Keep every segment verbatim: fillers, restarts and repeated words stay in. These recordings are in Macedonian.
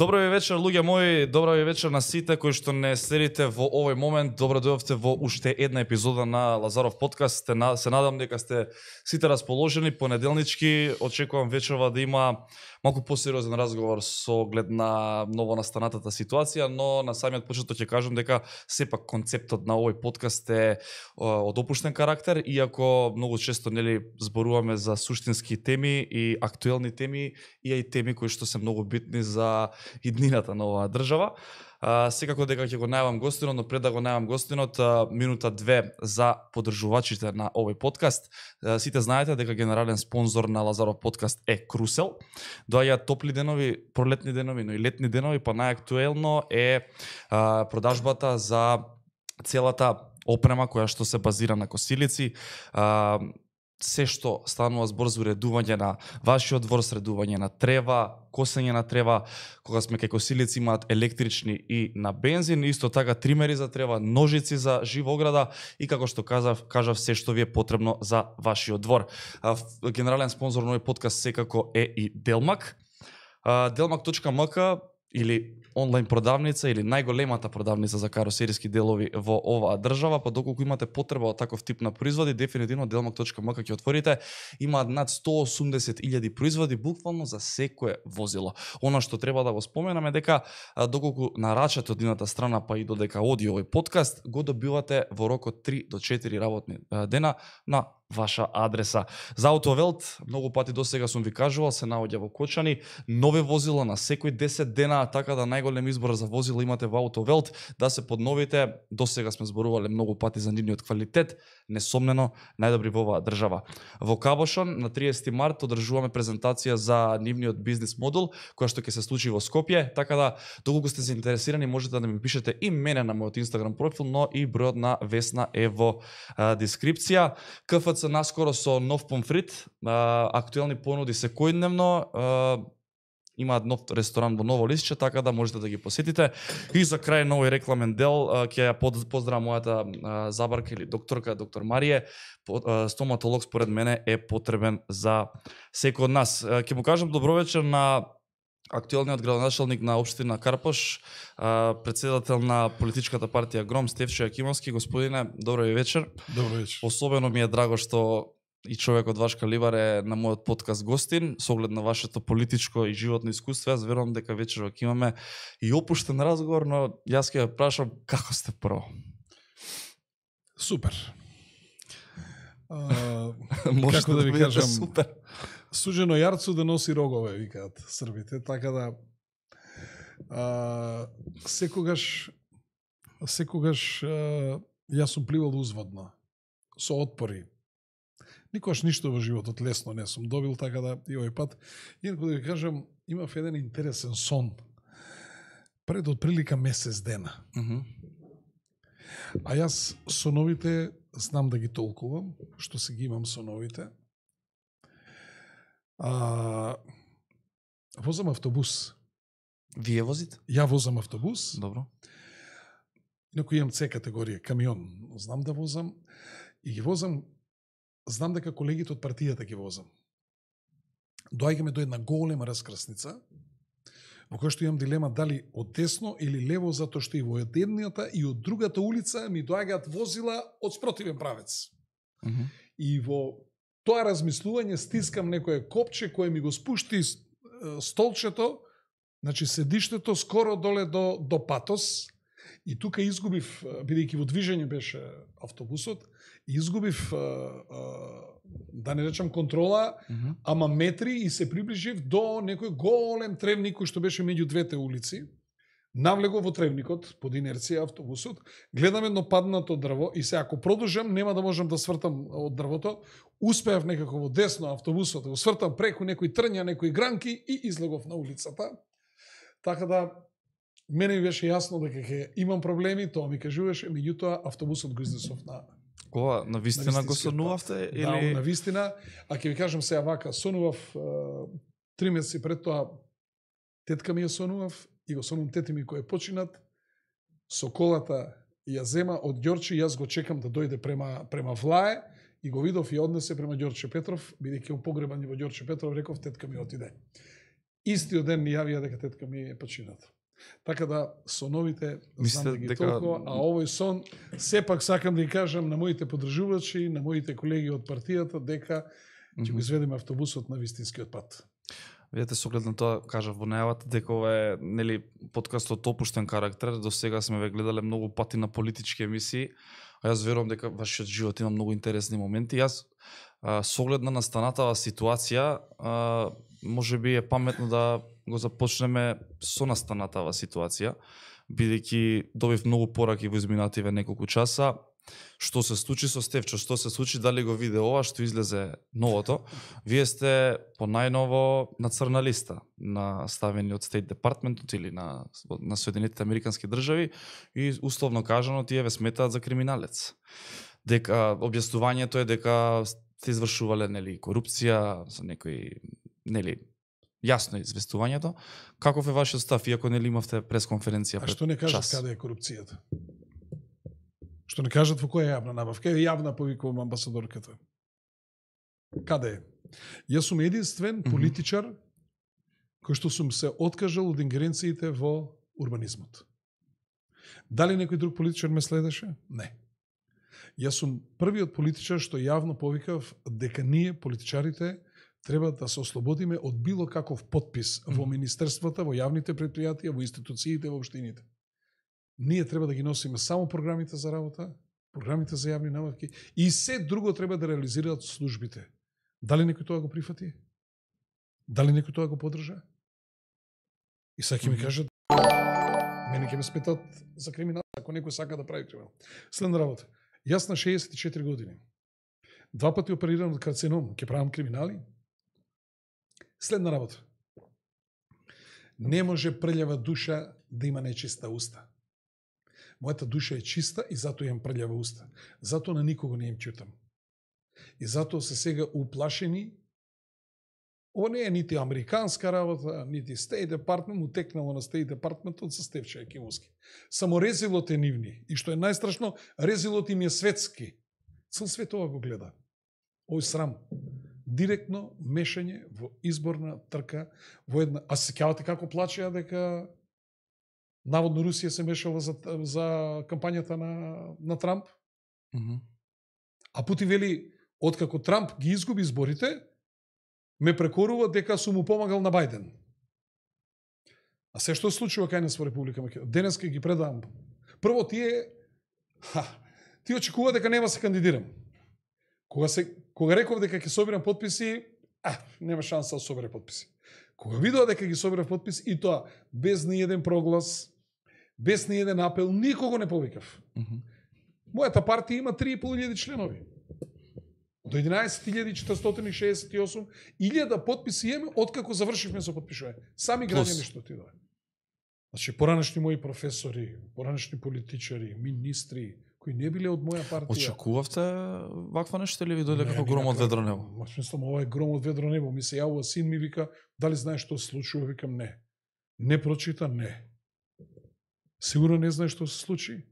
Добро ви вечер, луѓе мои, добро ви вечер на сите кои што не следите во овој момент. Добро дојдовте во уште една епизода на Лазаров подкаст. Се надам дека сте сите расположени. Понеделнички очекувам вечерва да има малку посериозен разговор со оглед на ново настанатата ситуација, но на самиот почеток ќе кажам дека сепак концептот на овој подкаст е од опуштен карактер, иако многу често нели зборуваме за суштински теми и актуелни теми и и теми кои што се многу битни за иднината на оваа држава. А, секако дека ќе го најавам гостинот, но пред да го најавам гостинот, а, минута две за поддржувачите на овој подкаст. А, сите знаете дека генерален спонзор на Лазаров подкаст е Крусел. Доаѓаат топли денови, пролетни денови, но и летни денови, па најактуелно е а, продажбата за целата опрема која што се базира на косилици. А, се што станува збор за уредување на вашиот двор, средување на трева, косење на трева, кога сме кај косилици имаат електрични и на бензин, исто така тримери за трева, ножици за жива ограда и како што кажав, кажав се што ви е потребно за вашиот двор. А, генерален спонзор на овој подкаст секако е и Делмак. Делмак точка ем ка или онлайн продавница или најголемата продавница за каросериски делови во оваа држава, па доколку имате потреба од таков тип на производи, дефинитивно делмак точка ем ка ќе отворите. Имаат над сто и осумдесет илјади производи буквално за секое возило. Она што треба да го споменаме дека доколку нарачате од едната страна па и додека оди овој подкаст, го добивате во рок од три до четири работни дена на ваша адреса. За Автовелт, многу пати досега сум ви кажувал, се наоѓа во Кочани, нови возила на секој десет дена, така да најголем избор за возила имате во Автовелт, да се подновите. Досега сме зборувале многу пати за нивниот квалитет, несомнено најдобри во оваа држава. Во Кабошон на триесети март одржуваме презентација за нивниот бизнис модул, која што ќе се случи во Скопје, така да доколку сте заинтересирани можете да ми пишете и мене на мојот Инстаграм профил, но и бројот на Весна е во а, дескрипција. КФЦ наскоро со нов помфрит, а, актуелни понуди секојдневно, а, имаат нов ресторан во Ново Лисче, така да можете да ги посетите. И за крај на овој рекламен дел ќе ја поздравам мојата а, забарка или докторка, доктор Марија. Стоматолог според мене е потребен за секој од нас. Ќе му кажам добро вечер на актуелниот градоначалник на општина Карпош, председател на политичката партија Гром, Стефчо Јакимовски. Господине, добро ви вечер. Добро вечер. Особено ми е драго што и човек од ваш калибар е на мојот подкаст гостин, со оглед на вашето политичко и животно искуство. Јас верувам дека вечерва ќе имаме и опуштен разговор, но јас ќе ја прашам како сте прво. Супер. А, како да ви кажам, супер. Сужено јарцу да носи рогове, викаат србите, така да а, секогаш секогаш а, јас сум пливал узводно, со отпори. Никош ништо во животот лесно не сум добил, така да и овој пат. Инаку да ви кажам, имав еден интересен сон пред отприлика месец дена. Mm -hmm. А јас соновите знам да ги толкувам, што се ги имам соновите. А, возам автобус. Вие возите? Ја возам автобус. Добро. Инаку имам С категорија, камион. Знам да возам. И ги возам, знам дека колегите од партијата ги возам. Доаѓаме до една голема раскрсница, во која што имам дилема дали од десно или лево, затоа што и во едната и од другата улица ми доаѓаат возила од спротивен правец. Mm -hmm. И во тоа размислување стискам некое копче кое ми го спушти столчето, значи седиштето скоро доле до, до патос, и тука изгубив, бидејќи во движење беше автобусот, изгубив, да не речам контрола, mm -hmm. ама метри, и се приближив до некој голем тревник кој што беше меѓу двете улици. Навлего во тревникот, под инерција автобусот, гледам едно паднато дрво и се ако продолжам нема да можам да свртам од дрвото. Успеав некако во десно автобусот да го свртам преку некои трња, некои гранки и излегов на улицата. Така да мене ми беше јасно дека ќе имам проблеми, тоа ми кажуваше, меѓутоа автобусот го изнесов на Кога на вистина го сонувавте или да, на вистина, а ќе ви кажам сега вака, сонував три месеци пред тоа, тетка ми ја сонував и го сонувам тети ми кој е починат, со колата ја зема од Ѓорче, јас го чекам да дојде према према Влае и го видов и однесе према Ѓорче Петров, бидејќи он погребан во Ѓорче Петров, реков тетка ми отиде. Истиот ден ни јавија дека тетка ми е почината. Така да, соновите знам да ги дека... толкова, а овој сон, сепак сакам да ги кажам на моите поддржувачи, на моите колеги од партијата, дека ќе mm-hmm. го изведеме автобусот на вистинскиот пат. Видете, со оглед на тоа, кажав во најавата, дека ова е, нели, подкастот опуштен карактер. До сега сме ве гледале многу пати на политички емисии, а јас верувам дека вашиот живот има многу интересни моменти. Јас, а, со оглед на настанатава ситуација, а, може би е паметно да го започнеме со настанатава ситуација, бидејќи добив многу пораки во изминативе неколку часа. Што се случи со Стефчо, што се случи, дали го виде ова што излезе новото. Вие сте по најново на црна листа, на ставени од State Department или на, на Соединетите Американски држави и условно кажано тие ве сметаат за криминалец. Дека објаснувањето е дека сте извршувале, нели, корупција, со некои, нели, јасно е известувањето. Каков е вашиот став, иако нели имавте пресконференција пред час? А што не кажат каде е корупцијата? Што не кажат во која јавна набавка? Е јавна, повикувам амбасадорката. Каде е? Јас сум единствен политичар mm -hmm. кој што сум се откажал од ингеренциите во урбанизмот. Дали некој друг политичар ме следеше? Не. Јас сум првиот политичар што јавно повикав дека ние, политичарите, треба да се ослободиме од било каков подпис mm -hmm. во министерствата, во јавните предпријатија, во институциите, во општините. Ние треба да ги носиме само програмите за работа, програмите за јавни набавки и се друго треба да реализираат службите. Дали некој тоа го прифати? Дали некој тоа го поддржа? И сега ќе ми кажат, мене ќе ме сметат за криминал, ако некој сака да прави криминал. Следна работа. Јас на шеесет и четири години, два пати оперирам од карцином, ќе правам криминали? Следна работа. Не може прљава душа да има нечиста уста. Мојата душа е чиста и затоа имам прљава уста. Затоа на никого не им чутам. И затоа се сега уплашени. Ова не е нити американска работа, нити State Department, утекнало на State Department од Стефчо Екимовски. Само резилот е нивни. И што е најстрашно, резилот им е светски. Цел свет ова го гледа. Овој срам. Директно мешање во изборна трка во една... А се сеќавате како плачеа дека наводно Русија се мешала за, за кампањата на, на Трамп? Mm -hmm. А Путин вели, откако Трамп ги изгуби изборите, ме прекорува дека сум му помагал на Бајден. А се што се случува кај нас во Република Македонија? Денеска ги предавам. Прво, тие... Ха, тие очекува дека нема се кандидирам. Кога, се, кога реков дека ќе собирам подписи, а, нема шанса да собере подписи. Кога видоа дека ги собирав подпис, и тоа без ни еден проглас, без ни еден апел, никого не повикав. Mm -hmm. Мојата партија има три и пол илјади членови. До единаесет илјади четиристотини и шеесет и осум илјада подписи имаме откако завршивме со подпишување. Сами граѓани што отидоа. Значи, поранешни мои професори, поранешни политичари, министри, кои не биле од моја партија. Очекувавте ваква нешто или ви дојде како гром од ведро небо? Мислам, ова е гром од ведро небо. Ми се јавува син ми, вика, дали знаеш што се случува? Викам, не. Не прочита, не. Сигурно не знаеш што се случи?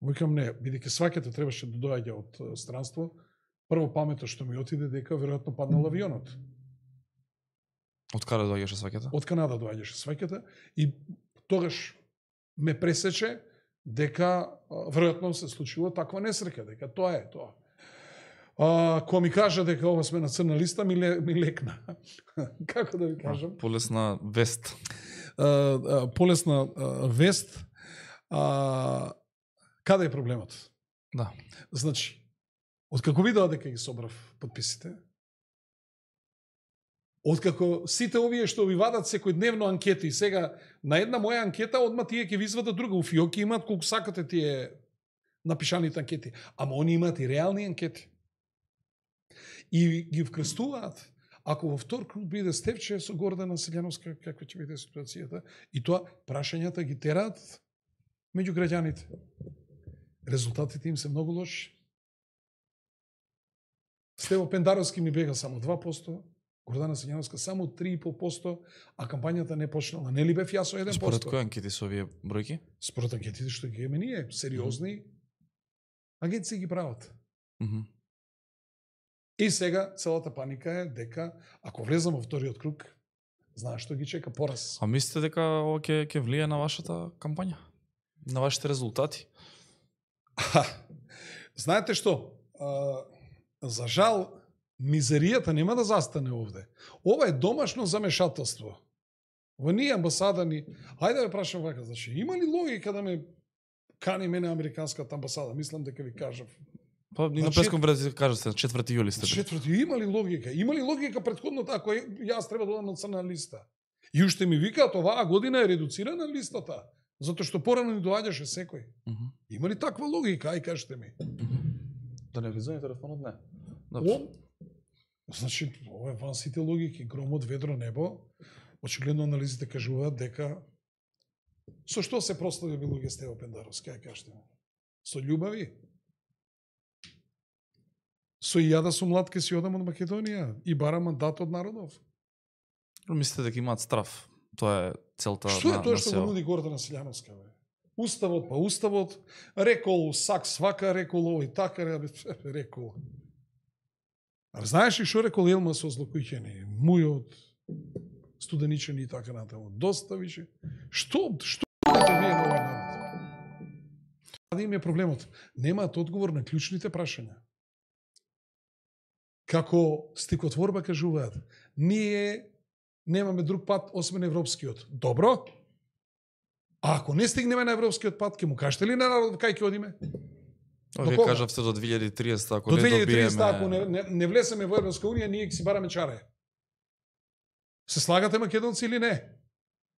Викам, не. Бидејќи сваќата требаше да доаѓа од странство, прво памето што ми отиде дека веројатно паднал авионот. Од каде доаѓаше сваќата? Од Канада доаѓаше сваќата и тогаш ме пресече дека веројатно се случило таква несреќа, дека тоа е тоа. А, кога ми кажа дека ова сме на црна листа, ми, ле, ми лекна. Како да ви кажам? А, полесна вест. А, а, полесна а, вест. А, каде е проблемот? Да. Значи, откако видоа дека ги собрав подписите, откако сите овие што ви вадат секојдневно анкети, сега на една моја анкета одма тие ќе ви извадат друга, у фиоки имаат колку сакате тие напишаните анкети, ама они имаат и реални анкети. И ги вкрстуваат. Ако во втор круг биде Стефче со Гордана Селјановска, каква ќе биде ситуацијата, и тоа прашањата ги тераат меѓу граѓаните. Резултатите им се многу лоши. Стево Пендаровски ми бега само два проценти, Гордана Селјановска само три и пол проценти, а кампањата не почнала. Нели бев јас со еден процент? Според кои анкети со овие бројки? Според анкетите што ги имаме ние, сериозни, агенции ги прават. Mm -hmm. И сега целата паника е дека ако влезам во вториот круг, знаеш што ги чека пораз. А мислите дека ова ќе ќе влие на вашата кампања? На вашите резултати? Знаете што? А, за жал, мизеријата нема да застане овде. Ова е домашно замешателство. Ова не е амбасада ни. Ајде да ве прашам вака, значи, има ли логика да ме кани мене американската амбасада? Мислам дека ви кажав. Па ни на пресконференција кажете на четврти јули сте. четврти има ли логика? Има ли логика претходно ако јас треба да одам на црна листа? И уште ми викаат оваа година е редуцирана листата, затоа што порано ни доаѓаше секој. Uh -huh. Има ли таква логика? Ај кажете ми. Uh -huh. Да не влизаме телефонот, не. О, значи, ова е ван сите логики, громот, ведро, небо. Очигледно анализите кажуваат дека со што се прослави луѓе Стево Пендаровски, ај кажете ми. Со љубави? Со и ја да сум млад ке си одам од Македонија и барам мандат од народов. Мислите дека имаат страв? Тоа е целта што на е тоа на што сео. го нуди Гордана Силјановска, бе? Уставот па уставот, рекол сак свака, рекол овој така, рекол. А знаеш ли што рекол Елма со злокуќени? Мујот, студеничени и така натаму. Доста више. Што, што да вие на овој народ? Да им е проблемот. Немаат одговор на клучните прашања. Како стикотворба кажуваат, ние немаме друг пат освен европскиот. Добро? А ако не стигнеме на европскиот пат, ќе му кажете ли на народот кај ќе одиме? Вие кажавте до две илјади и триесета, ако до не две илјади и триесета, добиеме... ако не, не, не влесеме во Европска унија, ние ќе си бараме чаре. Се слагате македонци или не?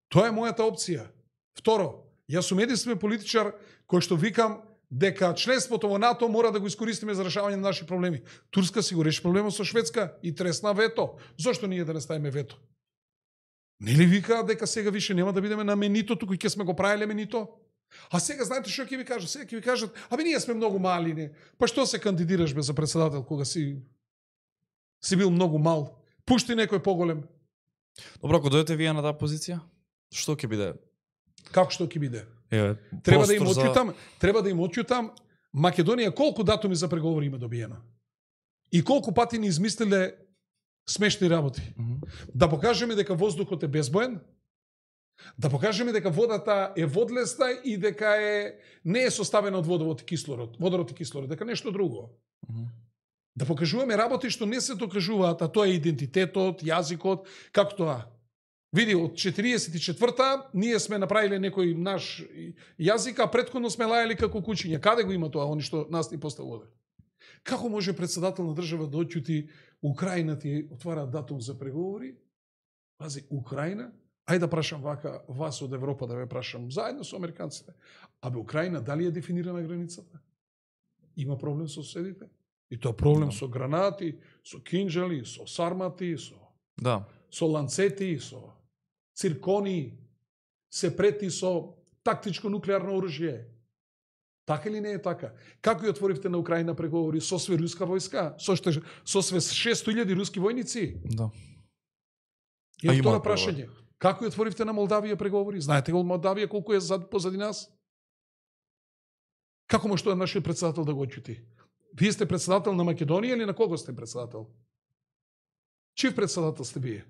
Тоа е мојата опција. Второ, јас сум единствен политичар кој што викам дека членството во НАТО мора да го искористиме за решавање на наши проблеми. Турска си го реши проблемот со Шведска и тресна вето. Зошто ние да не ставиме вето? Нели викаат дека сега више нема да бидеме на менито, туку ќе сме го правеле менито? А сега знаете што ќе ви кажат? Сега ќе ви кажат, абе ние сме многу мали, не. Па што се кандидираш бе за председател кога си си бил многу мал? Пушти некој поголем. Добро, ако дојдете вие на таа позиција, што ќе биде? Како што ќе биде? Е, треба да им за... отјутам, треба да им отјутам Македонија колку датуми за преговори има добиено. И колку пати ни измислиле смешни работи. Mm -hmm. Да покажеме дека воздухот е безбоен, да покажеме дека водата е водлесна и дека е не е составена од водород и кислород, водород и кислород, дека нешто друго. Mm -hmm. Да покажуваме работи што не се докажуваат, а тоа е идентитетот, јазикот, како тоа. Види, од четириесет и четврта ние сме направиле некој наш јазик, а претходно сме лајали како кучиња. Каде го има тоа, они што нас ни поставува? Како може председател на држава да отјути Украина ти отвара датум за преговори? Пази, Украина? Ајде да прашам вака, вас од Европа да ве прашам, заедно со американците. Абе, Украина дали е дефинирана границата? Има проблем со соседите? И тоа проблем да. Со гранати, со кинџали, со сармати, со, да. со ланцети, со циркони, се прети со тактичко нуклеарно оружје. Така или не е така? Како ја отворивте на Украина преговори со све руска војска? Со, ште, со све шест илјади руски војници? Да. И тоа прашање. Како ја отворивте на Молдавија преговори? Знаете го Молдавија колку е зад, позади нас? Како може тоа нашиот председател да го отјути? Вие сте председател на Македонија или на кого сте председател? Чив председател сте вие?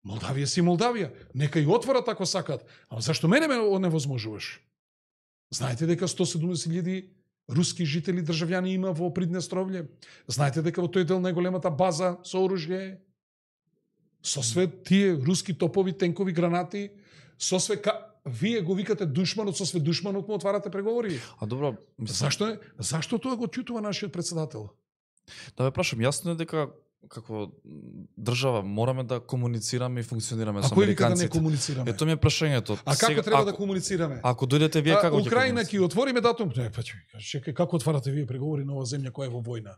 Молдавија си Молдавија. Нека и отворат ако сакат. Ама зашто мене ме невозможуваш? Знаете дека сто и седумдесет илјади руски жители, државјани има во Приднестровље. Знаете дека во тој дел најголемата база со оружје, со све тие руски топови, тенкови, гранати, со све ка... Вие го викате душманот, со све душманот му отварате преговори. А добро, мислам... Зашто е? Зашто тоа го ќутува нашиот председател? Да ве прашам, јасно е дека како држава мораме да комуницираме и функционираме со американците. А кој да не комуницираме? Ето ми е прашањето. А како сега, треба ако, да комуницираме? Ако дојдете вие, како ќе Украина ќе отвориме датум? Не, па чекај, како отварате вие преговори на оваа земја која е во војна?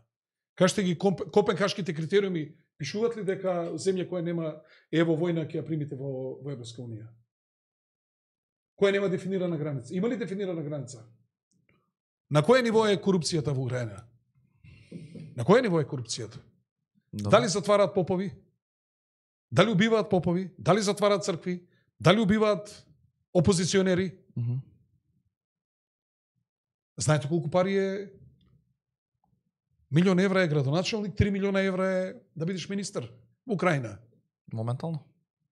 Кажете ги копенхашките критериуми, пишуваат ли дека земја која нема е во војна ќе ја примите во, во Европска унија? Која нема дефинирана граница? Има ли дефинирана граница? На кое ниво е корупцијата во Украина? На кое ниво е корупцијата? Да. Дали затвараат попови? Дали убиваат попови? Дали затвараат цркви? Дали убиваат опозиционери? Mm -hmm. Знаете колку пари е? Милион евра е градоначалник, три милиона евра е да бидеш министер во Украина. Моментално.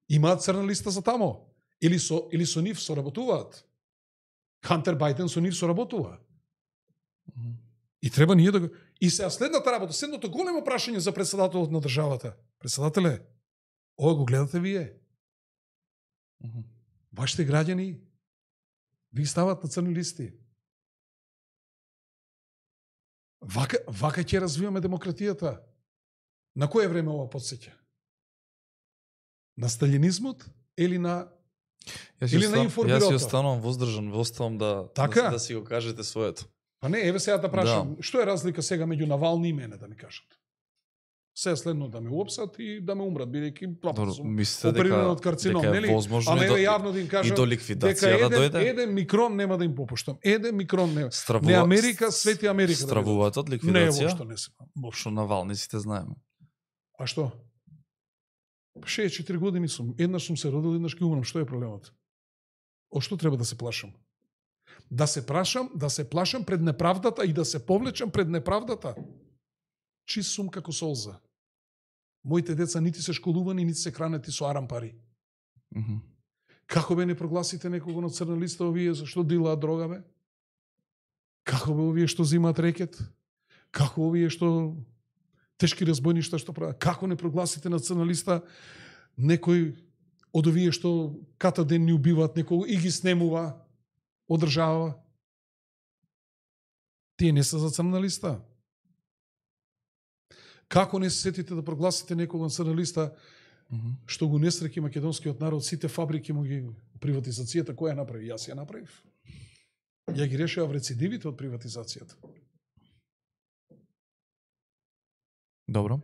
Имаат црна листа за тамо. Или со, или со нив соработуваат. Хантер Бајден со нив соработува. Мгм. И треба ние да го... И сега следната работа, следното големо прашање за председателот на државата. Председателе, ова го гледате вие. Мгм. Вашите граѓани ви стават на црни листи. Вака, вака ќе развиваме демократијата. На кое време ова подсеќа? На сталинизмот или на Јас Или ја на остан- информирото. Јас ја останувам воздржан, оставам да, Така? да, да си го кажете своето. Па не, еве сега да прашам, Да. што е разлика сега меѓу Навални и мене да ми кажат? Се следно да ме уопсат и да ме умрат, бидејќи Добро, плапа сум мислите опериран дека, од карцином, дека е нели? возможно Ама и еве до, јавно да им и кажам до дека ликвидација да еден, дојде? еден микрон нема да им попуштам. Еден микрон нема. Стравува, Не Америка, свети Америка. Да Стравуваат од не, ликвидација? воопшто не се. Воопшто. Што Навални сите знаеме. А што? шеесет и четири години сум. Еднаш сум се родил, еднаш ќе умрам. Што е проблемот? О што треба да се плашам? Да се прашам, да се плашам пред неправдата и да се повлечам пред неправдата. Чист сум како солза. Моите деца нити се школувани, нити се хранети со арам пари. Мгм. Како бе не прогласите некого на црна листа овие зашто дилаат дрога бе? Како бе овие што зимаат рекет? Како овие што тешки разбойништа што прават? Како не прогласите на црна листа некој од овие што ката ден ни убиваат некого и ги снемува, одржава? Тие не се за црна листа. Како не се сетите да прогласите некого на црна листа Мгм. што го несреќи македонскиот народ, сите фабрики му ги приватизацијата, која ја направи? Јас ја направив. Ја ги решава рецидивите од приватизацијата. Добро.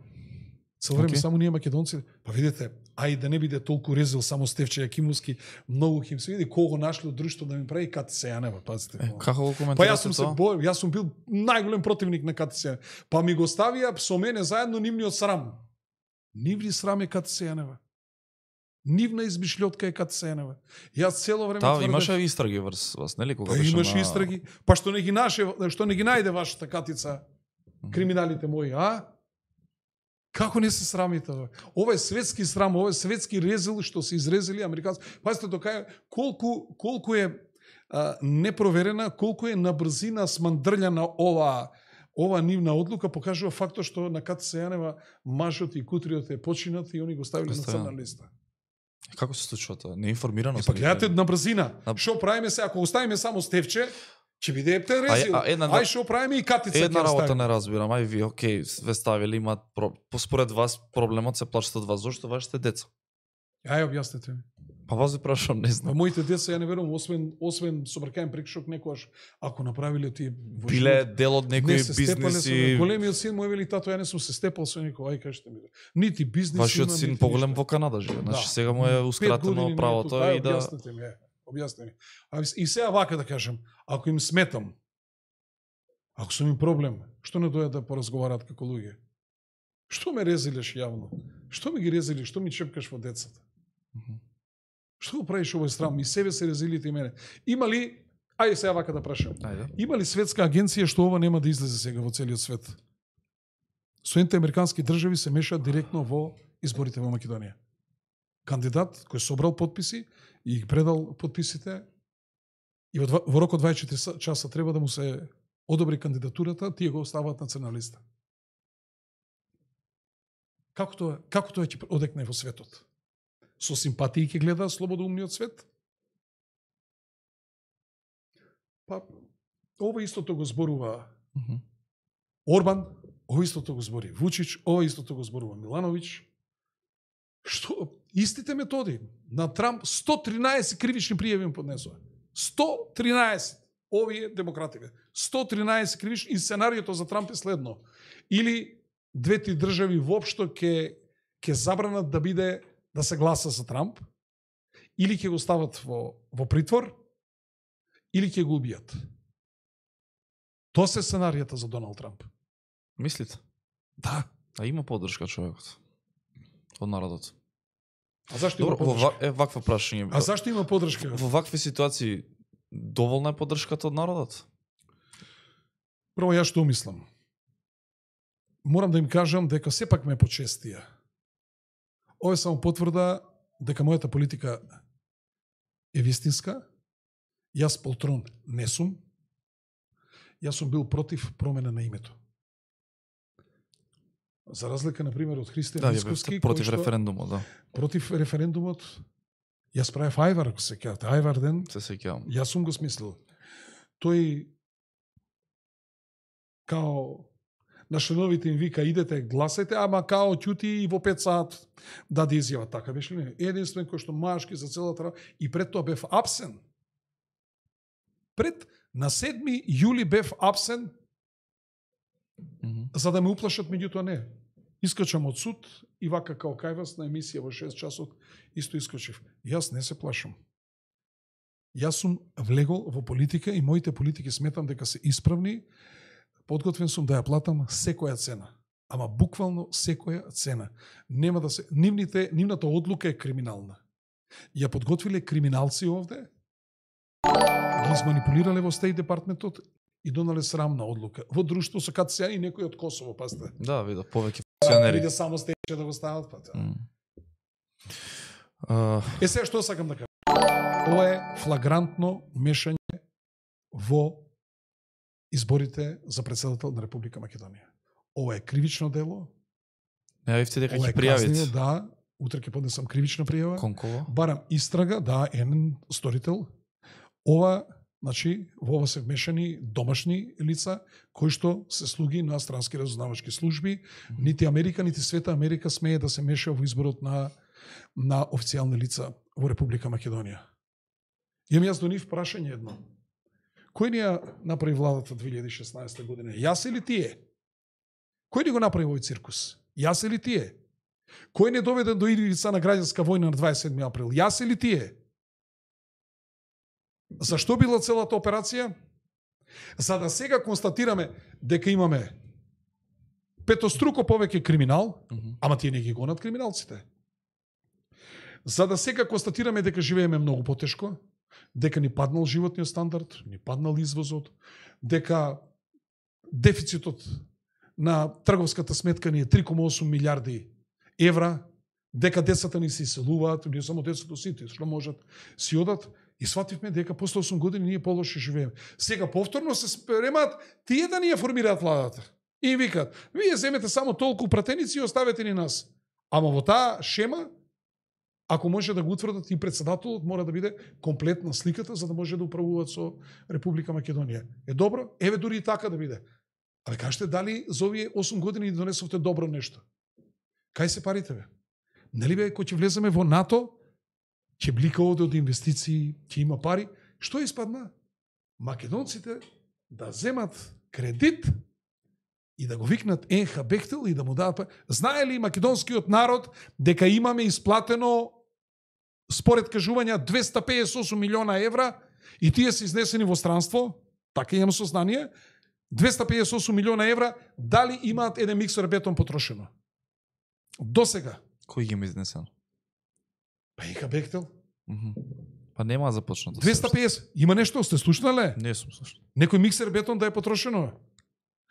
Цело време Океј. само ние македонци, па видите, ај да не биде толку резил само Стефче Јакимовски, многу ќе им се види кого нашли од друштво да ми прави К Т С Јанева, пазите. Е, како го Па коментирате јас сум се тоа? бој, јас сум бил најголем противник на К Т С Јанева. Па ми го ставија со мене заедно нивниот срам. Нивни срам е К Т С Јанева. Нивна измишлјотка е К Т С Јанева. Јас цело време Та, тврдев- имаше истраги врз вас, нели? Кога Па беше имаш на... истраги. Па што не ги наше, што не ги најде вашата катица, криминалите мои, а? Како не се срамите? Бе? Ова е светски срам, ова е светски резил што се изрезали американци. Пазите тока е колку колку е а, непроверена, колку е на брзина смандрљана ова ова нивна одлука, покажува фактот што на К Т С Јанева мажот и кутриот е починат и они го ставиле на Оставено. црна листа. Како се случува тоа? Неинформирано Е, сум. па гледате на брзина. На- Што правиме се ако оставиме само Стефче, ќе биде ептен А, резил. а, една- Ај што правиме и катица Една ќе работа оставиме. не разбирам. Ај ви, окей, све ставили, имаат про... Поспоред вас проблемот се плашат од вас. Зошто вашите деца? Ај објаснете ми. Па вас ви прашам, не Па знам. моите деца ја не верувам, освен освен собркаен прекшок некојаш ако направиле тие во Биле живот, дел од некои не се степале со бизниси. мене. Големиот син му е вели тато, ја не сум се степал со никој, ај кажете ми. Нити бизнис Вашиот имам, син нити поголем ништо. во Канада живе. Значи Да. сега му е Пет ускратено години правото не е и тука. да... Ај, објаснете ми, е, објаснете ми. А и сега вака да кажам, ако им сметам, ако сум им проблем, што не дојат да поразговараат како луѓе? Што ме резилеш јавно? Што ми ги резили? Што ми чепкаш во децата? Мгм. Што го правиш овој срам? И себе се резилите и мене. Има ли, ајде сега вака да прашам, Ајде. има ли светска агенција што ова нема да излезе сега во целиот свет? Соединените американски држави се мешаат директно во изборите во Македонија. Кандидат кој собрал подписи и ги предал подписите и во, два, во рок од дваесет и четири часа треба да му се одобри кандидатурата, тие го оставаат на црна листа. Како тоа, како тоа ќе одекне во светот? Со симпатии ќе гледа слободоумниот свет? Па, ова истото го зборува Мгм. Орбан, ова истото го збори Вучич, ова истото го зборува Милановиќ. Што? Истите методи. На Трамп сто тринаесет кривични пријави им поднесува. сто тринаесет. Овие демокративе. сто тринаесет кривични и сценариото за Трамп е следно. Или двете држави воопшто ќе ќе забранат да биде да се гласа за Трамп, или ќе го стават во во притвор, или ќе го убијат. Тоа се сценаријата за Доналд Трамп. Мислите? Да. А има поддршка човекот од народот. А зашто Добро, има во, ва- поддршка? е ваква прашање. А зашто има поддршка? Во вакви ситуации доволна е поддршката од народот? Прво ја што мислам. Морам да им кажам дека сепак ме почестија. Ова е само потврда дека мојата политика е вистинска. Јас полтрон не сум. Јас сум бил против промена на името. За разлика, например, од Христијан Да, Мицковски, против кој што, референдумот, да. против референдумот, јас правев Ајвар, ако се кејате, Ајвар ден, Се сеќавам. јас сум го смислил. Тој као на членовите им вика, идете, гласајте, ама као ќути и во пет саат даде изјава. Така беше ли? Единствен кој што машки за целата работа, и пред тоа бев апсен. Пред на седми јули бев апсен, Mm -hmm. за да ме уплашат, меѓутоа не. Искачам од суд и вака као кај вас на емисија во шест часот исто искачив. Јас не се плашам. Јас сум влегол во политика и моите политики сметам дека се исправни. Подготвен сум да ја платам секоја цена. Ама буквално секоја цена. Нема да се нивните нивната одлука е криминална. Ја подготвиле криминалци овде, ги изманипулирале во Стејт департментот и донале срамна одлука. Во друштво со КЦА и некој од Косово, пазите. Да, вида, повеќе Или функционери. да само стече да го стават, па. Mm. Uh, Е, сега што сакам да кажам? Ова е флагрантно мешање во изборите за председател на Република Македонија. Ова е кривично дело. Најавивте дека Ова ќе е казнино, пријавите. да. Утре ќе поднесам кривична пријава. Конкова. Барам истрага, да, еден сторител. Ова, значи, во ова се вмешани домашни лица, кои што се слуги на странски разузнавачки служби. Нити Америка, нити Света Америка смее да се меша во изборот на, на официјални лица во Република Македонија. Имам јас до нив прашање едно. Кој ни ја направи владата две илјади и шеснаесета година? Јас или тие? Кој ни го направи овој циркус? Јас или тие? Кој не доведе до ивица на граѓанска војна на дваесет и седми април? Јас или тие? Зашто била целата операција? За да сега констатираме дека имаме петоструко повеќе криминал, Mm -hmm. ама тие не ги гонат криминалците. За да сега констатираме дека живееме многу потешко, дека ни паднал животниот стандард, ни паднал извозот, дека дефицитот на трговската сметка ни е три кома осум милиарди евра, дека децата ни се иселуваат, не само децата, сите што можат си одат, и свативме дека после осум години ние полошо живееме. Сега повторно се спремаат тие да ни ја формираат владата. И им викаат, вие земете само толку пратеници и оставете ни нас. Ама во таа шема, ако може да го утврдат и председателот, мора да биде комплетна сликата за да може да управуваат со Република Македонија. Е добро? Еве дури и така да биде. Але кажете дали за овие осум години донесовте добро нешто? Кај се парите бе? Нели бе, кој ќе влеземе во НАТО, ќе блика овде од инвестиции, ќе има пари? Што испадна? Македонците да земат кредит и да го викнат Енха Бехтел и да му дадат пари. Знае ли македонскиот народ дека имаме исплатено според кажувања двеста педесет и осум милиона евра и тие се изнесени во странство? Така имам сознание. двеста педесет и осум милиона евра, дали имаат еден миксер бетон потрошено? До сега. Кој ги има изнесено? Па Енха Бехтел. Mm -hmm. Па нема започнато. двеста педесет. Има нешто, сте слушнале? Не сум слушнал. Некој миксер бетон да е потрошено?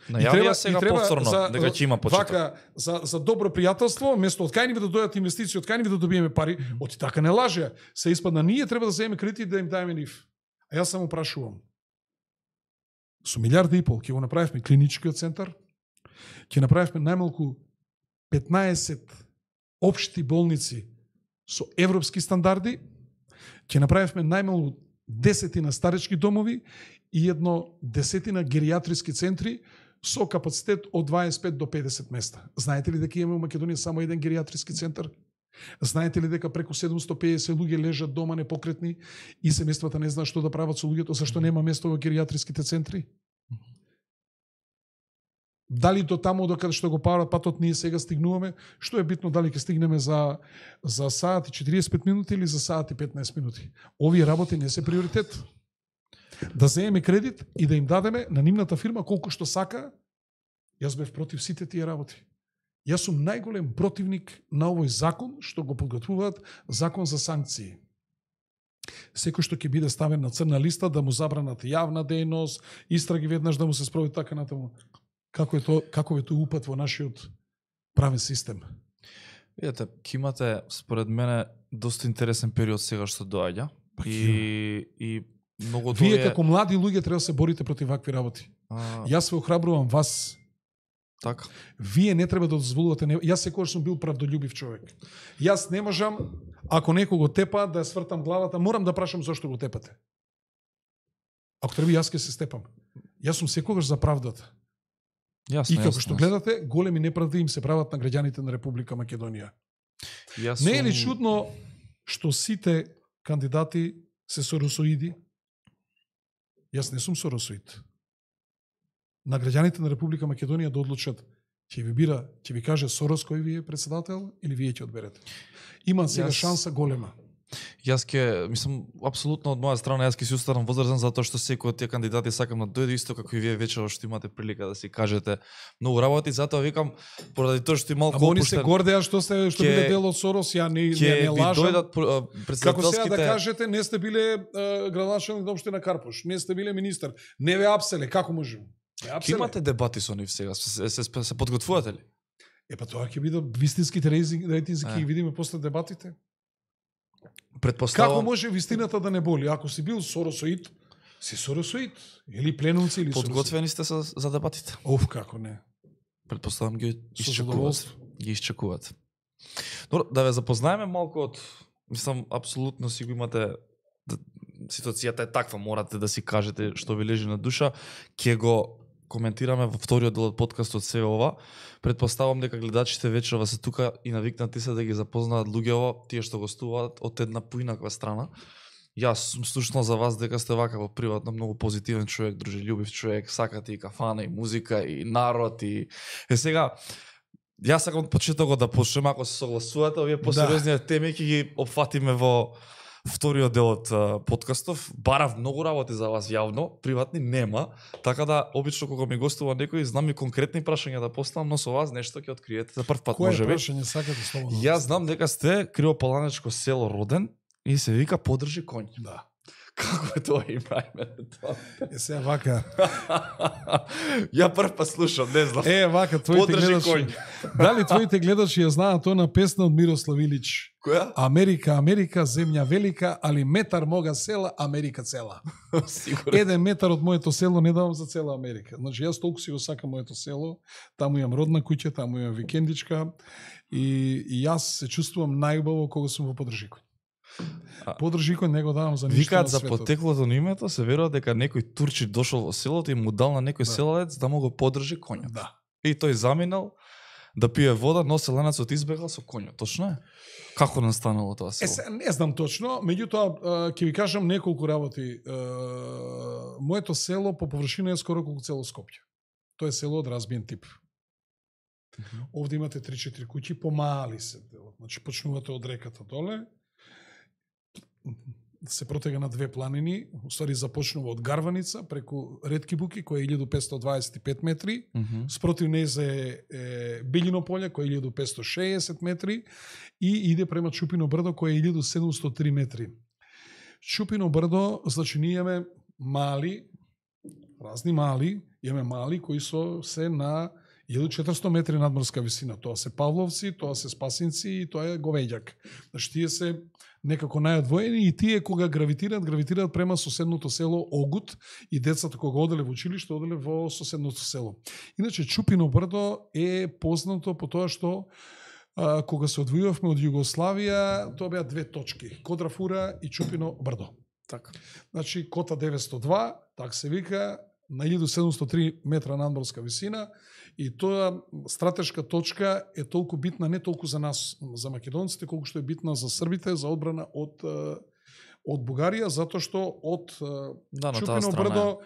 Најавија сега повторно за, дека ќе има почеток. Вака, за, за добро пријателство, место од кај ни да дојдат инвестиции, од кај ни да добиеме пари, mm -hmm. оти така не лаже. Се испадна, ние треба да земеме кредит и да им даеме нив. А јас само прашувам. Со милиарда и пол ќе го направивме клиничкиот центар, ќе направивме најмалку петнаесет општи болници со европски стандарди, ќе направивме најмалку десетина старечки домови и едно десетина геријатриски центри со капацитет од дваесет и пет до педесет места. Знаете ли дека имаме во Македонија само еден геријатриски центар? Знаете ли дека преку седумстотини и педесет луѓе лежат дома непокретни и семејствата не знаат што да прават со луѓето, зашто нема место во геријатриските центри? Дали до таму до каде што го прават патот ние сега стигнуваме? Што е битно дали ќе стигнеме за за саат и четириесет и пет минути или за саат и петнаесет минути? Овие работи не се приоритет. Да земеме кредит и да им дадеме на нивната фирма колку што сака. Јас бев против сите тие работи. Јас сум најголем противник на овој закон што го подготвуваат, закон за санкции. Секој што ќе биде ставен на црна листа да му забранат јавна дејност, истраги веднаш да му се спроведе така натаму. Како е тоа, како е тоа упат во нашиот правен систем? Видете, ќе имате според мене доста интересен период сега што доаѓа. Па, И и многу Вие тоа е како млади луѓе треба да се борите против вакви работи. а, Јас ве охрабрувам вас. така. Вие не треба да дозволувате. Не... Јас секогаш сум бил правдолюбив човек. Јас не можам, ако некој го тепа, да ја свртам главата, морам да прашам зошто го тепате. Ако треба, јас ќе се степам. Јас сум секогаш за правдата. Јасно, И како јасно, што јасно. гледате, големи неправди им се прават на граѓаните на Република Македонија. Јас Не е ли сум- чудно што сите кандидати се соросоиди? Јас не сум соросоид. На граѓаните на Република Македонија да одлучат ќе ви бира, ќе ви каже Сорос кој ви е председател или вие ќе одберете. Има сега Јас- шанса голема. Јас ќе, мислам, апсолутно од моја страна, јас ќе си останам возрастен затоа што секој од тие кандидати сакам да дојде исто како и вие вечерва што имате прилика да си кажете многу работи, затоа викам поради тоа што и малку Ама они се опуштен, гордеа што сте што Ке- биле дел од Сорос, ја не не, ќе не ви лажам. дојдат а, Како сега председателските да кажете, не сте биле uh, градоначелник на општина Карпош, не сте биле министар, не ве апселе, како можеме? Не Ќе апселе. имате дебати со нив сега, се, се, се, се подготвувате ли? Е па тоа ќе биде вистинските рейтинзи, ќе Е. ги видиме после дебатите. Како Предпоставам може вистината да не боли? Ако си бил соросоид, си соросоид. Или пленумци, или соросоид. подготвени сте за, за дебатите. Оф, како не. Предпоставам ги Со изчекуват. задоволство. Ги изчекуват. Добро, да ве запознаеме малку од, мислам, апсолутно си го имате, да, ситуацијата е таква, морате да си кажете што ви лежи на душа, ќе го коментираме во вториот дел од подкастот се ова. Предпоставам дека гледачите вечерва се тука и навикнати се да ги запознаат луѓето, тие што гостуваат од една поинаква страна. Јас сум слушнал за вас дека сте вака во приватно многу позитивен човек, дружелюбив човек, сакате и кафана, и музика, и народ, и... Е сега, јас сакам од почетокот да почнем, ако се согласувате, овие посериозни теми ќе ги опфатиме во вториот дел од а, подкастов. Барав многу работи за вас јавно, приватни нема, така да обично кога ми гостува некој, знам и конкретни прашања да поставам, но со вас нешто ќе откриете за прв пат Кое можеби. прашање сакате слободно? Јас знам дека сте Кривопаланечко село роден и се вика Подржи конј. Да. Како е тоа име, име тоа? Е сега вака. Ја прв па слушам, не знам. Е вака твоите Подржи гледачи. конј. Дали твоите гледачи ја знаат она песна од Мирослав Илич? Која? Америка, Америка, земја велика, али метар мога села, Америка цела. Сигурно. Еден метар од моето село не давам за цела Америка. Значи јас толку си го сакам моето село, таму имам родна куќа, таму имам викендичка и, и јас се чувствувам најубаво кога сум во Подржикој. А- Подржикој не го давам за ништо Викаат на за светот. потеклото на името, се верува дека некој турчи дошол во селото и му дал на некој Да. селалец да му го подржи конјот. Да. И тој заминал да пие вода, но селенецот избегал со конјот. Точно е? Како настанало тоа Е, село? се, не знам точно, меѓутоа а, ќе ви кажам неколку работи. А, моето село по површина е скоро колку цело Скопје. Тоа е село од разбиен тип. Овде имате три-четири куќи, помали се делот. Значи почнувате од реката доле, се протега на две планини, уствари започнува од Гарваница преку Ретки буки која е илјаду петстотини дваесет и пет метри, Мгм. спротив незе е, е Билино поле кој е илјаду петстотини шеесет метри и иде према Чупино брдо кој е илјаду седумстотини и три метри. Чупино брдо, значи ние имаме мали, разни мали, имаме мали кои со се на илјаду четиристотини метри надморска висина. Тоа се Павловци, тоа се Спасинци и тоа е Говеѓак. Значи тие се некако најодвоени и тие кога гравитираат, гравитираат према соседното село Огут и децата кога оделе во училиште, оделе во соседното село. Иначе Чупино брдо е познато по тоа што а, кога се одвојувавме од Југославија, тоа беа две точки, Кодрафура и Чупино брдо. Така. Значи кота деветстотини и два, так се вика, на илјаду седумстотини и три метра надморска висина и тоа стратешка точка е толку битна не толку за нас, за македонците, колку што е битна за србите за одбрана од е, од Бугарија, затоа што од е, Да, на таа Чупино страна. брдо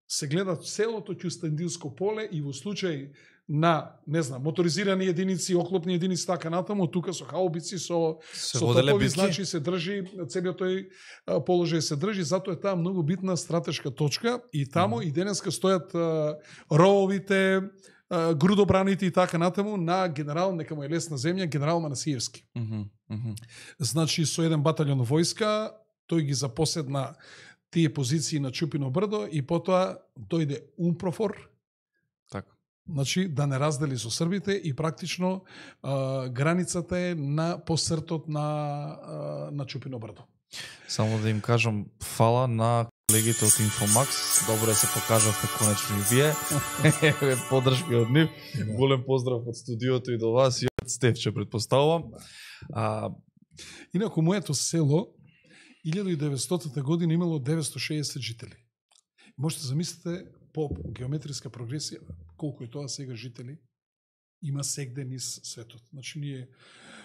се гледа целото Ќустендилско поле и во случај на, не знам, моторизирани единици, оклопни единици, така натаму, тука со хаубици, со Се со воделе топови, битки. значи се држи, целиот тој а, положај се држи, затоа е таа многу битна стратешка точка и таму Мгм. и денеска стојат а, рововите, а, грудобраните и така натаму на генерал, нека му е лесна земја, генерал Манасиевски. Мгм, мгм. Значи со еден баталјон војска, тој ги запоседна тие позиции на Чупино брдо и потоа дојде Умпрофор, Така. значи да не раздели со србите и практично а, границата е на посртот на а, на Чупино брдо. Само да им кажам фала на колегите од Инфомакс, добре се покажавте конечно и вие. Еве поддршка од нив. Голем поздрав од студиото и до вас и од Стефче претпоставувам. А инаку моето село илјада и деветстотина година имало деветстотини и шеесет жители. Можете замислите по геометриска прогресија колку е тоа сега жители има сегде низ светот. Значи ние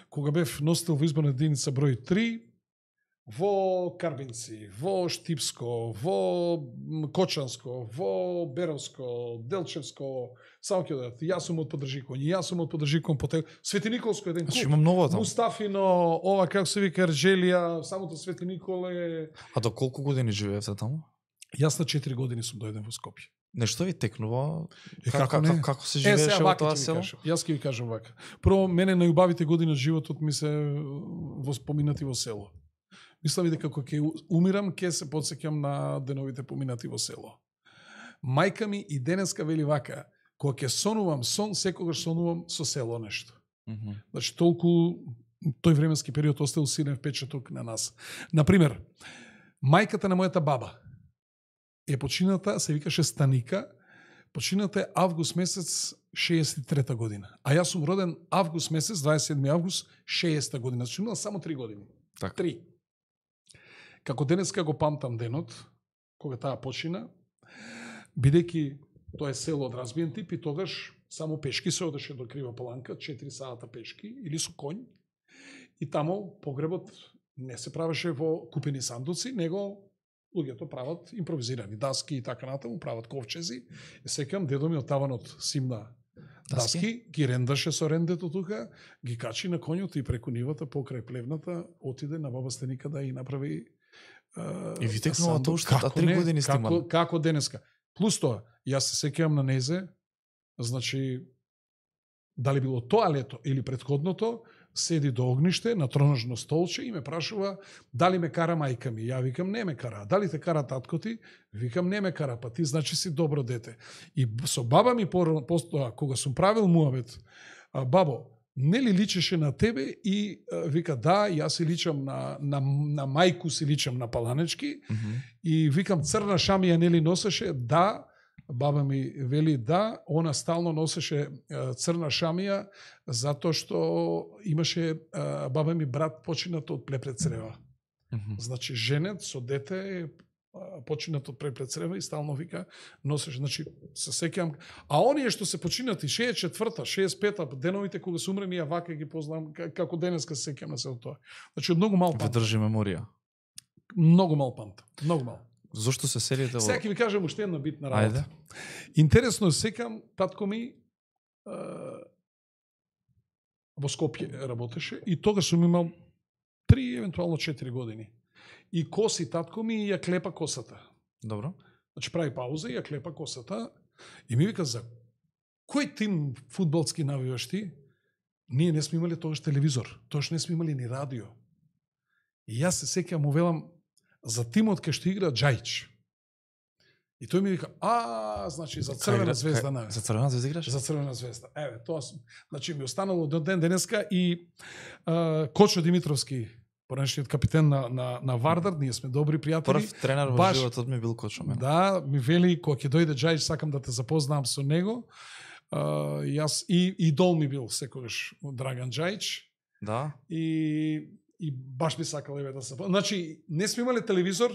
кога бев носител во изборна единица број три, во Карбинци, во Штипско, во Кочанско, во Беровско, Делчевско, само ќе дадат. Јас сум од Подржикон, јас сум од Подржикон, Потел, Свети Николско еден значи клуб. има многу таму. Мустафино, ова како се вика Ерџелија, самото Свети Николе. А до колку години живеевте таму? Јас на четири години сум дојден во Скопје. Нешто ви текнува? Е, Как, како не? како, како се Е, живееше сега во вака тоа ќе ви село? кажам. Јас ќе ви кажам вака. Прво, мене најубавите години од животот ми се воспоминати во село. Мислам и дека кога ќе умирам, ќе се потсеќам на деновите поминати во село. Мајка ми и денеска вели вака, кога ќе сонувам сон, секогаш сонувам со село нешто. Мгм. Значи, толку тој временски период оставил силен впечаток на нас. Например, мајката на мојата баба е почината, се викаше Станика, почината е август месец шеесет и трета година. А јас сум роден август месец, дваесет и седми август шеесета година. Значи имала само три години. Така. Три. Како денеска го памтам денот, кога таа почина, бидејќи тоа е село од разбиен тип и тогаш само пешки се одеше до Крива Паланка, четири сата пешки или со конј. И тамо погребот не се правеше во купени сандуци, него луѓето прават импровизирани даски и така натаму, прават ковчези. И секам дедо ми од таванот симна даски, Даски? ги рендаше со рендето тука, ги качи на коњот и преку нивата покрај плевната отиде на баба Стеника да и направи uh, И ви текнува тоа уште, а три не? години сте како, имали. како денеска. Плюс тоа, јас се сеќавам на незе, значи дали било тоа лето или претходното, седи до огниште на тронажно столче и ме прашува дали ме кара мајка ми. Ја викам не ме кара. Дали те кара татко ти? Викам не ме кара, па ти значи си добро дете. И со баба ми постоа, кога сум правил муабет, а, бабо, не ли личеше на тебе? И а, вика да, јас си личам на, на, на мајку си личам на Паланечки. Мгм. И викам црна шамија нели носеше? Да. Баба ми вели да, она стално носеше е, црна шамија затоа што имаше е, баба ми брат починат од плепред црева. Мгм. Значи женет со дете е, починат од плепред црева и стално вика носеше, значи се сеќавам. А оние што се починати шеесет и четврта, шеесет и пета деновите кога се умрени, ја вака ги познам како денеска се сеќавам на се тоа. Значи од многу мал Ви памт. држи меморија. Многу мал памт. Многу мал. Зошто се селите во... Сега ќе ви кажам уште една битна работа. Ајде. Интересно секам, татко ми е, во Скопје работеше и тогаш сум имал три, евентуално четири години. И коси татко ми и ја клепа косата. Добро. Значи прави пауза и ја клепа косата и ми вика за кој тим фудбалски навиваш ти? Ние не сме имали тогаш телевизор, тогаш не сме имали ни радио. И јас се сеќавам, му велам за тимот кај што игра Џајич. И тој ми вика, а, значи за Црвена звезда на. За Црвена звезда играш? За Црвена звезда. Еве, тоа сум. Значи ми останало до ден денеска и а, Кочо Димитровски, поранешниот капитен на на на Вардар, ние сме добри пријатели. Прв тренер во Баш- животот ми бил Кочо мене. Да, ми вели кога ќе дојде Џајич, сакам да те запознам со него. А, јас и идол ми бил секогаш Драган Џајич. Да. И и баш би сакал еве да се. Значи не сме имале телевизор,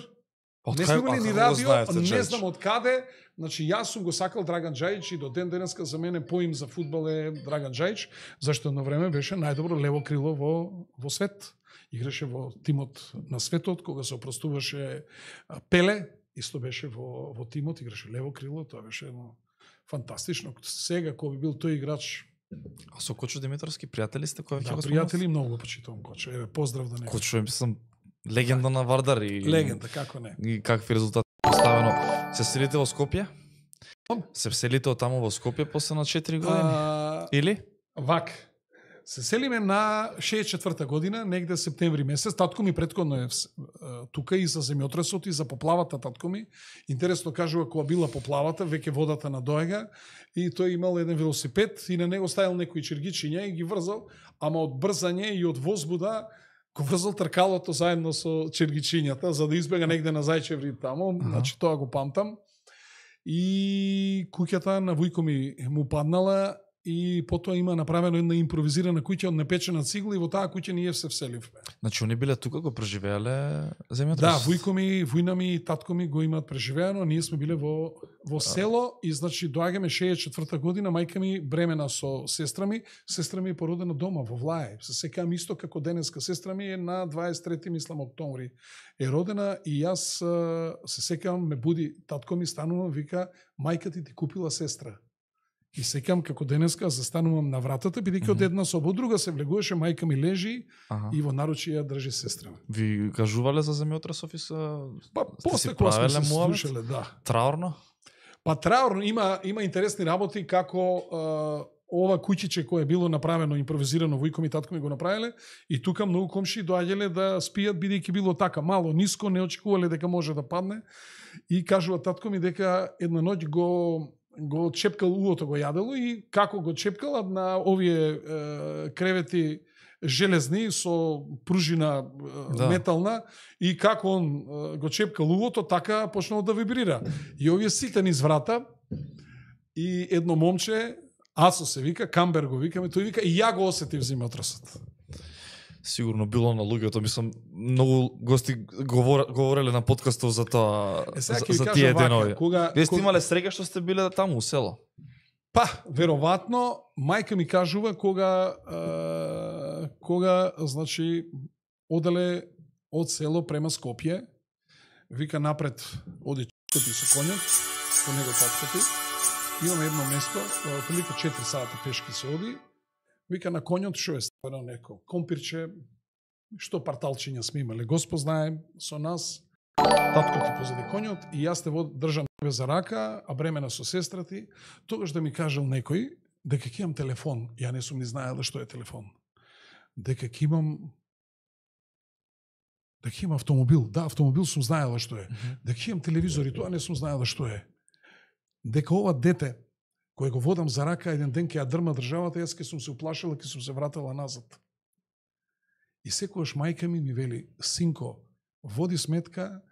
Од не кај- сме а имали ни како го радио, знаете, не Џајич? знам од каде. Значи јас сум го сакал Драган Џајич и до ден денеска за мене поим за фудбал е Драган Џајич, зашто едно време беше најдобро лево крило во во свет. Играше во тимот на светот кога се опростуваше а, Пеле, исто беше во во тимот, играше лево крило, тоа беше едно фантастично. Сега кој би бил тој играч, А со Кочо Димитровски пријатели сте кој да, ќе го пријатели, многу го почитувам Кочо. Еве поздрав до него. Кочо е мислам легенда на Вардар и Легенда, како не. и какви резултати поставено. Се селите во Скопје? Се селите од таму во Скопје после на четири години? А, Или? Вак. Се селиме на шеесет и четврта година, негде септември месец. Татко ми претходно е тука и за земјотресот и за поплавата, татко ми. Интересно кажува, кога била поплавата, веќе водата надоега и тој имал еден велосипед и на него ставил некои чергичиња и ги врзал, ама од брзање и од возбуда го врзал тркалото заедно со чергичињата, за да избега негде на Зајчеври таму. Uh-huh. Значи, тоа го памтам. И куќата на вујко ми му паднала и потоа има направено една импровизирана куќа од непечена цигла и во таа куќа ние се вселивме. Значи, они биле тука, го преживеале земјотрес? Да, вујко ми, вујна ми и татко ми го имаат преживеано, ние сме биле во, во село и значи доаѓаме шеесет и четврта година, мајка ми бремена со сестра ми, сестра ми е породена дома во Влај. Се секам исто како денеска, сестра ми е на дваесет и трети мислам октомври е родена и јас се секам ме буди татко ми, станувам, вика, мајка ти ти купила сестра. И секам како денеска застанувам на вратата, бидејќи mm-hmm. од една соба, од друга се влегуваше, мајка ми лежи ага. И во наручи ја држи сестра. Ви кажувале за земјотресов и се... Па, после кога сме се слушале, да. Траурно? Па траурно, има, има интересни работи како а, ова куќиче кое било направено, импровизирано, вујко ми татко ми го направиле, и тука многу комши доаѓале да спијат, бидејќи било така мало, ниско, не очекувале дека може да падне, и кажува татко ми дека една ноќ го го чепкал уото, го јадело и како го чепкала на овие е, кревети железни со пружина е, да. Метална и како он е, го чепкал уото, така почнало да вибрира. И овие сите низ врата и едно момче, Асо се вика, Камбер го викаме, тој вика и ја го осетив земјотресот. Сигурно било на луѓето, мислам, многу гости говор, говореле на подкастов за тоа, е, за, за тие денови. Вие сте кога... имале среќа што сте биле таму у село? Па, веројатно, мајка ми кажува кога е, кога, значи, оделе од село према Скопје, вика напред оди чкоти со конјот, по него таткоти, имаме едно место, прилика четири сата пешки се оди, вика на конјот што е ставено неко компирче, што парталчиња сме имале, Господ знае со нас, татко ти позади конјот и јас те држам тебе за рака, а бремена со сестра ти, тогаш да ми кажал некој дека ќе имам телефон, ја не сум ни знаела што е телефон, дека ќе имам дека ќе имам автомобил, да, автомобил сум знаела што е, дека ќе имам телевизор и тоа не сум знаела што е, дека ова дете кој го водам за рака, еден ден ќе ја дрма државата, јас ке сум се уплашила, ке сум се вратила назад. И секогаш мајка ми ми вели, синко, води сметка,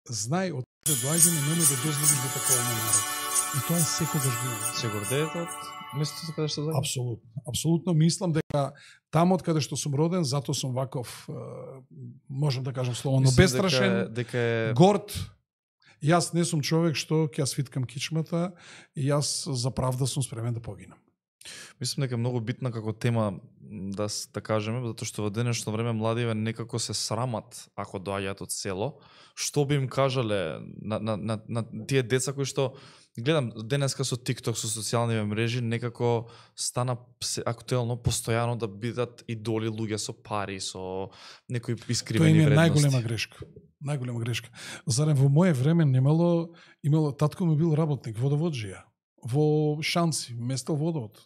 знај од каде доаѓаме, немој да дозволиш да такова не народ. И тоа е секогаш било. Се гордеете од местото каде што заедно? Апсолутно. Апсолутно мислам дека таму од каде што сум роден, затоа сум ваков, можам да кажам словно, бестрашен, дека, дека е... горд. Јас не сум човек што ќе ја свиткам кичмата и јас за правда сум спремен да погинам. Мислам дека е многу битна како тема да да кажеме, затоа што во денешно време младиве некако се срамат ако доаѓаат од село. Што би им кажале на, на, на, на тие деца кои што гледам денеска со TikTok, со социјални мрежи, некако стана актуелно постојано да бидат идоли луѓе со пари, со некои искривени вредности. Тоа е најголема грешка. Најголема грешка. Зарем во моје време немало, имало, татко ми бил работник, водоводжија, во Шанци, местел водовод.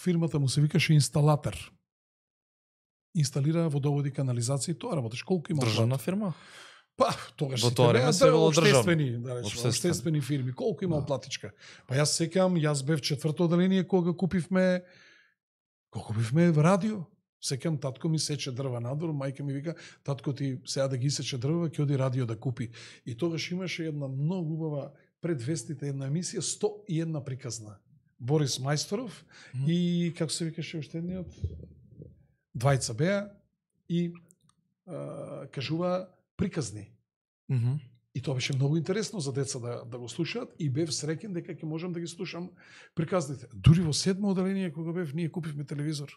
Фирмата му се викаше инсталатор. Инсталира водоводи, канализација и тоа работиш. Колку има државна фирма? Па, тогаш во тоа време се било обштествени, да речеме, обштествени фирми. Колку има платичка? Па јас секам, јас бев четврто оделение кога купивме кога купивме радио. Секам татко ми сече дрва надвор, мајка ми вика, татко ти сега да ги сече дрва, ќе оди радио да купи. И тогаш имаше една многу убава пред вестите една емисија, сто и една приказна. Борис Мајсторов mm -hmm. и како се викаше уште едниот? Двајца беа и а, кажува приказни. Mm -hmm. И тоа беше многу интересно за деца да, да го слушаат и бев среќен дека ќе можам да ги слушам приказните. Дури во седмо оделение кога бев, ние купивме телевизор.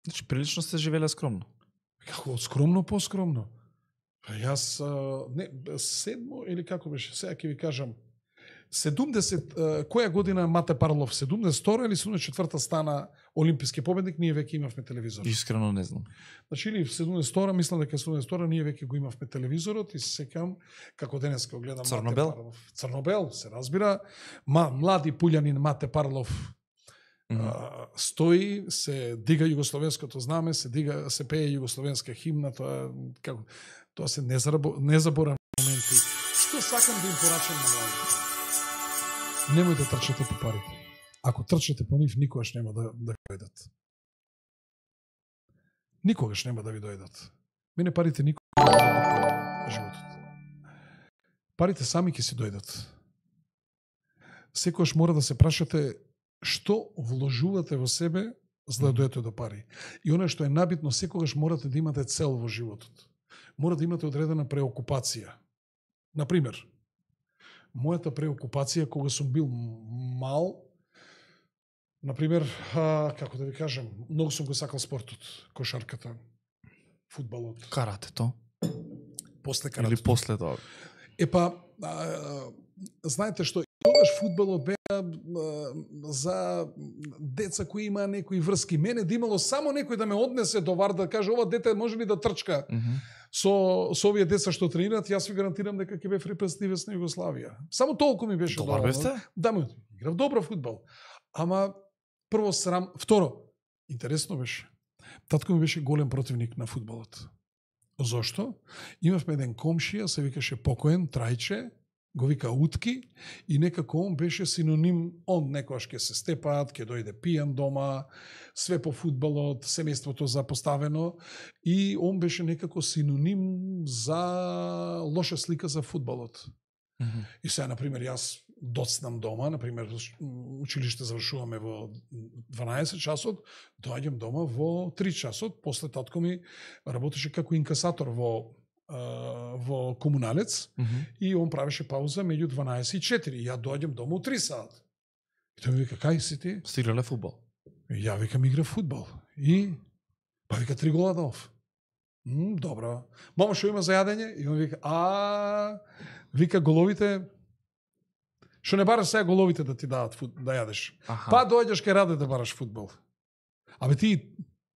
Значи, прилично сте живеле скромно. Како скромно, поскромно. Јас, не, седмо или како беше, сега ќе ви кажам, седумдесет, која година Мате Парлов, седумдесет и втора или седумдесет и четврта стана олимписки победник, ние веќе имавме телевизор. Искрено не знам. Значи, или седумдесет и втора, мислам дека седумдесет и втора, ние веќе го имавме телевизорот и се секам, како денес го гледам Црнобел? Мате Парлов. Црнобел, се разбира. Ма, млади пулјанин Мате Парлов Mm -hmm. а, стои, се дига југословенското знаме, се дига, се пее југословенска химна, тоа како тоа се незаборавни моменти. Што сакам да им порачам на младите? Немојте да трчате по парите. Ако трчате по нив, никогаш нема да да дојдат. Никогаш нема да ви дојдат. Мене парите никогаш не дојдат во животот. Парите сами ќе си дојдат. Секогаш мора да се прашате што вложувате во себе за да дојдете до пари. И оно што е набитно, секогаш морате да имате цел во животот. Мора да имате одредена преокупација. Например, мојата преокупација кога сум бил мал, например, а, како да ви кажам, многу сум го сакал спортот, кошарката, фудбалот, Каратето. после каратето. Или после тоа. Епа, а, а, знаете што, тогаш фудбалот беа а, за деца кои има некои врски. Мене да имало само некој да ме однесе до вар да каже ова дете може ли да трчка Mm -hmm. со, со овие деца што тренираат, јас ви гарантирам дека ќе бев репрезентативец на Југославија. Само толку ми беше Добар доволно. бевте? Да, ме играв добро фудбал. Ама прво срам, второ, интересно беше. Татко ми беше голем противник на фудбалот. Зошто? Имавме еден комшија, се викаше покоен, Трајче, го вика Утки, и некако он беше синоним, он некојаш ќе се степаат, ќе дојде пијан дома, све по фудбалот, семејството запоставено, и он беше некако синоним за лоша слика за фудбалот. Mm -hmm. И сега, например, јас доцнам дома, например, училиште завршуваме во дванаесет часот, доаѓам дома во три часот, после татко ми работеше како инкасатор во во комуналец, Mm -hmm. и он правеше пауза меѓу дванаесет и четири. Ја доаѓам дома у три сат. И тој ми вика, кај си ти? Стигнале фудбал. И ја викам, игра фудбал. И па вика, три гола дав. М, добро. Мама, што има за јадење? И он вика, а вика головите, што не бараш сега головите да ти дадат фут, да јадеш. Аха. Па доаѓаш кај Раде да бараш фудбал. Абе ти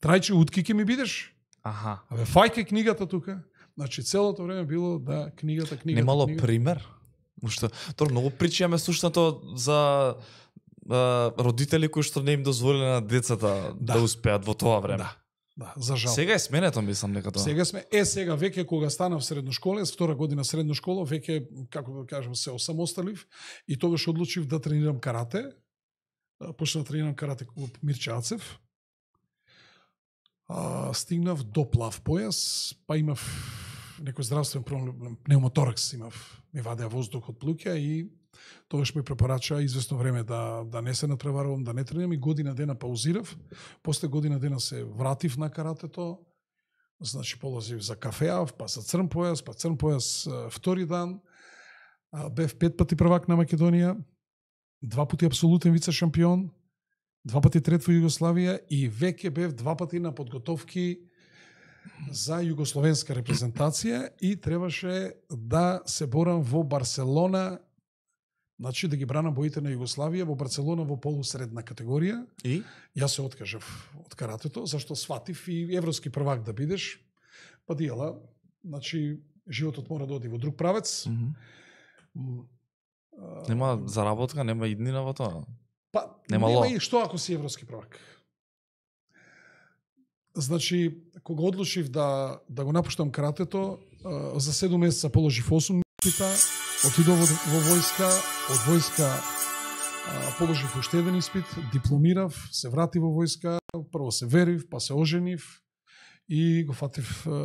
Трајче Утки ќе ми бидеш? Аха. Абе фајке книгата тука. Значи целото време било да книгата, книгата, Немало книгата. пример? Уште, тоа многу причи имаме слушнато за а, родители кои што не им дозволиле на децата да, Да. да успеат во тоа време. Да, да, за жал. Сега е сменето, мислам, нека тоа. Сега сме, е сега веќе кога станав средношколец, втора година средно школа, веќе, како да кажем, се осамосталив и тогаш одлучив да тренирам карате. Почнав да тренирам карате клуб Мирче Ацев. А, стигнав до плав појас, па имав некој здравствен проблем, пневмоторакс имав, ми вадеа воздух од плуќа и тогаш ми препорача известно време да, да не се натпреварувам, да не тренирам и година дена паузирав. После година дена се вратив на каратето, значи полазив за кафеав, па за црн појас, па црн појас втори дан. Бев пет пати првак на Македонија, два пати апсолутен вице шампион, два пати трет во Југославија и веќе бев два пати на подготовки за југословенска репрезентација и требаше да се борам во Барселона, значи да ги бранам боите на Југославија во Барселона во полусредна категорија. И? Јас се откажав од каратето, зашто сватив и европски првак да бидеш, па дијала, значи животот мора да оди во друг правец. Mm -hmm. Нема заработка, нема иднина во тоа. Па, Нема нема ло. и што ако си европски првак. Значи, кога одлучив да, да го напуштам каратето, за седум месеца положив осум испита, отидов во, во војска, од војска а, положив уште еден испит, дипломирав, се вратив во војска, прво се верив, па се оженив и го фатив а,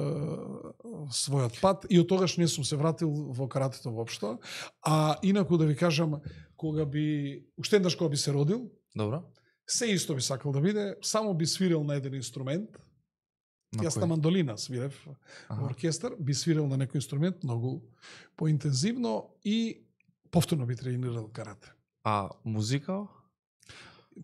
својот пат и од тогаш не сум се вратил во каратето воопшто. А инаку да ви кажам, кога би, уште еднаш кога би се родил, Добро. се исто би сакал да биде, само би свирил на еден инструмент. На Јас кој? на мандолина свирев Аха. во оркестар, би свирил на некој инструмент многу поинтензивно и повторно би тренирал карате. А музика?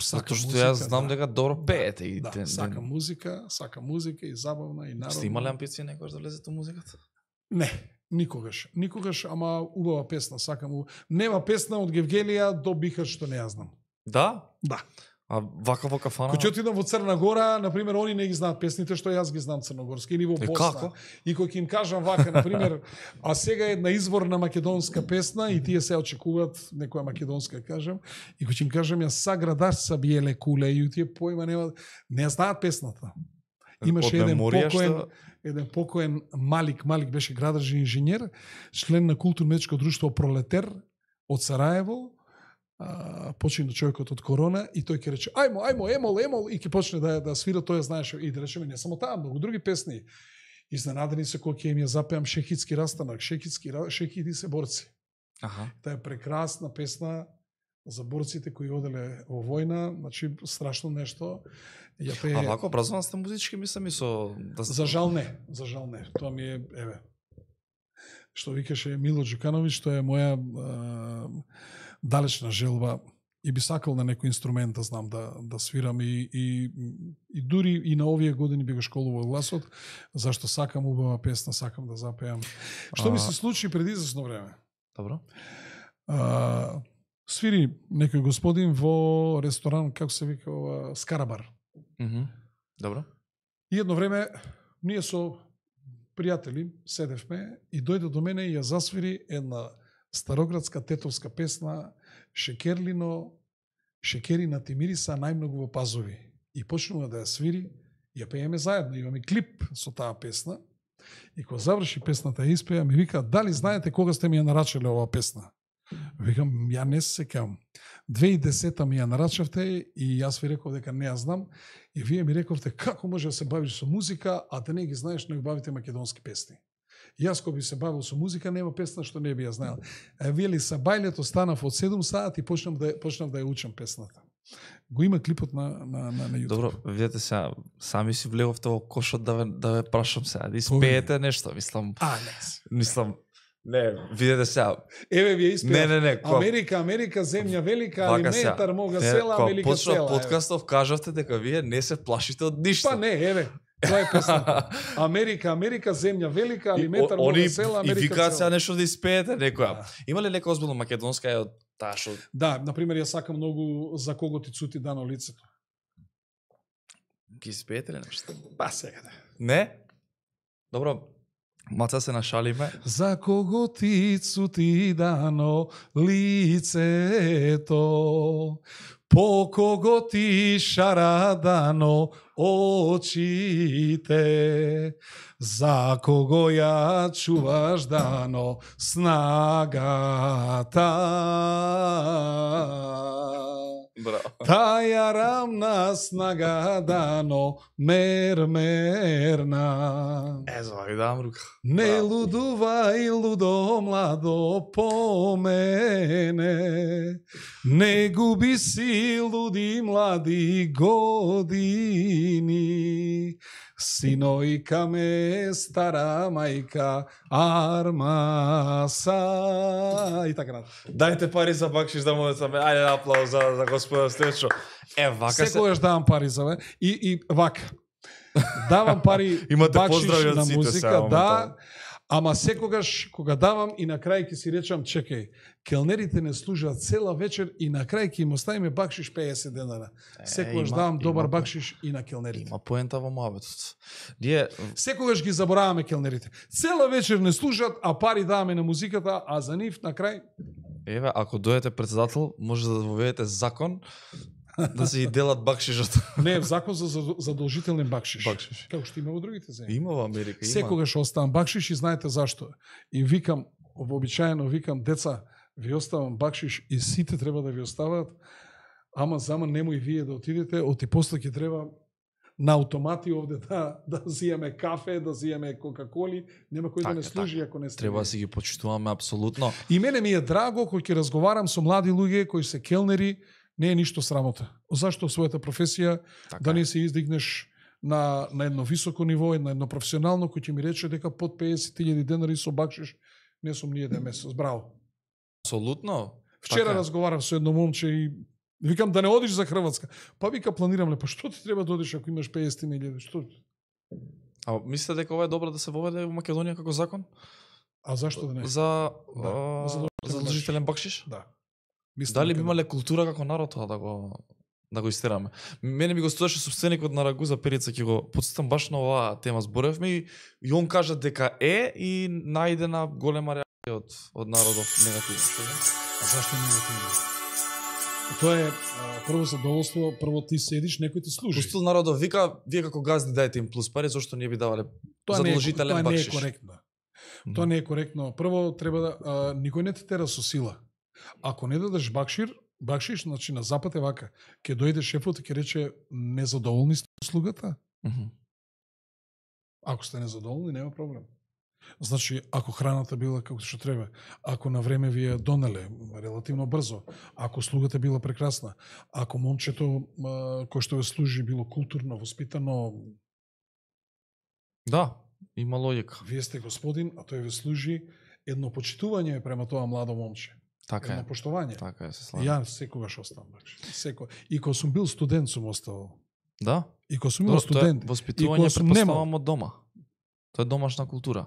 Сакам Затоа што музика, јас знам да. дека добро пеете и Да, ден- сакам ден- музика, сакам музика и забавна и народна. Сте имале амбиција некојаш да влезете во музиката? Не, никогаш. Никогаш, ама убава песна, сакам. у- Нема песна од Гевгелија до Бихач што не ја знам. Да? Да. А вака во кафана? Кој ќе отидам во Црна Гора, на пример, они не ги знаат песните што јас ги знам црногорски, или во Е, Босна. како? И кога ќе им кажам вака, на пример, а сега е една изворна македонска песна и тие се очекуваат некоја македонска, кажам, и кога ќе им кажам ја саградаш са биеле куле и тие поима нема, не знаат песната. Имаше Од еден меморија покоен, што- еден покоен Малик, Малик беше градарски инженер, член на културно-медичко друштво Пролетер од Сараево. А, почина човекот од корона и тој ќе рече ајмо, ајмо, емол, емол и ќе почне да да свира, тој знаеше и да речеме не само таа, многу други песни. Изненадени се кога ќе им ја запеам Шехитски растанак, Шехитски Шехити се борци. Аха. Таа е прекрасна песна за борците кои оделе во војна, значи страшно нешто. Ја пее... А вако образован сте музички, мислам и со... Да... За жал не, за жал не. Тоа ми е, еве, што викаше Мило Џукановиќ, тоа е моја а, далечна желба и би сакал на некој инструмент да знам да, да свирам и, и, и дури и на овие години би го школувал гласот, зашто сакам убава песна, сакам да запеам. Што А... ми се случи преди известно време? Добро. А, свири некој господин во ресторан, како се вика, ова, Скарабар. Мгм. Добро. И едно време ние со пријатели седевме и дојде до мене и ја засвири една староградска тетовска песна Шекерлино, Шекерина ти мириса најмногу во пазови. И почнува да ја свири, ја пееме заедно, имаме клип со таа песна. И кога заврши песната ја испеја, ми вика, дали знаете кога сте ми ја нарачале оваа песна? Викам, ја не се сеќавам. две тисячи и десета ми ја нарачавте и јас ви реков дека не ја знам. И вие ми рековте како може да се бавиш со музика, а да не ги знаеш, но ги бавите македонски песни. И јас кога би се бавил со музика, нема песна што не би ја знаел. А вие ли са бајлето станав од седум саат и почнав да почнав да ја учам песната. Го има клипот на на на, на YouTube. Добро, видете сега, сами си влеговте во кошот да ве, да ве прашам сега, да испеете нешто, мислам, А, не. мислам, не, видете сега. Еве вие испеав. Не, не, не, кога- Америка, Америка, земја велика, Вака алиментар, сега, мога не, села, кога Америка почнав села. еве. подкастов, кажавте дека вие не се плашите од ништо. Па не, еве. Тоа е песната. Америка, Америка, земја велика, И алиментар, о- мога они села, и Америка викаат сега села. нешто да испеете некоја. Да. Има ли нека озбилно македонска е од таа што Да, например, ја сакам многу За кого ти цути дано лицето. ги испеете ли нешто? Па сега да. Не? Добро, маца се нашалиме. За кого ти цути дано лицето, по кого ти шара дано очите, за кого ја чуваш дано снагата. Браво. Таја рамна снага дано мермерна. Е, за ви дам рука. Не Браво. лудувај лудо младо по мене, не губи си луди млади години, синојка ме стара мајка армаса и така натаму. Дајте пари за бакшиш да му саме. Ајде аплауз за, за господа Стечо. Е, вака се... Секогаш давам пари за ве и и вака. Давам пари Имате бакшиш поздрави од на сите музика, сега, да. моментално. Ама секогаш кога давам и на крај ќе си речам, чекај, келнерите не служат цела вечер и на крај ќе им оставиме бакшиш песет денара. Е, Секогаш има- давам добар има- бакшиш и на келнерите. Има поента во муабетот. Ние Секогаш ги забораваме келнерите. Цела вечер не служат, а пари даваме на музиката, а за нив на крај еве, ако дојдете председател, може да воведете закон да се и делат бакшишот. не е закон за зад- задолжителен бакшиш. Бакшиш. Како што има во другите земји. Има во Америка, има. Секогаш оставам бакшиш и знаете зашто. И викам, вообичаено викам, деца, ви оставам бакшиш и сите треба да ви остават, ама зама немој вие да отидете, оти после ќе треба на автомати овде да, да зијаме кафе, да зијаме кока-коли, нема кој Така, да не служи така. ако не сте. Треба да вие. си ги почитуваме апсолутно. И мене ми е драго кој ќе разговарам со млади луѓе кои се келнери, не е ништо срамота. Зашто својата професија Така. да не се издигнеш на, на едно високо ниво, на едно професионално, кој ќе ми рече дека под песет илјади денари со бакшиш не сум ни еден месец. Браво. Апсолутно. Вчера Така е. разговарав со едно момче и викам да не одиш за Хрватска. Па вика планирам ле, па што ти треба да одиш ако имаш песет илјади? Што? А мислите дека ова е добро да се воведе во Македонија како закон? А зашто да не? За Да, а, за задолжителен задолжителен бакшиш? Да. Мислам Дали дека би да. имале култура како народ тоа да го да го истераме. Мене ми го стоеше собственикот на Рагуза Перица, ќе го потсетам баш на оваа тема зборевме и, и он кажа дека е и најдена голема реакција од од народов негативно. А зашто негативно? Тоа е а, прво задоволство, прво ти седиш, некој ти служи. Пустил народов вика, вие како газди дајте им плюс пари, зошто не би давале задолжителен бакшиш? Тоа не е коректно. Тоа не е коректно. Прво треба да а, никој не те тера со сила. Ако не дадеш бакшир, бакшиш, значи на запад е вака. Ќе дојде шефот и ќе рече незадоволни сте услугата. Mm -hmm. Ако сте незадоволни, нема проблем. Значи, ако храната била како што треба, ако на време ви ја донеле релативно брзо, ако услугата била прекрасна, ако момчето а, кој што ве служи било културно, воспитано, да, има логика. Вие сте господин, а тој ве служи, едно почитување према тоа младо момче. Така едно е. поштовање. Така е, се славам. Ја секогаш оставам, бакши. Секо. И кога сум бил студент сум оставал. Да? И кога сум бил студент. Воспитување претпоставам од дома. Тоа е домашна култура.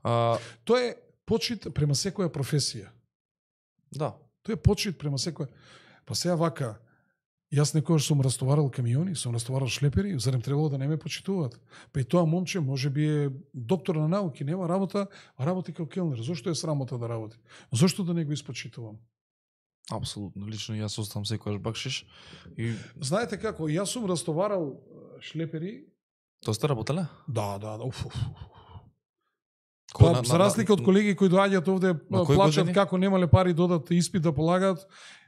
А... Тоа е почит према секоја професија. Да. Тоа е почит према секоја. Па сега вака, јас некогаш сум растоварал камиони, сум растоварал шлепери, зарем требало да не ме почитуваат. Па и тоа момче може би е доктор на науки, нема работа, а работи како келнер. Зошто е срамота да работи? Зошто да не го испочитувам? Апсолутно. Лично јас оставам секојаш бакшиш. И... Знаете како, јас сум растоварал шлепери. Тоа сте работеле? Да, да, да. Уф, уф, уф. Кој, Па, на, за разлика од колеги кои доаѓаат овде, плачат години? како немале пари додат испит да полагаат,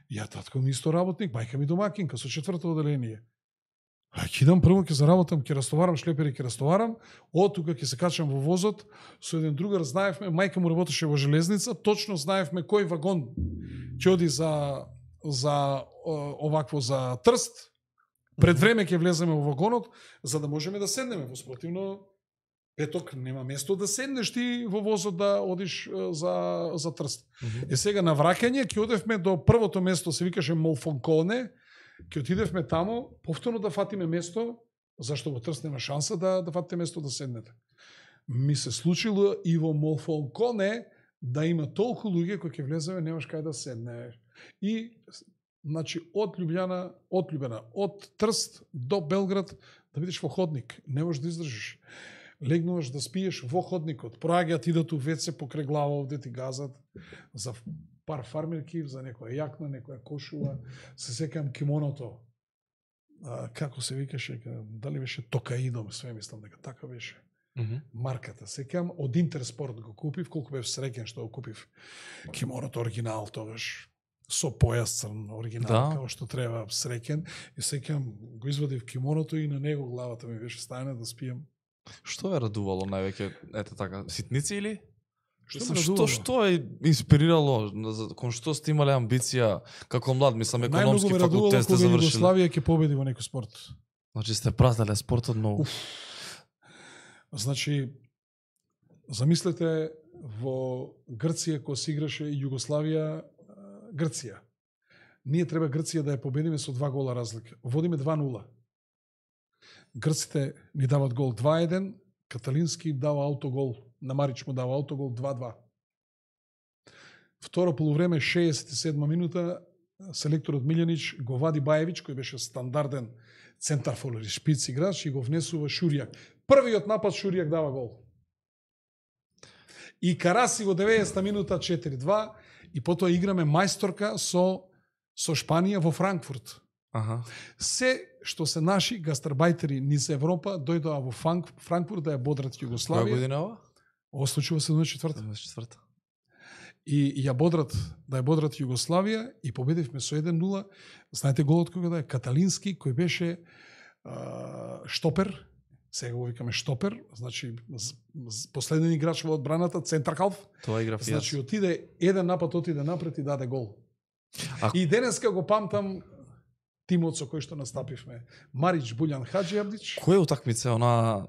ја татко ми исто работник, мајка ми домакинка со четврто оделение. А ќе идам прво ќе заработам, ќе растоварам шлепери, ќе растоварам, од тука ќе се качам во возот, со еден другар знаевме, мајка му работеше во железница, точно знаевме кој вагон ќе оди за за овакво за Трст. Пред време ќе влеземе во вагонот за да можеме да седнеме, во спротивно петок нема место да седнеш ти во возот да одиш за за Трст. Mm -hmm. Е сега на враќање ќе одевме до првото место, се викаше Молфонконе, ќе отидевме тамо, повторно да фатиме место, зашто во Трст нема шанса да да фатите место да седнете. Ми се случило и во Молфонконе да има толку луѓе кои ќе влеземе, немаш кај да седнеш. И значи од Љубљана, од Љубљана, од Трст до Белград да бидеш во ходник, не можеш да издржиш. Легнуваш да спиеш во ходникот, проаѓаат идат у веце покрај глава овде ти газат за пар фармерки, за некоја јакна, некоја кошула, се секам кимоното. А, како се викаше, дали беше Токаидом, све мислам дека така беше. Mm -hmm. Марката, секам од Интерспорт го купив, колку бев среќен што го купив кимоното оригинал тогаш. Со појас црн, оригинал, да. Како што треба, среќен. И секам го извадив кимоното и на него главата ми беше стајна да спијам. Што ве радувало највеќе, ете така, ситници или? Што, што, што, што е инспирирало, кон што сте имале амбиција како млад, мислам, економски факултет сте завршили? Југославија ќе победи во некој спорт. Значи сте прателе спортот многу. Уф. Значи, замислете во Грција кога се играше Југославија Грција. Ние треба Грција да ја победиме со два гола разлика. Водиме два нула. Грците ни дават гол два еден, Каталински дава аутогол, на Марич му дава аутогол два два. Второ полувреме, шеесет и седма минута, селекторот Милјанич го вади Баевич, кој беше стандарден центарфор или шпиц играч, и го внесува Шуријак. Првиот напад Шуријак дава гол. И Караси во деветдесета минута четири два, и потоа играме мајсторка со, со Шпанија во Франкфурт. Аха. Се што се наши гастарбајтери низ Европа дојдоа во Франкфурт да ја бодрат Југославија. Која година ова? Ова случува седумдесет и четврта. седумдесет и четврта. И ја бодрат, да ја бодрат Југославија и победивме со еден нула. Знаете голот кога да е? Каталински, кој беше а, штопер, сега го викаме штопер, значи последен играч во одбраната, центар халф. Тоа игра фијас. Значи отиде еден напад, отиде напред и даде гол. А... И денеска го памтам тимот со кој што настапивме. Марич, Буљан, Хаджи Абдич. Кој утакмица она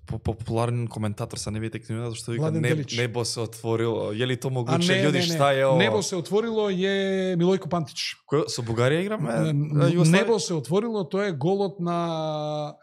популарен коментатор са не видите книгата зашто вика не, небо се отворило. Е ли то могуче људи шта е ова? Небо се отворило е Милојко Пантич. Кој со Бугарија играме? Небо се отворило, тоа е голот на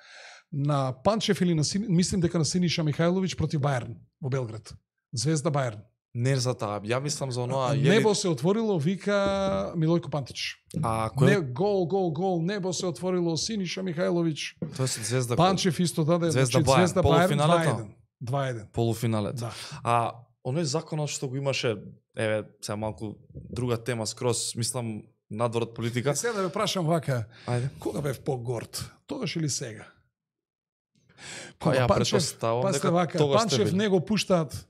на Панчев или на Сини, мислим дека на Синиша Михајловиќ против Бајерн во Белград. Звезда Бајерн. Не за таа, ја мислам за оноа... Небо се отворило, вика Милојко Пантич. А, кој... Не, гол, гол, гол, небо се отворило, Синиша Михајлович. Тоа е Звезда... Панчев исто даде, Звезда значи, Бајан, Звезда Бајан, полуфиналето. два еден. Полуфиналет. Да. А, оној законот што го имаше, еве, сега малку друга тема скроз, мислам, надвор од политика. Е, сега да ве прашам вака, Ајде. кога бев по-горд? Тогаш или сега? Па ја Панчев, претпоставам пасте дека вака, тогаш сте Панчев били. не го пуштаат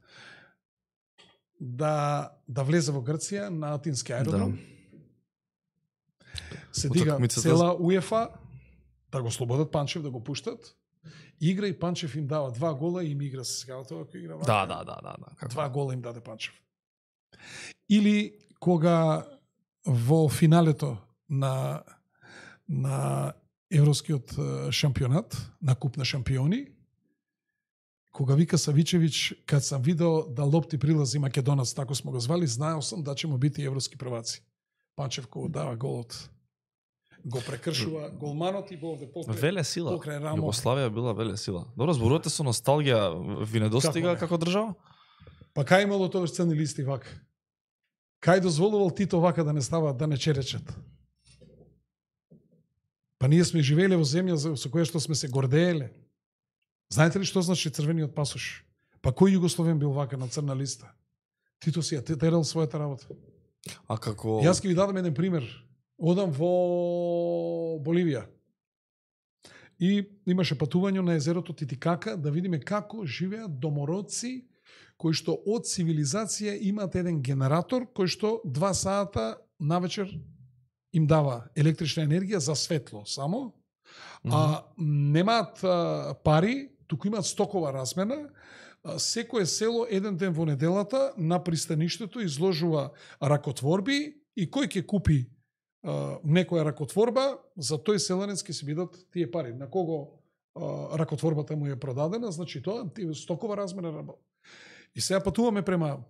да да влезе во Грција на Атински аеродром. Да. Се дига Утакмицата- цела УЕФА да го слободат Панчев, да го пуштат. Игра и Панчев им дава два гола и им игра се сега тоа кој игра. Да, да, да, да, да. Како? Два гола им даде Панчев. Или кога во финалето на на Европскиот е, шампионат, на Куп на шампиони, кога вика Савичевич, кад сам видел да лопти прилази Македонац, тако смо го звали, знаел сам да ќе му бити европски прваци. Панчев кога дава голот, го прекршува голманот и го овде покрај. Веле сила. покрај рамо. Југославија била веле сила. Добро, зборувате со носталгија, ви недостига Како како не? држава? Па кај имало тогаш црни листи вака? Кај дозволувал Тито вака да не става, да не черечат? Па ние сме живееле во земја за- со која што сме се гордееле. Знаете ли што значи црвениот пасош? Па кој југословен бил вака на црна листа? Тито си ја терал својата работа. А како... Јас ќе ви дадам еден пример. Одам во Боливија. И имаше патување на езерото Титикака да видиме како живеат домородци кои што од цивилизација имаат еден генератор кој што два сата навечер им дава електрична енергија за светло само, а немаат а, пари, туку имаат стокова размена. А, секое село еден ден во неделата на пристаништето изложува ракотворби и кој ќе купи а, некоја ракотворба, за тој селенец ќе се бидат тие пари. На кого а, ракотворбата му е продадена, значи тоа тие стокова размена работа. И сега патуваме према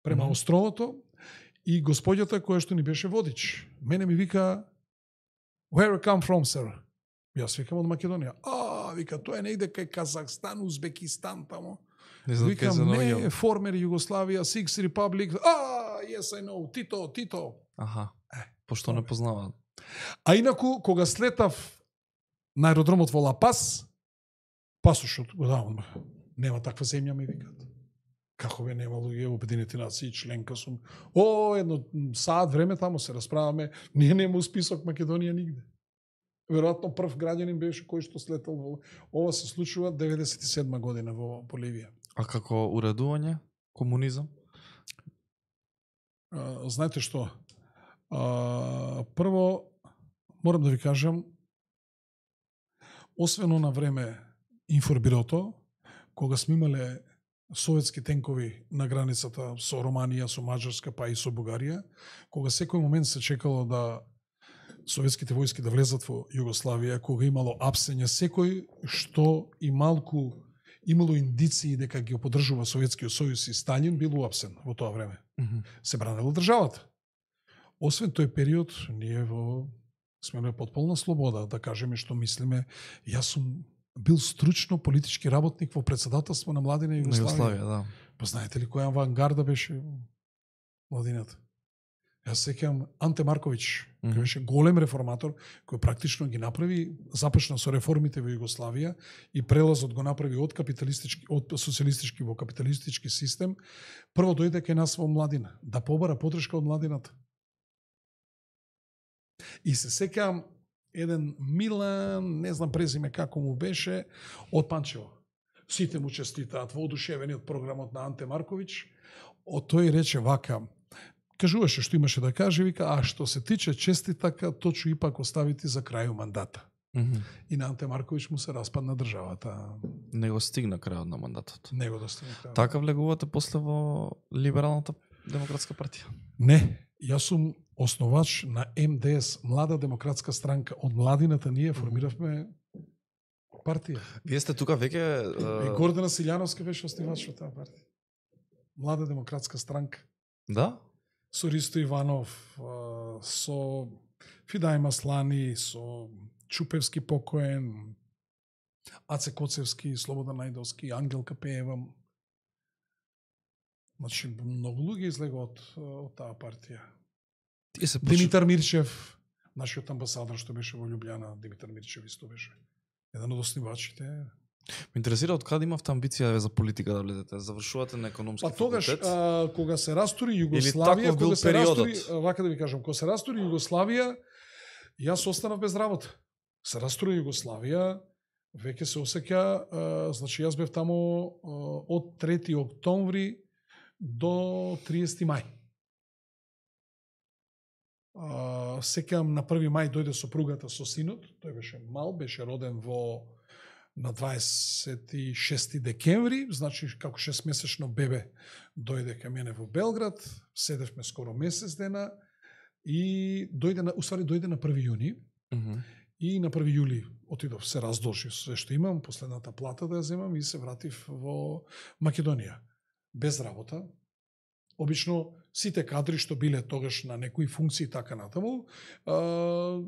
према Мгм. островото и господјата која што ни беше водич, мене ми вика Where you come from, sir? Јас викам од Македонија. А, вика, тоа е негде кај Казахстан, Узбекистан тамо. Не знам кај Викам, се не, наоѓам. формер Југославија, Sixth Republic. А, yes, I know, Тито, Тито. Аха. Пошто не познаваат. А инаку, кога слетав на аеродромот во Ла Пас, пасошот го давам. Нема таква земја, ми викат. Како бе нема луѓе, Обединети нации, членка сум. О, едно саат време тамо се расправаме. Ние нема список Македонија нигде. Веројатно прв граѓанин беше кој што слетал во... Ова се случува деветдесет и седма година во Боливија. А како уредување? Комунизам? А, знаете што? А, прво, морам да ви кажам, освен на време информбирото, кога сме имале советски тенкови на границата со Романија, со Маđарска, па и со Бугарија, кога секој момент се чекало да советските војски да влезат во Југославија, кога имало апсење, секој што и малку имало индиции дека ги поддржува Советскиот сојуз и Сталин бил уапсен во тоа време. Се бранела државата. Освен тој период, ние во сме на потполна слобода да кажеме што мислиме. Јас сум бил стручно политички работник во председателство на Младина На Југославија. Југославија, да. Па знаете ли која авангарда беше Младината? Јас сеќавам Анте Марковиќ, кој Мгм. беше голем реформатор, кој практично ги направи, започна со реформите во Југославија и прелазот го направи од капиталистички, од социјалистички во капиталистички систем. Прво дојде кај нас во Младина, да побара подршка од Младината. И се сеќавам еден Милан, не знам презиме како му беше, од Панчево. Сите му честитаат, воодушевени од програмот на Анте Марковиќ. Од тој рече вака, кажуваше што имаше да каже, вика, а што се тиче честитака, точу ипак оставити за крају мандата. Мгм. И на Анте Марковиќ му се распадна државата. Не го стигна крајот на мандатот. Не го достигна крајот. Така влегувате после во Либералната демократска партија? Не, јас сум основач на М Д С, Млада демократска странка. Од младината ние формиравме партија. Вие сте тука веќе... И е, Гордана Силјановска беше основач во таа партија. Млада демократска странка. Да? Со Ристо Иванов, а, со Фидај Маслани, со Чупевски покоен, Аце Коцевски, Слободан Најдовски, Ангелка Пеева. Значи, многу луѓе излегува од, од таа партија. Тие се почу... Димитар Мирчев, нашиот амбасадор што беше во Љубљана, Димитар Мирчев исто беше еден од основачите. Ме интересира од каде имавте амбиција за политика да влезете? Завршувате на економски Па тогаш, факултет? а, кога се растури Југославија, таков бил кога се периодот? растури, вака да ви кажам, кога се растури Југославија, јас останав без работа. Се растури Југославија, веќе се осеќа, а, значи јас бев тамо а, од трети октомври до триесети мај. Uh, секам на први мај дојде сопругата со синот, тој беше мал, беше роден во на дваесет и шести декември, значи како шестмесечно бебе дојде кај мене во Белград, седевме скоро месец дена и дојде на, уствари дојде на први јуни Mm -hmm. и на први јули отидов, се раздолжив све што имам, последната плата да ја земам и се вратив во Македонија. Без работа. Обично сите кадри што биле тогаш на некои функции така натаму, а,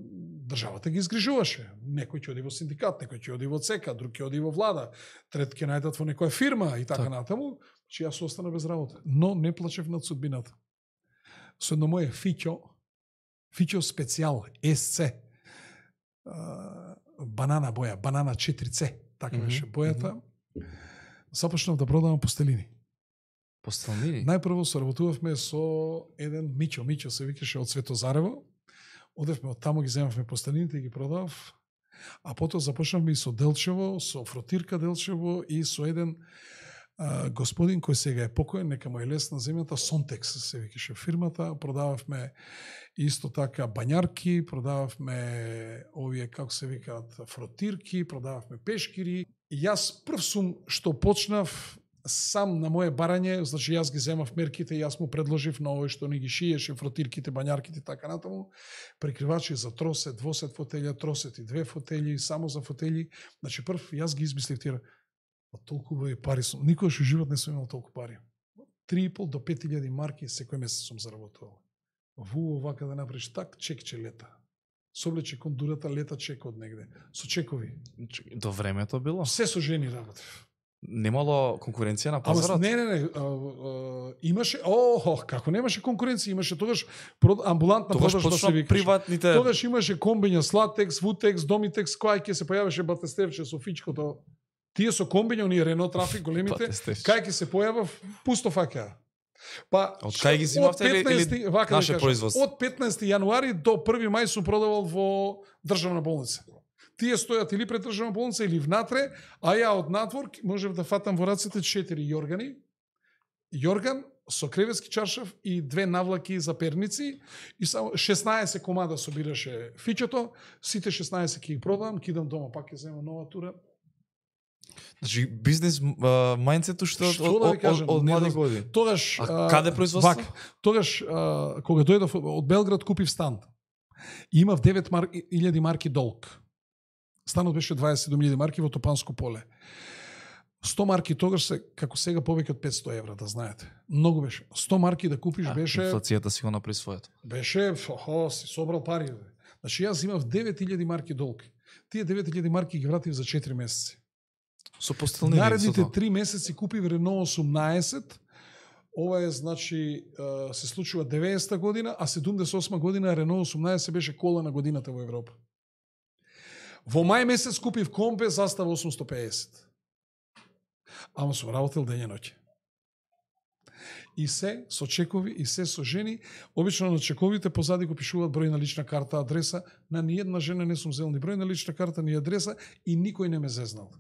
државата ги изгрижуваше. Некој ќе оди во синдикат, некој ќе оди во ЦЕКА, друг ќе оди во влада, трет ќе најдат во некоја фирма и така так. натаму, че јас остана без работа. Но не плачев над судбината. Со едно моје фиќо, фиќо специјал, ес це, а, банана боја, банана четири це, така Mm -hmm. беше бојата, започнав да продавам постелини. Постелнини? Најпрво соработувавме со еден Мичо, Мичо се викаше од Светозарево. Одевме од таму, ги земавме постелините и ги продав. А потоа започнавме и со Делчево, со Фротирка Делчево и со еден а, господин кој сега е покоен, нека му е лес на земјата, Сонтекс се викаше фирмата. Продававме исто така бањарки, продававме овие, како се викаат, фротирки, продававме пешкири. И јас прв сум што почнав сам на моje барање, значи јас ги земав мерките и јас му предложив на овој што ни ги шиеше, фротирките, бањарките, така натаму, прикривачи за тросет, двосет фотелја, тросет и две фотели, само за фотели. Значи прв јас ги измислив тие, а толку и пари сум, никогаш во живот не сум имал толку пари. три и пол до пет илјади марки секој месец сум заработувал. Во овака да направиш так, чекче лета. Соблече кондурата, лета чек од негде. Со чекови. До времето било? Се со жени работев. Немало конкуренција на Ама пазарот? не, не, не, а, а, имаше, о, како немаше конкуренција, имаше тогаш прод, амбулантна Тогаш продажба почна се викаше. приватните... Тогаш имаше комбиња, Слатекс, Вутекс, Домитекс, кој ќе се појавеше Батестевче со фичкото. Тие со комбиња, оние Рено Трафик, големите, Батестевче. кај ќе се појавав, пусто фаќа. Па, Од кај ги зимавте или, или вака да наше кажам, производство? од петнаесети јануари до први мај сум продавал во државна болница. Тие стојат или пред државна болница или внатре, а ја од надвор можев да фатам во рацете четири јоргани. Јорган со креветски чаршав и две навлаки за перници и само шеснаесет комада собираше фичото, сите шеснаесет ќе ги продавам, кидам дома, пак ќе земам нова тура. Значи бизнес мајндсетот што од, Што да ви од, кажам, од, од не млади да- години. Тогаш А каде производство? Вак, тогаш а, кога дојдов од Белград купив стан. И имав девет мар... илјади марки долг. Станот беше дваесет и седум илјади марки во Топанско поле. сто марки тогаш се како сега повеќе од петсто евра, да знаете. Многу беше. сто марки да купиш А, беше инфлацијата си го направи своето. беше охо, си собрал пари. Бе. Значи јас имав девет илјади марки долг. Тие девет илјади марки ги вратив за четири месеци. Со постелнини. Наредните со тоа. три месеци купив Рено осумнаесет. Ова е, значи, а, се случува деветдесета година, а седумдесет и осма година Рено осумнаесет беше кола на годината во Европа. Во мај месец купив Компе застава осумстотини и педесет. Ама сум работел дење ноќе. И се со чекови, и се со жени. Обично на чековите позади го пишуваат број на лична карта, адреса. На ниједна жена не сум зел ни број на лична карта, ни адреса и никој не ме зезнал.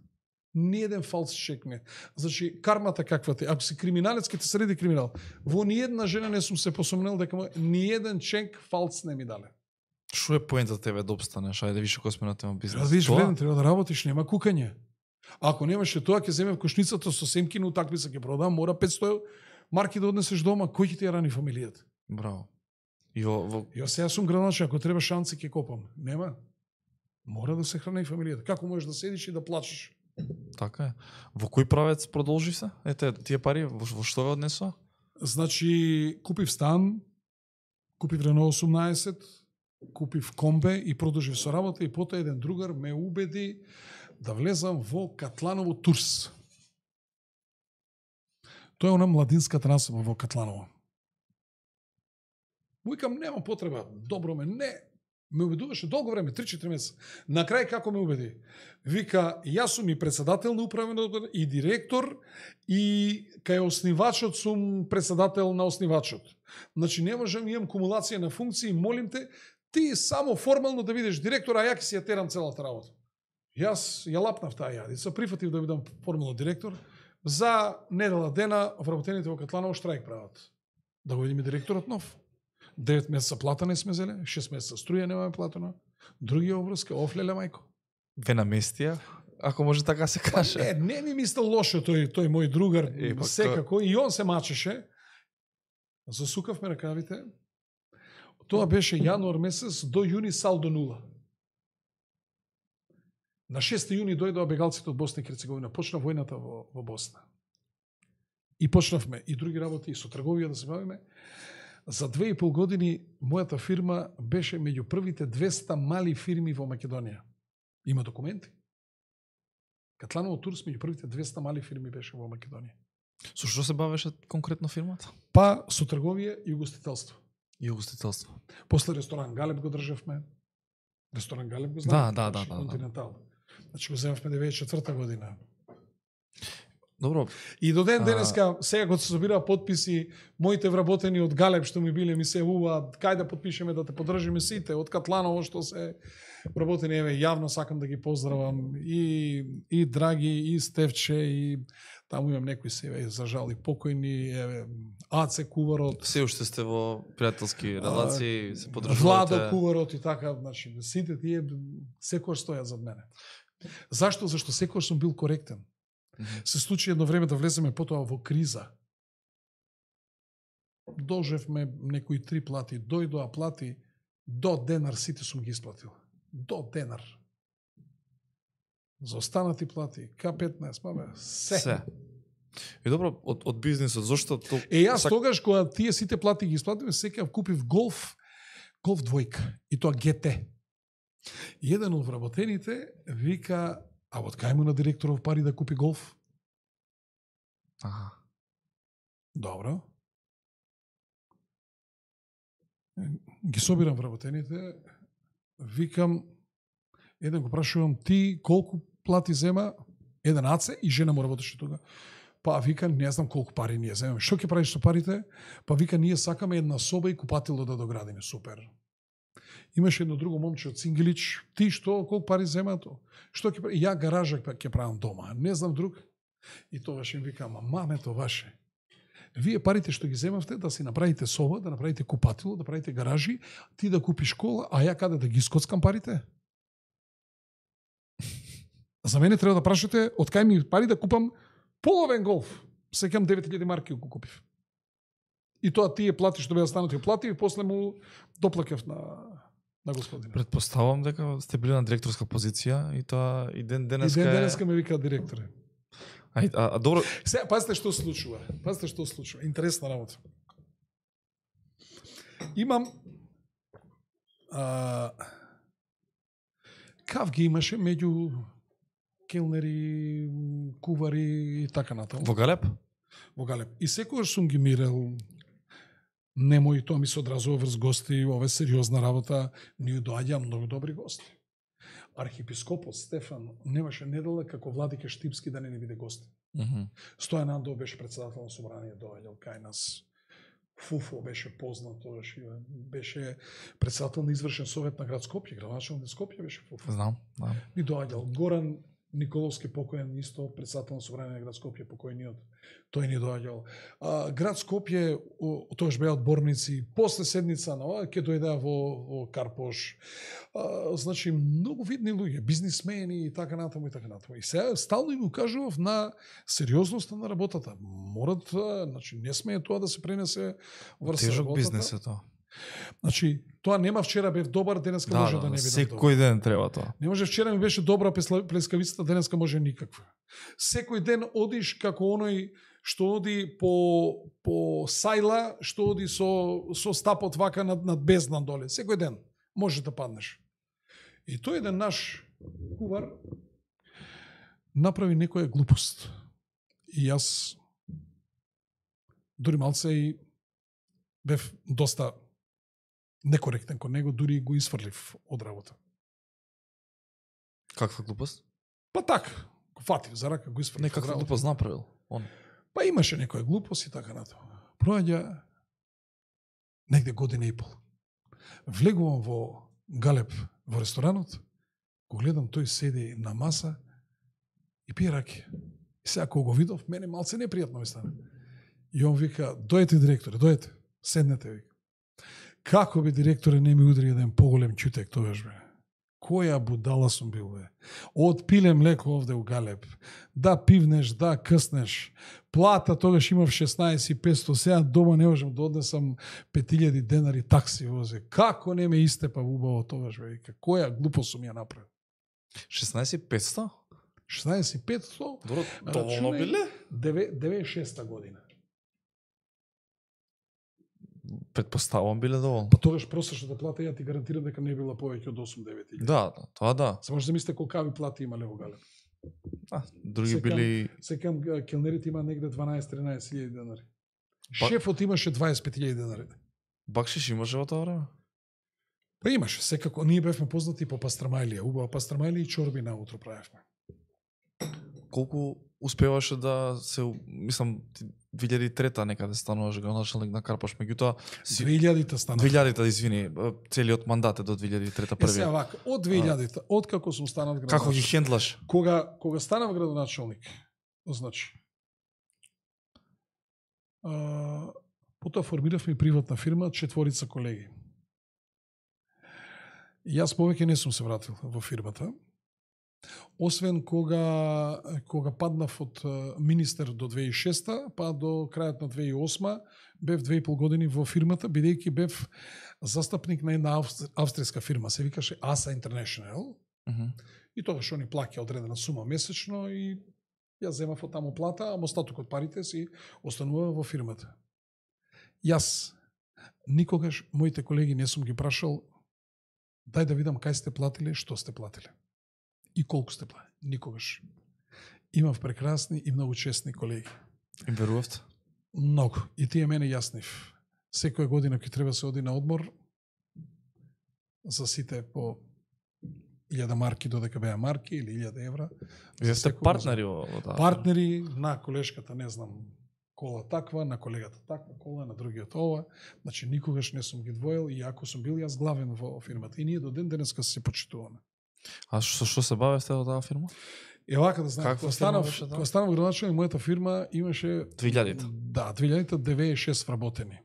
Ниједен фалс чек не. Значи, кармата каква те. Ако си криминалец, ке те среди криминал. Во ниједна жена не сум се посомнел дека ниједен чек фалс не ми дале. Што е поентата тебе да обстанеш? Ајде више кој сме на тема бизнес. Треба да видиш Тоа? вреден, треба да работиш, нема кукање. Ако немаше тоа, ќе земе кошницата со семкина утакмица ќе продам, мора петсто марки да однесеш дома, кој ќе ти ја рани фамилијата? Браво. И во, во... Јас сега сум граначен, ако треба шанци ќе копам. Нема. Мора да се храни фамилијата. Како можеш да седиш и да плачеш? Така е. Во кој правец продолжи се? Ете, тие пари, во, во што ве однесоа? Значи, купив стан, купив Рено осумнаесет, купив Комбе и продолжив со работа и потоа еден другар ме убеди да влезам во Катланово Турс. Тоа е она младинската насоба во Катланово. Викам, нема потреба, добро ме, не. Ме убедуваше долго време, три-четири месеца. На крај како ме убеди? Вика, јас сум и председател на управен одбор, и директор, и кај основачот сум председател на основачот. Значи, не можам, имам кумулација на функции, молим те, ти само формално да бидеш директор, а ја ќе си ја терам целата работа. Јас ја лапнав таа јадица, прифатив да бидам формално директор, за недела дена вработените во Катланово штрајк прават. Да го видиме директорот нов. девет месеца плата не сме зеле, шест месеца струја немаме платена, други обврска, офлеле мајко. Ве наместија, ако може така се каже. Не, не ми мислел лошо тој, тој мој другар, Е, секако, и он се мачеше. Засукавме ракавите. Тоа беше јануар месец до јуни салдо нула. На шести јуни дојдоа бегалците од Босна и Херцеговина, почна војната во, во Босна. И почнавме и други работи, и со трговија да се бавиме. За две и пол години мојата фирма беше меѓу првите двеста мали фирми во Македонија. Има документи. Катланово Турс меѓу првите двеста мали фирми беше во Македонија. Со што се бавеше конкретно фирмата? Па со трговија и угостителство. И угостителство. После ресторан Галеб го државме. Ресторан Галеб го Да, знаете? да, да, да, Континентал. Значи го земавме деветдесет и четврта година. Добро. И до ден А... денеска, сега кога се собираа подписи, моите вработени од Галеб што ми биле ми се јавуваат, кај да подпишеме да те поддржиме сите, од Катланово што се вработени, еве, јавно сакам да ги поздравам и и Драги, и Стевче, и таму имам некои се, еве, за жал и покојни, еве, Аце Куварот, Се уште сте во пријателски релации, се Владо поддржувате. Куварот и така, значи, сите тие секој стојат зад мене. Зашто? Зашто секој сум бил коректен. Се случи едно време да влеземе потоа во криза. Должевме некои три плати, дојдоа плати, до денар сите сум ги исплатил. До денар. За останати плати, К петнаесет, мабе, се. Се. И добро, од, од бизнисот, зошто то... Е, јас Сак- тогаш, кога тие сите плати ги исплатиме, секај купив голф, голф двојка, и тоа Ге Те. И еден од вработените вика, а од кај му на директоров пари да купи голф? Аха. Добро. Ги собирам вработените, викам, еден го прашувам, ти колку плати зема? Еден Аце и жена му работеше тука. Па вика, не знам колку пари ние земаме. Што ќе правиш со парите? Па вика, ние сакаме една соба и купатило да доградиме. Супер. Имаше едно друго момче од Сингелич. Ти што, колку пари земато? Што ќе прави? Ја гаража ќе правам дома. Не знам друг. И тогаш им викам, а мамето ваше. Вие парите што ги земавте да си направите соба, да направите купатило, да правите гаражи, ти да купиш кола, а ја каде да ги скоцкам парите? За мене треба да прашате од кај ми пари да купам половен голф. Секам девет илјади марки го купив. И тоа тие плати што беа станати плати и после му доплакав на на господина. Предпоставувам дека сте били на директорска позиција и тоа и ден И денеска ден е... денеска ме вика директор. А, а, а добро, Се, пазите што се случува. Пазите што се случува. Интересна работа. Имам а, кав ги имаше меѓу келнери, кувари и така натаму. во Галеб? Во Галеб. И секогаш сум ги мирел. Немој, тоа ми се одразува врз гости, ова е сериозна работа, ни доаѓа многу добри гости. Архиепископот Стефан немаше недела како владика Штипски да не ни биде гост. Мгм. Стојан Андов беше председател на собрание, доаѓал кај нас. Фуфо беше познат тогаш, беше председател на извршен совет на град Скопје, градоначелник на Скопје беше Фуфо. Знам, да. И доаѓал Горан Николовски покоен, исто председател на собрание на град Скопје, покојниот. Тој ни доаѓал. А, град Скопје, тоаш беа одборници, после седница на ова, ќе дојдеа во, во Карпош. А, значи, многу видни луѓе, бизнисмени и така натаму и така натаму. И сега стално им укажував на сериозноста на работата. Морат, значи, не смее тоа да се пренесе врз Тежок работата. бизнес е тоа. Значи, тоа нема вчера бев добар, денеска Да, може да, да, не биде добар. секој ден треба тоа. Не може вчера ми беше добра песла- плескавицата, денеска може никаква. Секој ден одиш како оној што оди по по сајла, што оди со со стапот вака над над бездна доле. Секој ден може да паднеш. И тој еден наш кувар направи некоја глупост. И јас дури малце и бев доста некоректен кон него, дури го исфрлив од работа. Каква глупост? Па така, го фатив за рака, го исфрлив. Не, каква глупост направил? Он. Па имаше некоја глупост и така нато. Проаѓа негде година и пол. Влегувам во Галеб, во ресторанот, го гледам, тој седи на маса и пие раки. И сега кога го видов, мене малце непријатно ми стана. И он вика, дојете директоре, дојете, седнете, вика. Како би директоре не ми удри еден поголем чутек тогаш, бе? Која будала сум бил, бе? Од пиле млеко овде у Галеб. Да пивнеш, да къснеш. Плата тогаш имав шеснаесет и петстотини, сега дома не можам да однесам пет илјади денари такси возе. Како не ме истепа убаво тогаш, бе? Која глупост сум ја направил? шеснаесет и петстотини? шеснаесет и петстотини? Добро, доволно биле? деветдесет и шеста година. Предпоставам биле доволно. Па тогаш просечната плата, ја ти гарантирам дека не била повеќе од осум-девет илјади. Да, да, тоа да. Се може да мислите колкави плати имале во Галеб. А, други Секам- били... Секам келнерите има негде дванаесет-тринаесет илјади денари. Па- Шефот имаше дваесет и пет илјади денари. Бакшиш имаше во тоа време? Па имаше, секако. Ние бевме познати по пастрамајлија. Убава пастрамајлија и чорби наутро правевме. Колку успеваше да се, мислам, две илјади и трета некаде стануваш градоначалник на Карпаш, меѓутоа си две илјадите стана. две илјадите, извини, целиот мандат е до две илјади и трета Е, сега првиот. вака, од две илјадите, од како сум станал Како ги градоначалник. хендлаш? Кога кога станав градоначалник, значи а, потоа формиравме и приватна фирма, четворица колеги. И јас повеќе не сум се вратил во фирмата. Освен кога кога паднав од а, министер до две илјади и шеста, па до крајот на две илјади и осма, бев две и пол години во фирмата, бидејќи бев застапник на една австр- австријска фирма, се викаше аса International. Мгм. И тогаш они плаќа одредена сума месечно и јас земав од таму плата, а остаток од парите си останува во фирмата. Јас никогаш моите колеги не сум ги прашал дај да видам кај сте платиле, што сте платиле и колку сте платили. Никогаш. Имав прекрасни и многу честни колеги. Им верувавте? Многу. И тие мене јаснив. Секоја година ќе треба се оди на одмор за сите по илјада марки, додека беа марки, или илјада евра. Вие За сте секој партнери во во таа. Партнери на колешката, не знам, кола таква, на колегата таква кола, на другиот ова. Значи, никогаш не сум ги двоил и ако сум бил јас главен во фирмата. И ние до ден денеска се почитуваме. А што што се бавевте во таа фирма? Е, вака да знаете, Каква кога фирма станав, беше таа? кога станав градоначалник, мојата фирма имаше... две илјадите. Да, две илјадите деветдесет и шест вработени.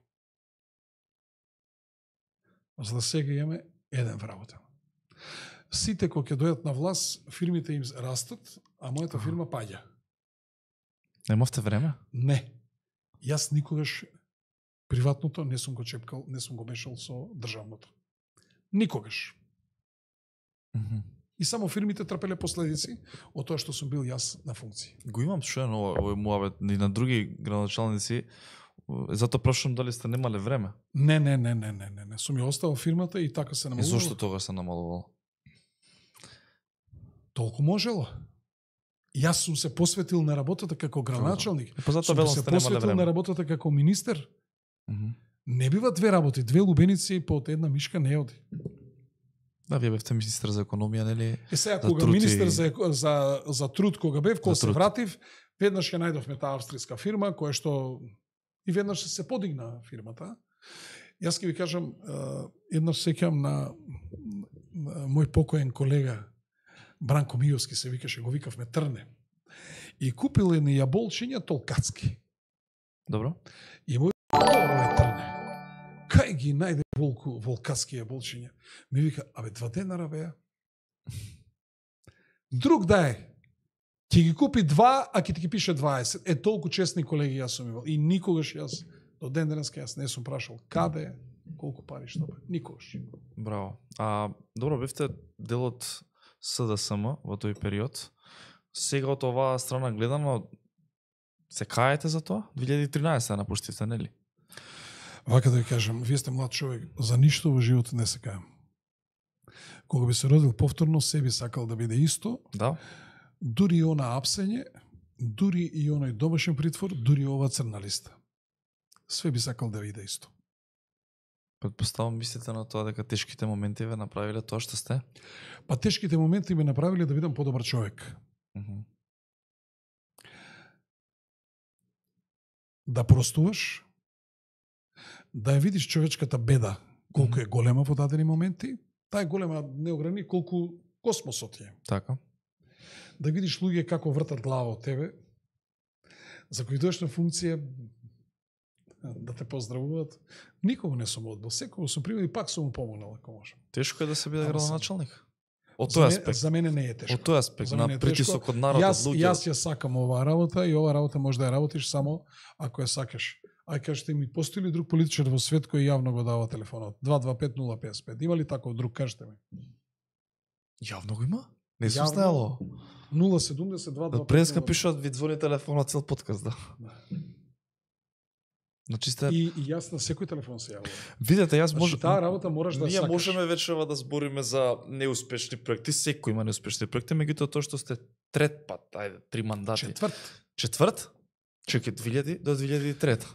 За да сега имаме еден вработен. Сите кога ќе дојдат на власт, фирмите им растат, а мојата Аха. фирма паѓа. Немавте време? Не. Јас никогаш приватното не сум го чепкал, не сум го мешал со државното. Никогаш. Мгм. И само фирмите трпеле последици од тоа што сум бил јас на функции. Го имам чуено ова, овој муабет и на други градоначалници. Затоа прашувам дали сте немале време. Не, не, не, не, не, не, не. Сум ја оставил фирмата и така се И намалувало. зошто тогаш се намалувало? Толку можело. Јас сум се посветил на работата како градоначалник. Па затоа Сум велам се сте немале посветил на време. работата како министер. Мгм. Не бива две работи, две лубеници по една мишка не оди. Да, вие бевте министер за економија, нели? Е сега За кога труд и- министер за, за, за труд кога бев, кога За се труд. вратив, веднаш ја најдовме таа австријска фирма, која што и веднаш се подигна фирмата. Јас ќе ви кажам, е, еднаш сеќам на, на мој покоен колега Бранко Мијовски, се викаше, го викавме Трне. И купил едни јаболчиња толкацки. Добро. И мој добро е Трне. Кај ги најде волку, волкаски јаболчиња? Ми вика, абе, два денара беа. Друг да е. Ќе ги купи два, а ќе ти ги пише дваесет. Е, толку честни колеги јас сум имал. И никогаш јас, до ден денеска јас не сум прашал каде е, колку пари што бе. Никогаш. Браво. А, добро, бевте дел од С Д С М во тој период. Сега од оваа страна гледано, се каете за тоа? две илјади и тринаесета напуштивте, нели? Вака да ви кажам, вие сте млад човек, за ништо во животот не се кајам. Кога би се родил повторно, се би сакал да биде исто, Да. дури и она апсење, дури и оној домашен притвор, дури и ова црна листа. све би сакал да види исто. Предпоставам мислите на тоа дека тешките моменти ве направиле тоа што сте? Па тешките моменти ме направиле да бидам подобар човек. Mm -hmm. Да простуваш, да ја видиш човечката беда, колку mm -hmm. е голема во дадени моменти, таа е голема не ограни колку космосот е. Така. Да видиш луѓе како вртат глава од тебе, за кои дојдеш на функција да те поздравуваат. Никога не сум одбил, секој сум примил и пак сум му помогнал ако може. Тешко е да се биде градоначалник? Од За, тој мен, аспект. за мене не е тешко. Од тој аспект, на притисок од народ, јас, од луѓе. Јас ја сакам оваа работа и оваа работа може да ја работиш само ако ја сакаш. Ај кажете ми, постои ли друг политичар во свет кој јавно го дава телефонот? два два пет нула пет пет. Има ли таков друг, кажете ми? Јавно го има? Не сум Јавно? знаело. нула седумдесет два два пет. Преска пишат, ви звони телефонот цел подкаст, да. Значи сте... И, и јас на секој телефон се јавувам. Видете, јас може... Значи, таа работа мораш да Ние сакаш. можеме вечерва да збориме за неуспешни проекти, секој има неуспешни проекти, меѓутоа тоа што сте трет пат, ајде, три мандати. Четврт. Четврт? Чекај, две илјади до две илјади и трета.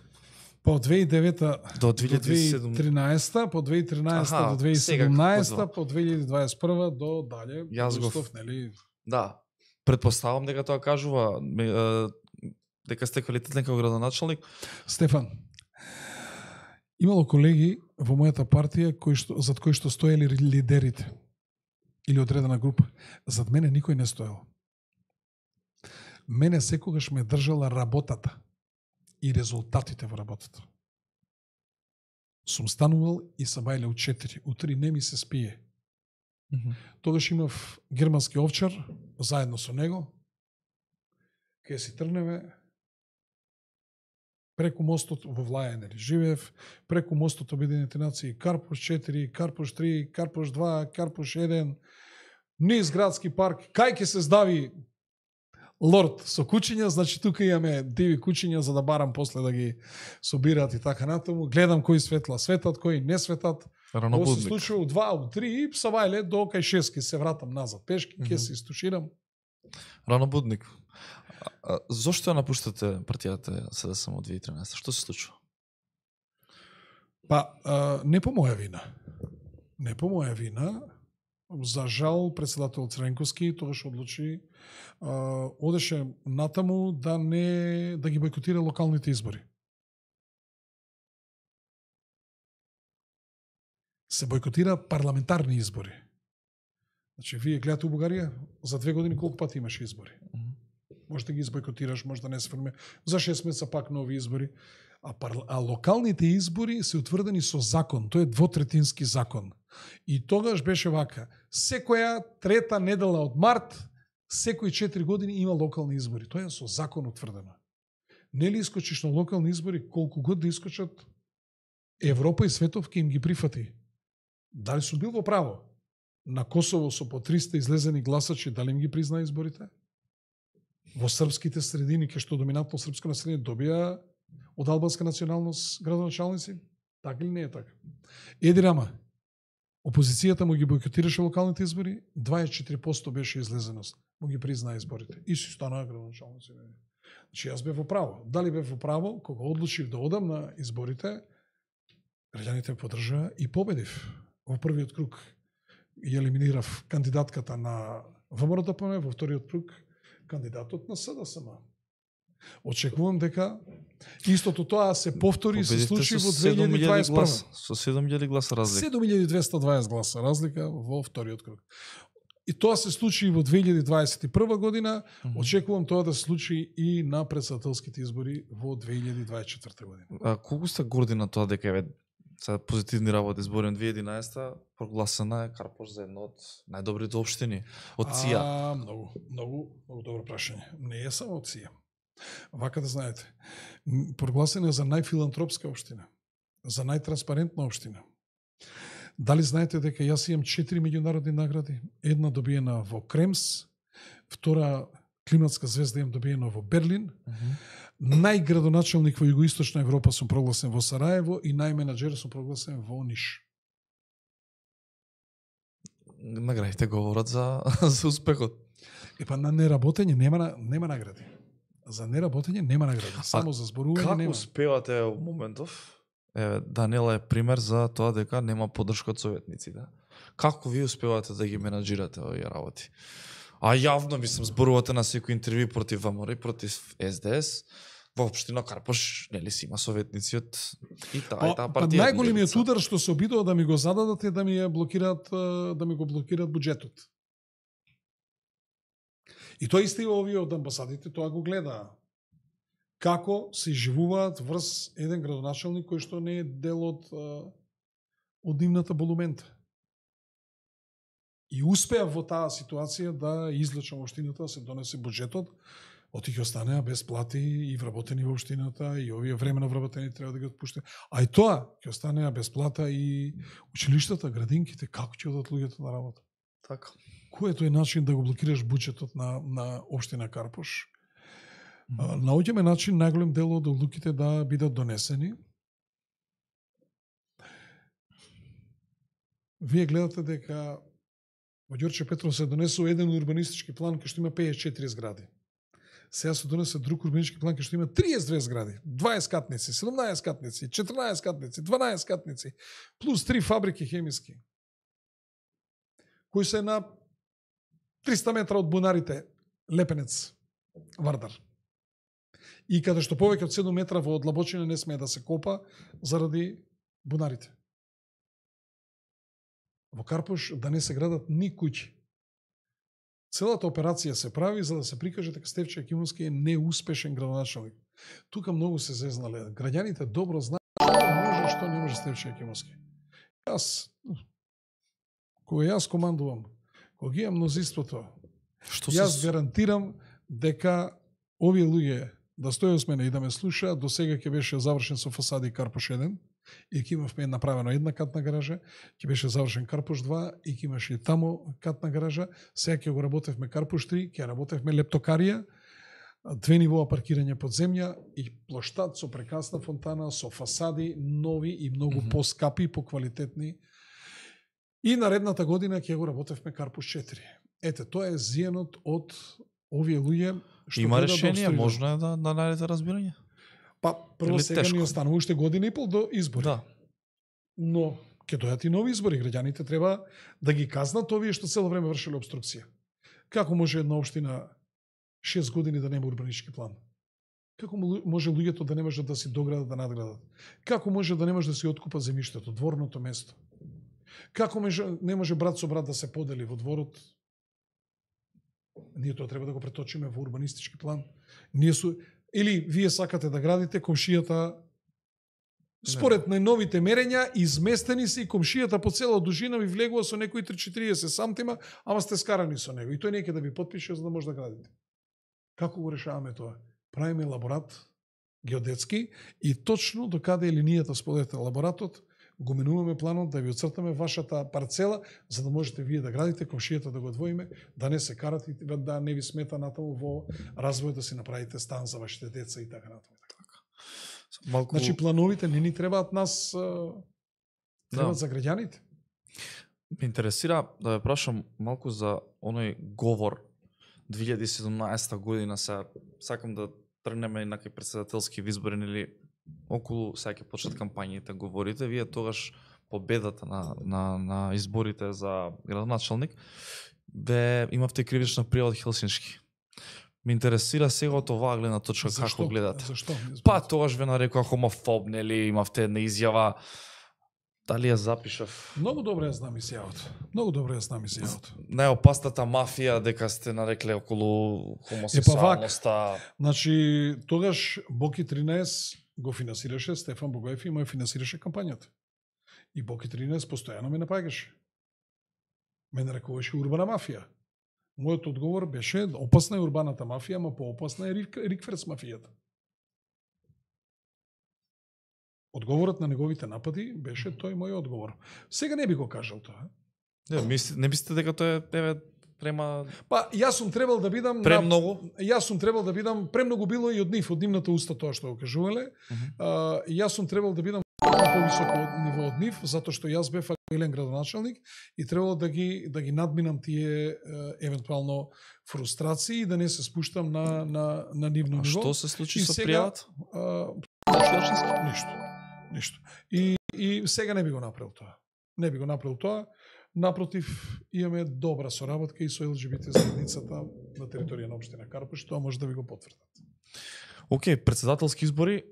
По две илјади и девета До до две илјади и седумнаесета. две илјади и тринаесета, по две илјади и тринаесета Аха, до две илјади и сега седумнаесета, како по две илјади и дваесет и прва до дале. Јас го- Устов, нели? Да. Предпоставам дека тоа кажува ме, е, дека сте квалитетен како градоначалник. Стефан, имало колеги во мојата партија кои што, зад кои што стоеле лидерите или одредена група. Зад мене никој не стоел. Мене секогаш ме држала работата и резултатите во работата. Сум станувал и са бајле у четири. У три не ми се спие. Тогаш имав германски овчар, заедно со него. Кај си тргнеме, преку мостот во Влајанери живеев, преку мостот Обединените нации, Карпуш четири, Карпуш три, Карпуш два, Карпуш еден, низ градски парк, кај ќе се здави лорд со кучиња, значи тука имаме диви кучиња за да барам после да ги собираат и така натаму. Гледам кои светла светат, кои не светат. Ова се Ранобудник. случува у два, у три и са бајле до кај шест ќе се вратам назад пешки, ќе Мгм. се истуширам. Ранобудник. А, а, зошто ја напуштате партијата СДСМ од две илјади и тринаесета? Што се случува? Па, а, не по моја вина. Не по моја вина. За жал, председател Цренковски тогаш одлучи, а, одеше натаму да не да ги бойкотира локалните избори. Се бойкотира парламентарни избори. Значи, вие гледате у Бугарија, за две години колку пати имаше избори? Може да ги избойкотираш, може да не се формира. За шест месеца пак нови избори. А, парла... а локалните избори се утврдени со закон. Тој е двотретински закон. И тогаш беше вака. Секоја трета недела од март, секои четири години има локални избори. Тоа е со закон утврдено. Нели искочиш на локални избори, колку год да искочат, Европа и светов ќе им ги прифати. Дали сум бил во право? На Косово со по триста излезени гласачи, дали им ги призна изборите? Во српските средини, кај што доминантно српско население добија од албанска националност градоначалници? Така или не е така? Еди рама, опозицијата му ги бойкотираше локалните избори, дваесет и четири проценти беше излезеност, му ги призна изборите. И си станаа градоначалници. Значи јас бев во право. Дали бев во право, кога одлучив да одам на изборите, граѓаните ме подржаа и победив во првиот круг. И елиминирав кандидатката на ВМРО-ДПМ, во вториот круг кандидатот на СДСМ. Очекувам дека истото тоа се повтори и се Победивте случи со во две илјади дваесет и прва. гласа. Со седум илјади гласа разлика. седум илјади двесте и дваесет гласа разлика во вториот круг. И тоа се случи и во две илјади дваесет и прва година. Мгм. Очекувам тоа да се случи и на претседателските избори во две илјади дваесет и четврта година. А колку сте горди на тоа дека еве сега позитивни работи зборим две илјади и единаесета прогласена е Карпош за една од најдобрите општини од ЦИА. А, многу, многу, многу добро прашање. Не е само од ЦИА. Вака да знаете. М, Прогласена е за најфилантропска општина, за најтранспарентна општина. Дали знаете дека јас имам четири меѓународни награди? Една добиена во Кремс, втора климатска звезда имам добиена во Берлин, најградоначалник во Југоисточна Европа сум прогласен во Сараево и најменаџер сум прогласен во Ниш. Наградите говорат за за успехот. Епа на неработење нема на- нема награди. За неработење нема награди, само за зборување Како нема. успевате во моментов? Еве, Данела е пример за тоа дека нема поддршка од советниците. Како ви успевате да ги менаџирате овие работи? А јавно, мислам, зборувате на секој интервју против ВМРО, против С Д С. Во општина Карпош, нели си има советници од и таа и таа Па, партија. најголемиот удар што се обидува да ми го зададат е да ми ја блокираат, да ми го блокираат буџетот. И тоа исто и овие од амбасадите тоа го гледаа. Како се живуваат врз еден градоначалник кој што не е дел од од нивната болумента. И успеа во таа ситуација да излечам општината, да се донесе буџетот, оти ќе останеа без плати и вработени во општината, и овие времено вработени треба да ги отпуште. А и тоа ќе останеа без плата и училиштата, градинките, како ќе одат луѓето на работа? Така. Кој е тој начин да го блокираш буџетот на на општина Карпош? Mm-hmm. Наоѓаме начин најголем дел од одлуките да бидат донесени. Вие гледате дека во Ѓорче Петров се донесува еден урбанистички план кај што има пеесет и четири згради. Сега се донесе друг урбанистички план кај што има триесет и две згради, дваесет катници, седумнаесет катници, четрнаесет катници, дванаесет катници, плюс три фабрики хемиски, кои се на триста метра од бунарите Лепенец, Вардар. И каде што повеќе од седум метра во одлабочина не смее да се копа заради бунарите. Во Карпош да не се градат ни куќи. Целата операција се прави за да се прикаже дека Стефче Јакимовски е неуспешен градоначалник. Тука многу се зезнале. Граѓаните добро знаат што може, што не може Стефче Јакимовски. Јас, кога јас командувам, кога ги имам мнозинството, Што јас се... гарантирам дека овие луѓе да стојат с мене и да ме слушаат, до сега ќе беше завршен со фасади Карпош еден, и ќе имавме направено една катна гаража, ќе беше завршен Карпош два и ќе имаше и тамо катна гаража. Сега ќе го работевме Карпош три, ќе работевме лептокарија, две нивоа паркирање под земја и плоштад со прекрасна фонтана, со фасади нови и многу mm-hmm. поскапи, поквалитетни. И наредната година ќе го работевме Карпош четири. Ете, тоа е зијанот од овие луѓе што има гледат решение, да можно е да, да најдете разбирање. Па, прво Или сега тешко? ни останува уште година и пол до избори. Да. Но ќе дојдат и нови избори, граѓаните треба да ги казнат овие што цело време вршеле обструкција. Како може една општина шест години да нема урбанистички план? Како може луѓето да не можат да си доградат, да надградат? Како може да не може да си откупат земјиштето, дворното место? Како може, не може брат со брат да се подели во дворот? Ние тоа треба да го преточиме во урбанистички план. Ние су... Или вие сакате да градите, комшијата според најновите мерења изместени се и комшијата по цела дужина ви влегува со некои три четириесет сантима, ама сте скарани со него. И тој неќе да ви потпише за да може да градите. Како го решаваме тоа? Правиме лаборат геодетски и точно до каде е линијата според лаборатот, го менуваме планот да ви оцртаме вашата парцела, за да можете вие да градите, комшијата да го одвоиме, да не се карат и да не ви смета натаму во развој да си направите стан за вашите деца и така натаму. Малку... Значи плановите не ни требаат нас, требаат Да. за граѓаните. Ме интересира да ве прашам малку за оној говор две илјади и седумнаесета година, се сакам да тргнеме и на кај претседателски избори или околу сега ќе почнат кампањите, говорите, вие тогаш победата на, на, на изборите за градоначалник, бе имавте кривична пријава од Хелсиншки. Ме интересира сега од оваа гледна точка како гледате. Зашто? Па тогаш ве нарекоа хомофоб, нели, имавте една изјава. Дали ја запишав? Многу добро ја знам изјавата. Многу добро ја знам изјавата. Најопасната мафија дека сте нарекле околу хомосексуалноста. Значи, тогаш Боки тринаесет го финансираше, Стефан Богоев и му ја финансираше кампањата. И Боки тринаесет постојано ме напаѓаше. Ме нарекуваше урбана мафија. Мојот одговор беше опасна е урбаната мафија, ама поопасна е Рикферс мафијата. Одговорот на неговите напади беше тој мој одговор. Сега не би го кажал тоа. Не, мисли, не мислите дека тоа е еве према Па јас сум требал да бидам премногу? На, јас сум требал да бидам премногу било и од нив, од нивната уста тоа што го кажувале. Uh -huh. а, јас сум требал да бидам на повисоко ниво од нив, затоа што јас бев елен градоначалник и требало да ги да ги надминам тие е, евентуално фрустрации и да не се спуштам на на на нивно А ниво. што се случи И со сега, пријавата? а, Ништо. Ништо. И и сега не би го направил тоа. Не би го направил тоа. Напротив, имаме добра соработка и со ел џи би те заедницата на територија на општина Карпуш, тоа може да ви го потврдат. Океј, председателски избори,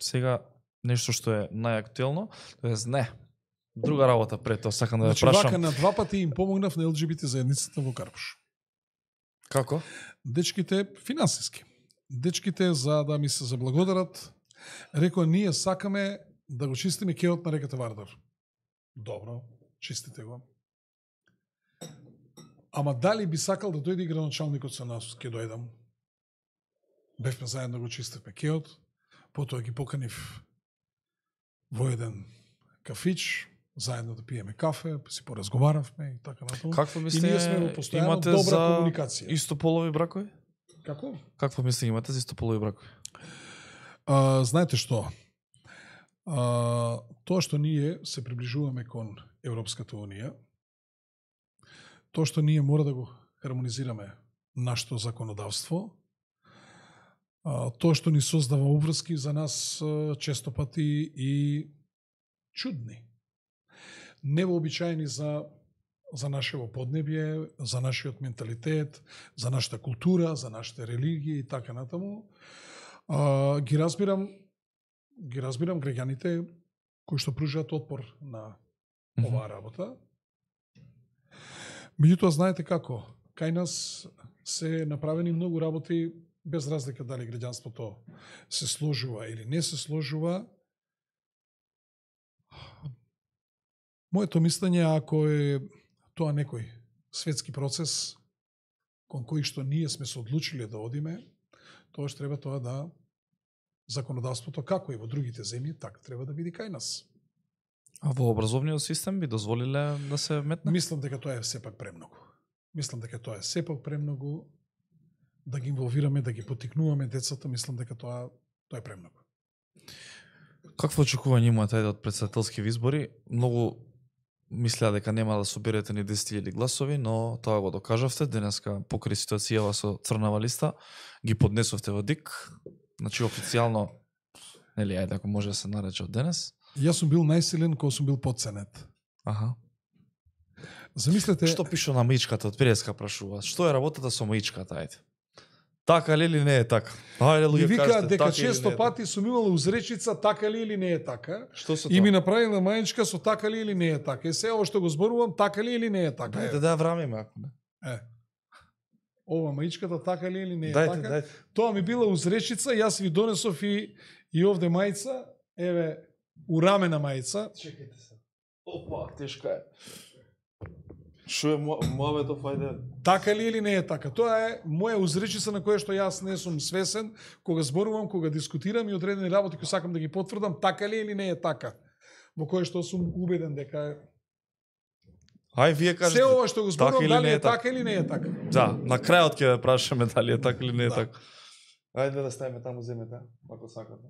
сега нешто што е најактуелно, тоест не, друга работа пред тоа, сакам да ја Значи, прашам. вака на два пати им помогнав на ел џи би те заедницата во Карпуш. Како? Дечките финансиски. Дечките за да ми се заблагодарат, рекоа ние сакаме да го чистиме кеот на реката Вардар. Добро, чистите го. Ама дали би сакал да дојде и градоначалникот со нас, ќе дојдам. Бевме заедно го чистевме кеот, потоа ги поканив во еден кафич, заедно да пиеме кафе, си поразговаравме и така натаму. Какво И мислите, ние сме во постојано имате добра за комуникација. истополови бракови? Како? Какво мислите имате за истополови бракови? А, знаете што? А, тоа што ние се приближуваме кон Европската Унија, тоа што ние мора да го хармонизираме нашето законодавство, а, тоа што ни создава обврски за нас а, често пати и чудни. Невообичаени за за нашево поднебје, за нашиот менталитет, за нашата култура, за нашите религии и така натаму. А, ги разбирам ги разбирам граѓаните кои што пружаат отпор на оваа работа. Меѓутоа, знаете како, кај нас се направени многу работи без разлика дали граѓанството се сложува или не се сложува. Моето мислење, ако е тоа некој светски процес кон кој што ние сме се одлучили да одиме, тоа што треба тоа да законодавството, како и во другите земји, така треба да биде кај нас. А во образовниот систем би дозволиле да се метне? Мислам дека тоа е сепак премногу. Мислам дека тоа е сепак премногу да ги инволвираме, да ги потикнуваме децата, мислам дека тоа тоа е премногу. Какво очекување имате од председателски избори? Многу мислеа дека нема да соберете ни десет илјади гласови, но тоа го докажавте. Денеска покрај ситуацијава со црнава листа ги поднесовте во ДИК. Значи официјално, нели, ајде ако може да се нарече од денес. Јас сум бил најсилен кога сум бил подценет. Аха. Замислете, Што пише на маичката од Преска прашува? Што е работата со маичката, ајде? Така ли или не е така? Ајде ми луѓе вика кажете дека така или често не е пати сум имала узречица така ли или не е така. Што со И ми тоа? направила мајчка со така ли или не е така. И се ово што го зборувам, така ли или не е така. Дајте Е, да ја врамиме ако не. е. Ова маичката така ли или не е Дајте, така. дајте. Тоа ми била узречица, јас ви донесов и, и овде мајца, еве, урамена мајца. Чекайте се. Опа, тешка е. Шо е мојавето, ајде. Така ли или не е така? Тоа е моја узречица на која што јас не сум свесен, кога зборувам, кога дискутирам и одредени работи кои сакам да ги потврдам, така ли или не е така? Во кое што сум убеден дека е. Ај вие кажете. Се ова што го зборувам, така или дали не е е така? така или не е така? Да, на крајот ќе ја прашаме дали е така или не е Да. така. Ајде да ставиме таму земете, ако сакате.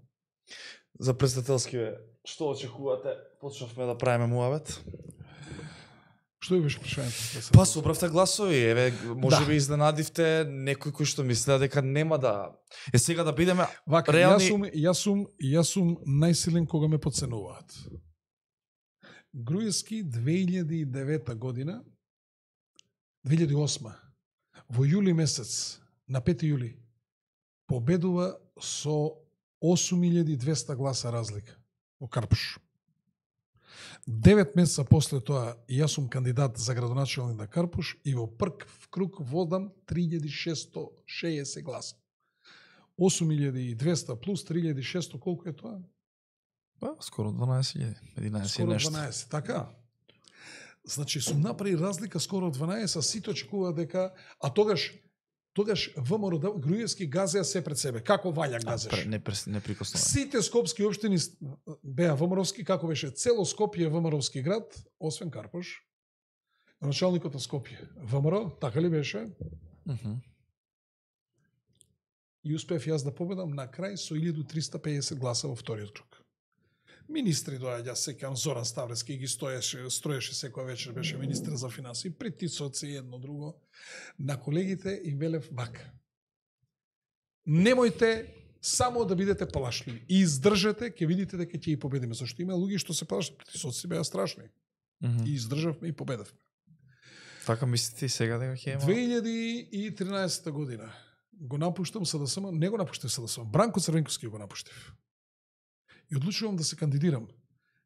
За председателски, што очекувате? Почнавме да правиме муавет. Што ви беше прашањето? Па собравте гласови, еве, може Да. би изненадивте некој кој што мислеа дека нема да... Е сега да бидеме Вака, реални... јас сум, јас сум, јас сум најсилен кога ме подценуваат. Груевски две илјади и девета година, две илјади и осма, во јули месец, на пети јули, победува со осум илјади и двеста гласа разлика во Карпуш. Девет месеца после тоа јас сум кандидат за градоначалник на Карпуш и во прв круг водам три илјади шесто шеесет гласа. осум илјади и двеста плюс три илјади шесто, колку е тоа? Па, скоро дванаесет илјади, единаесет и Скоро нешто. дванаесет, така? Значи, сум направи разлика скоро дванаесет, а сите очекува дека... А тогаш, тогаш ВМРО да- Груевски газеа се пред себе. Како ваља А, газеш? пре- не, прес- не прикоснува. Сите скопски општини с- беа ВМРО-вски, како беше цело Скопје ВМРО-вски град, освен Карпуш. Началникот на Скопје ВМРО, така ли беше? Мгм. И успев јас да победам на крај со илјаду триста пеесет гласа во вториот круг. Министри доаѓа, сеќавам Зоран Ставревски ги стоеше, строеше секоја вечер, беше министр за финансии, притисоци едно друго. На колегите им велев вака. Немојте само да бидете плашливи. И издржете, ќе видите дека ќе и победиме. Зашто има луѓе што се плашат, притисоци беа страшни. Mm -hmm. И издржавме и победевме. Така мислите и сега дека ќе има? две илјади и тринаесета година го напуштам СДСМ, не го напуштив СДСМ, Бранко Црвенковски го напуштив. И одлучувам да се кандидирам.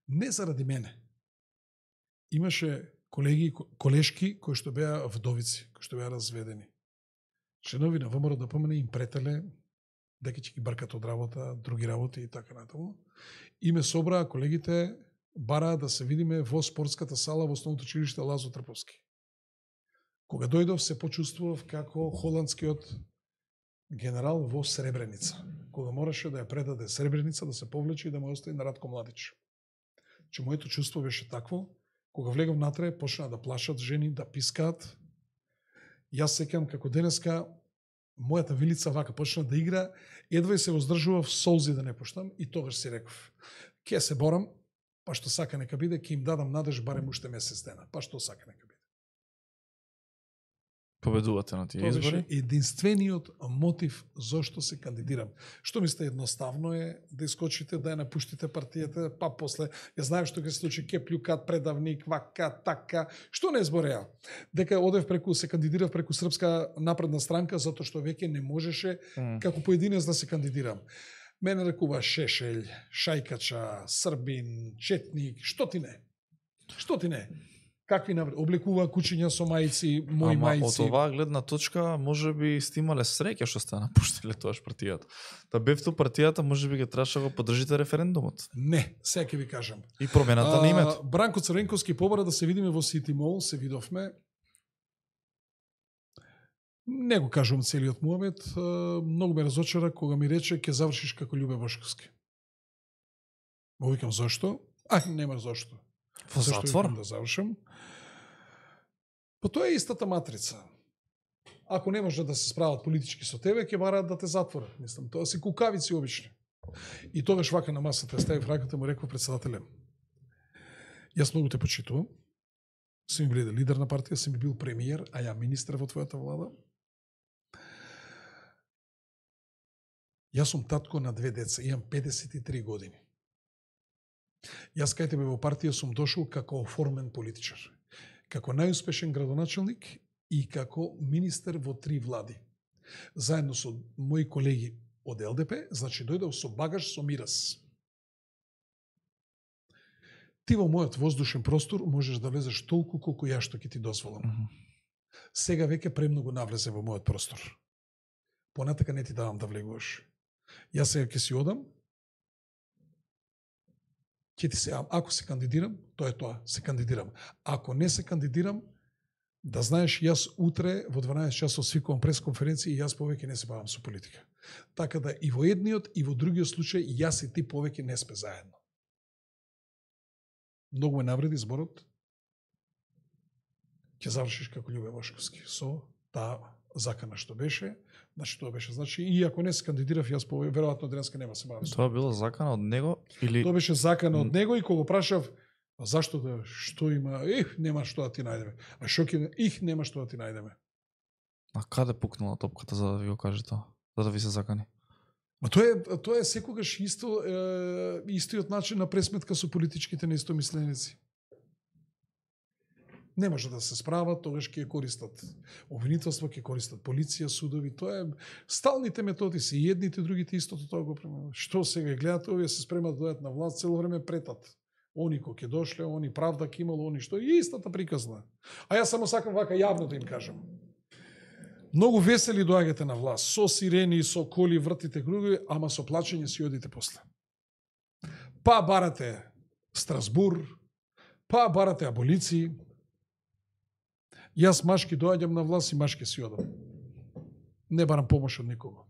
Не заради мене. Имаше колеги, колешки кои што беа вдовици, кои што беа разведени. Членови на ВМРО да помене им претеле дека ќе ги бркат од работа, други работи и така натаму. И ме собраа колегите, бараа да се видиме во спортската сала во основното училиште Лазо Трповски. Кога дојдов се почувствував како холандскиот генерал во Сребреница, кога мораше да ја предаде Сребреница, да се повлече и да му остави на Радко Младич. Че моето чувство беше такво, кога влегав натре, почна да плашат жени, да пискаат. Јас сеќам како денеска, мојата вилица вака почна да игра, едва и се воздржував солзи да не пуштам и тогаш си реков, ке се борам, па што сака нека биде, ке им дадам надеж барем уште месец дена, па што сака нека биде. Победувате на тие избори? Тоа беше единствениот мотив зошто се кандидирам. Што мислите, едноставно е да искочите, да ја напуштите партијата, па после, ја знаев што ќе се случи, ке плюкат, предавник, вака, така. Што не збореа? Дека одев преку, се кандидирав преку Српска напредна странка, затоа што веќе не можеше mm. како поединец да се кандидирам. Мене рекува Шешелј, Шајкача, Србин, Четник, што ти не? Што ти не? Какви навред? Облекува кучиња со мајци, мои Ама, мајци. Од оваа гледна точка, може би сте имале среќа што сте напуштиле тоаш партијата. Да бевте партијата, може би ги требаше да го поддржите референдумот. Не, сега ќе ви кажам. И промената на името. Бранко Црвенковски побара да се видиме во Сити Мол, се видовме. Не го кажувам целиот муабет, многу ме разочара кога ми рече ќе завршиш како Љубе Бошковски. Му викам зошто? А, нема зошто. Во затвор? Да завршам. Па тоа е истата матрица. Ако не може да се справат политички со тебе, ќе бараат да те затворат. Мислам, тоа се кукавици обични. И тогаш вака на масата ставив раката, му реков председателем. Јас многу те почитувам. Си ми биде лидер на партија, си ми бил премиер, а ја министр во твојата влада. Јас сум татко на две деца, имам педесет и три години. Јас кај тебе во партија сум дошол како оформен политичар, како најуспешен градоначелник и како министер во три влади. Заедно со мои колеги од Л Д П, значи дојдов со багаж, со мирас. Ти во мојот воздушен простор можеш да влезеш толку колку ја што ќе ти дозволам. Mm -hmm. Сега веќе премногу навлезе во мојот простор. Понатака не ти давам да влегуваш. Јас сега ќе си одам, ќе ти се, ако се кандидирам, тоа е тоа, се кандидирам. Ако не се кандидирам, да знаеш, јас утре во дванаесет часот свикувам пресконференција и јас повеќе не се бавам со политика. Така да и во едниот и во другиот случај, јас и ти повеќе не сме заедно. Многу ме навреди зборот. Ќе завршиш како Љубе Бошковски со таа закана што беше. Значи тоа беше, значи и ако не се кандидирав, јас по веројатно денеска нема се бавам. Тоа било закана од него или Тоа беше закана од него и кога прашав зашто да, што има, ех, нема што да ти најдеме. А што ќе, их, нема што да ти најдеме. А каде пукнала топката за да ви го каже тоа? За да ви се закани? Ма тоа е, тоа е секогаш исто, е, истиот начин на пресметка со политичките неистомисленици. Не може да се справат, тогаш ќе користат обвинителство, ќе користат полиција, судови, тоа е сталните методи се и едните, другите истото тоа го преминат. Што сега гледате, овие се спремат да дојдат на власт, цело време претат. Они кој ќе дошле, они правда ќе имало, они што и истата приказна. А јас само сакам вака јавно да им кажам. Многу весели доаѓате на власт, со сирени, со коли, вртите кругови, ама со плачење си одите после. Па барате Страсбур, па барате аболиции. Јас машки доаѓам на власт и машки си одам. Не барам помош од никого.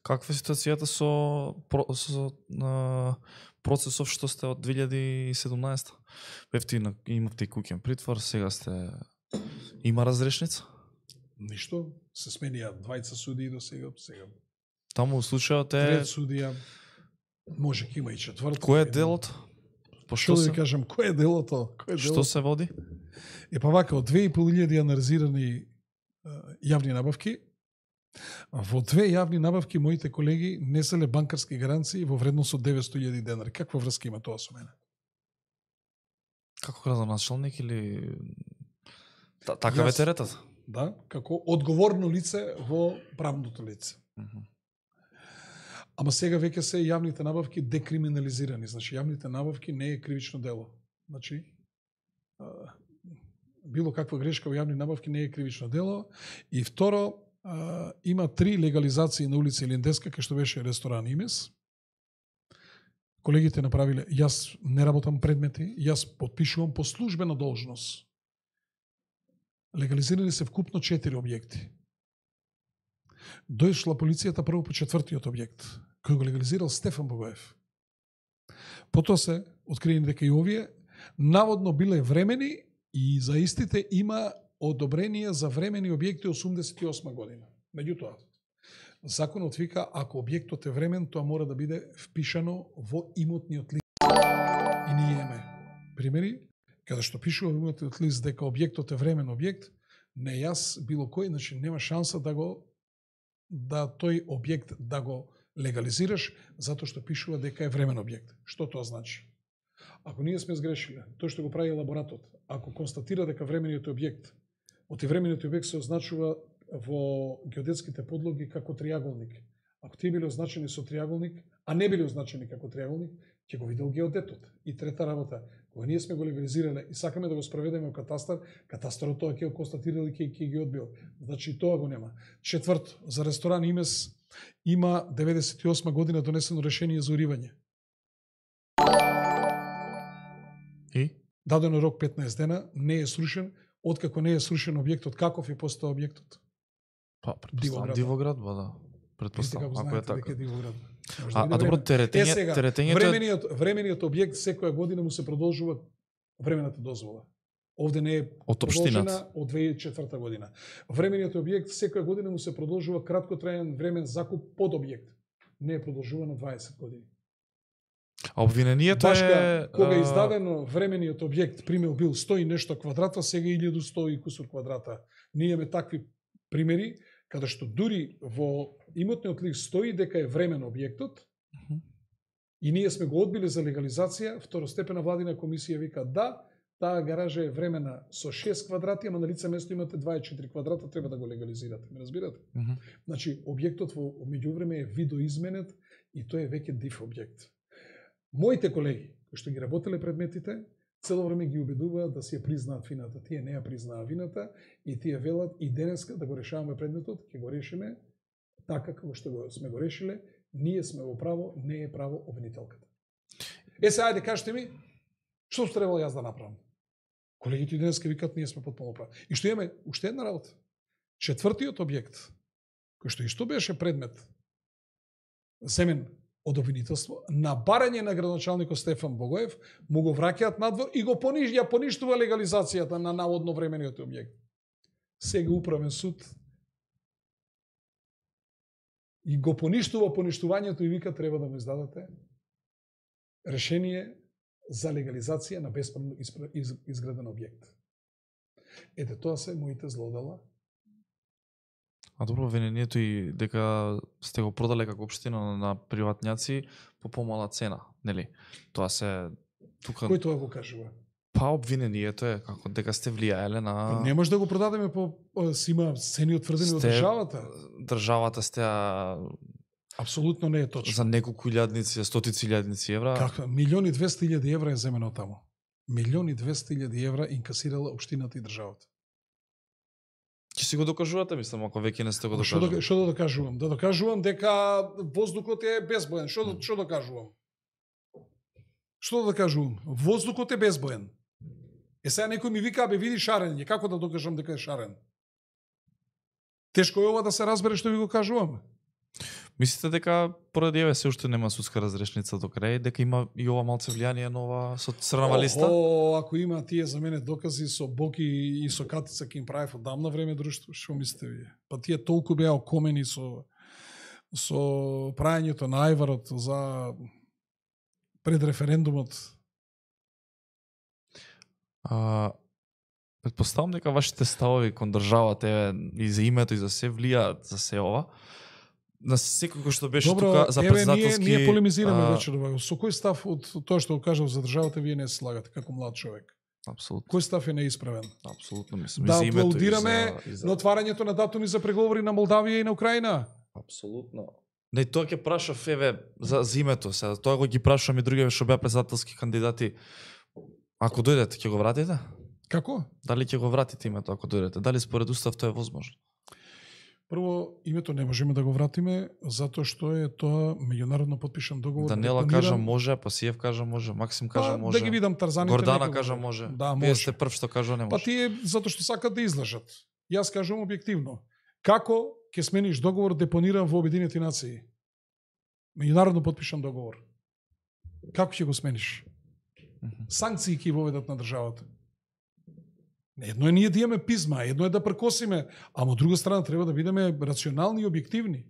Каква е ситуацијата со, со на, процесов што сте од две илјади и седумнаесета? Бевте имавте и куќен притвор, сега сте има разрешница? Ништо, се сменија двајца судии до сега, сега. Таму случајот е трет судија. Може ќе има и четврто. Кој е делот? По Што што да се ви кажам, кој е делото? Кој е Што делото? се води? Е па вака, од две и пол илјади анализирани јавни набавки, во две јавни набавки моите колеги неселе банкарски гаранции во вредност од деветсто илјади денари. Каква врска има тоа со мене? Како градоначалник или Та, така ве Јас- теретат? Да, како одговорно лице во правното лице. Мгм. Ама сега веќе се јавните набавки декриминализирани. Значи, јавните набавки не е кривично дело. Значи, а, било каква грешка во јавни набавки не е кривично дело. И второ, а, има три легализации на улица Илиндеска, кај што беше ресторан Имес. Колегите направиле, јас не работам предмети, јас подпишувам по службена должност. Легализирани се вкупно четири објекти. Дојшла полицијата прво по четвртиот објект, кој го легализирал Стефан Богоев. Потоа се откриени дека и овие наводно биле времени и за истите има одобрение за времени објекти осумдесет и осма година. Меѓутоа, законот вика, ако објектот е времен, тоа мора да биде впишано во имотниот лист. И ние имаме примери, каде што пишува во имотниот лист дека објектот е времен објект, не јас, било кој, значи нема шанса да го да тој објект да го легализираш, затоа што пишува дека е времен објект. Што тоа значи? Ако ние сме сгрешиле, тој што го прави елаборатот, ако констатира дека времениот објект, оти времениот објект се означува во геодетските подлоги како триаголник. Ако тие биле означени со триаголник, а не биле означени како триаголник, ќе го видел геодетот. И трета работа, кога ние сме го легализирале и сакаме да го спроведеме во катастар, катастарот тоа ќе го констатирал и ќе ќе ги одбил. Значи и тоа го нема. Четврто, за ресторан Имес има деветдесет и осма година донесено решение за уривање. И? Дадено рок петнаесет дена, не е срушен, откако не е срушен објектот, каков е постao објектот? Па, Дивоград. предпоставам Дивоград, ба да. Вижте Предпоставам, како ако е знаете дека така. е Дивоград. Може А, да биде а добро, времен. теретење, Е, сега, теретењето е... Времениот, времениот објект секоја година му се продолжува времената дозвола. Овде не е Од продолжена општината. од две илјади и четврта година. Времениот објект секоја година му се продолжува краткотраен времен закуп под објект. Не е продолжуван на дваесет години. А обвинението Башка, е... кога а, издадено времениот објект, пример бил сто и нешто квадрата, сега илјаду и сто и кусур квадрата. Ние имаме такви примери, каде што дури во имотниот лист стои дека е времен објектот, Мгм. и ние сме го одбили за легализација, второстепена владина комисија вика да, таа гаража е времена со шест квадрати, ама на лице место имате дваесет и четири квадрата, треба да го легализирате. Ме разбирате? Мгм. Значи, објектот во меѓувреме е видоизменет и тој е веќе див објект. Моите колеги, кои што ги работеле предметите, цело време ги убедуваат да си ја признаат вината. Тие не ја признаа вината и тие велат и денеска да го решаваме предметот, ќе го решиме така како што го сме го решиле, ние сме во право, не е право обвинителката. Е, се, ајде, кажете ми, што требало јас да направам? Колегите и денеска викат, ние сме потполно прави. И што имаме уште една работа. Четвртиот објект, кој што исто беше предмет земен од обвинителство, на барање на градоначалникот Стефан Богоев, му го враќаат надвор и го пониж, ја поништува легализацијата на наводно времениот објект. Сега управен суд и го поништува поништувањето и вика треба да му издадете решение за легализација на бесправно изграден објект. Ете, тоа се моите злодела. А добро, обвинението и дека сте го продале како општина на приватњаци по помала цена, нели? Тоа се тука Кој тоа го кажува? па обвинението е како дека сте влијаеле на Не може да го продадеме по си има цени утврдени од Сте- државата. државата сте а, Апсолутно не е точно. за неколку илјадници, стотици илјадници евра. Како? Милиони и двесте илјади евра е земено таму. Милиони и двесте илјади евра инкасирала општината и државата. Ќе си го докажувате, мислам, ако веќе не сте го Што да, докажали. што да докажувам? Да докажувам дека воздухот е безбоен. Што да, што докажувам? Што да докажувам? Воздухот е безбоен. Е сега некој ми вика, бе види шарење, како да докажам дека е шарен? Тешко е ова да се разбере што ви го кажувам. Мислите дека поради еве се уште нема судска разрешница до крај, дека има и ова малце влијание на ова со црнава листа? О, ако има тие за мене докази со Боки и со Катица ке им правев одамна време друштво, што мислите вие? Па тие толку беа окомени со со прајањето на ајварот за пред референдумот? А, предпоставам дека вашите ставови кон државата е, и за името и за се влијаат за се ова. На секој кој што беше Добро, тука за еве, председателски... ние, ние полемизираме а... вечер. Со кој став од тоа што го кажав за државата вие не се слагате како млад човек? Апсолутно. Кој став е неисправен? Апсолутно мислам. Да и за името, аплаудираме и за, и за... на отварањето на датуми за преговори на Молдавија и на Украина. Апсолутно. Не, тоа ќе прашав еве за, за името, сега тоа го ги прашувам и другите што беа председателски кандидати. Ако дојдете, ќе го вратите? Како? Дали ќе го вратите името ако дојдете? Дали според устав тоа е возможно? Прво, името не можеме да го вратиме, затоа што е тоа меѓународно подпишан договор. Даниела депониран... кажа може, Пасиев кажа може, Максим кажа па, може. Да ги видам Тарзаните. Гордана некако... кажа може. Да, Вие може. сте прв што кажа не може. Па тие затоа што сакат да излажат. Јас кажувам објективно. Како ќе смениш договор депониран во Обединените нации? Меѓународно подпишан договор. Како ќе го смениш? Санкции ќе воведат на државата. Едно е ние да имаме пизма, едно е да прекосиме, а од друга страна треба да бидеме рационални и објективни.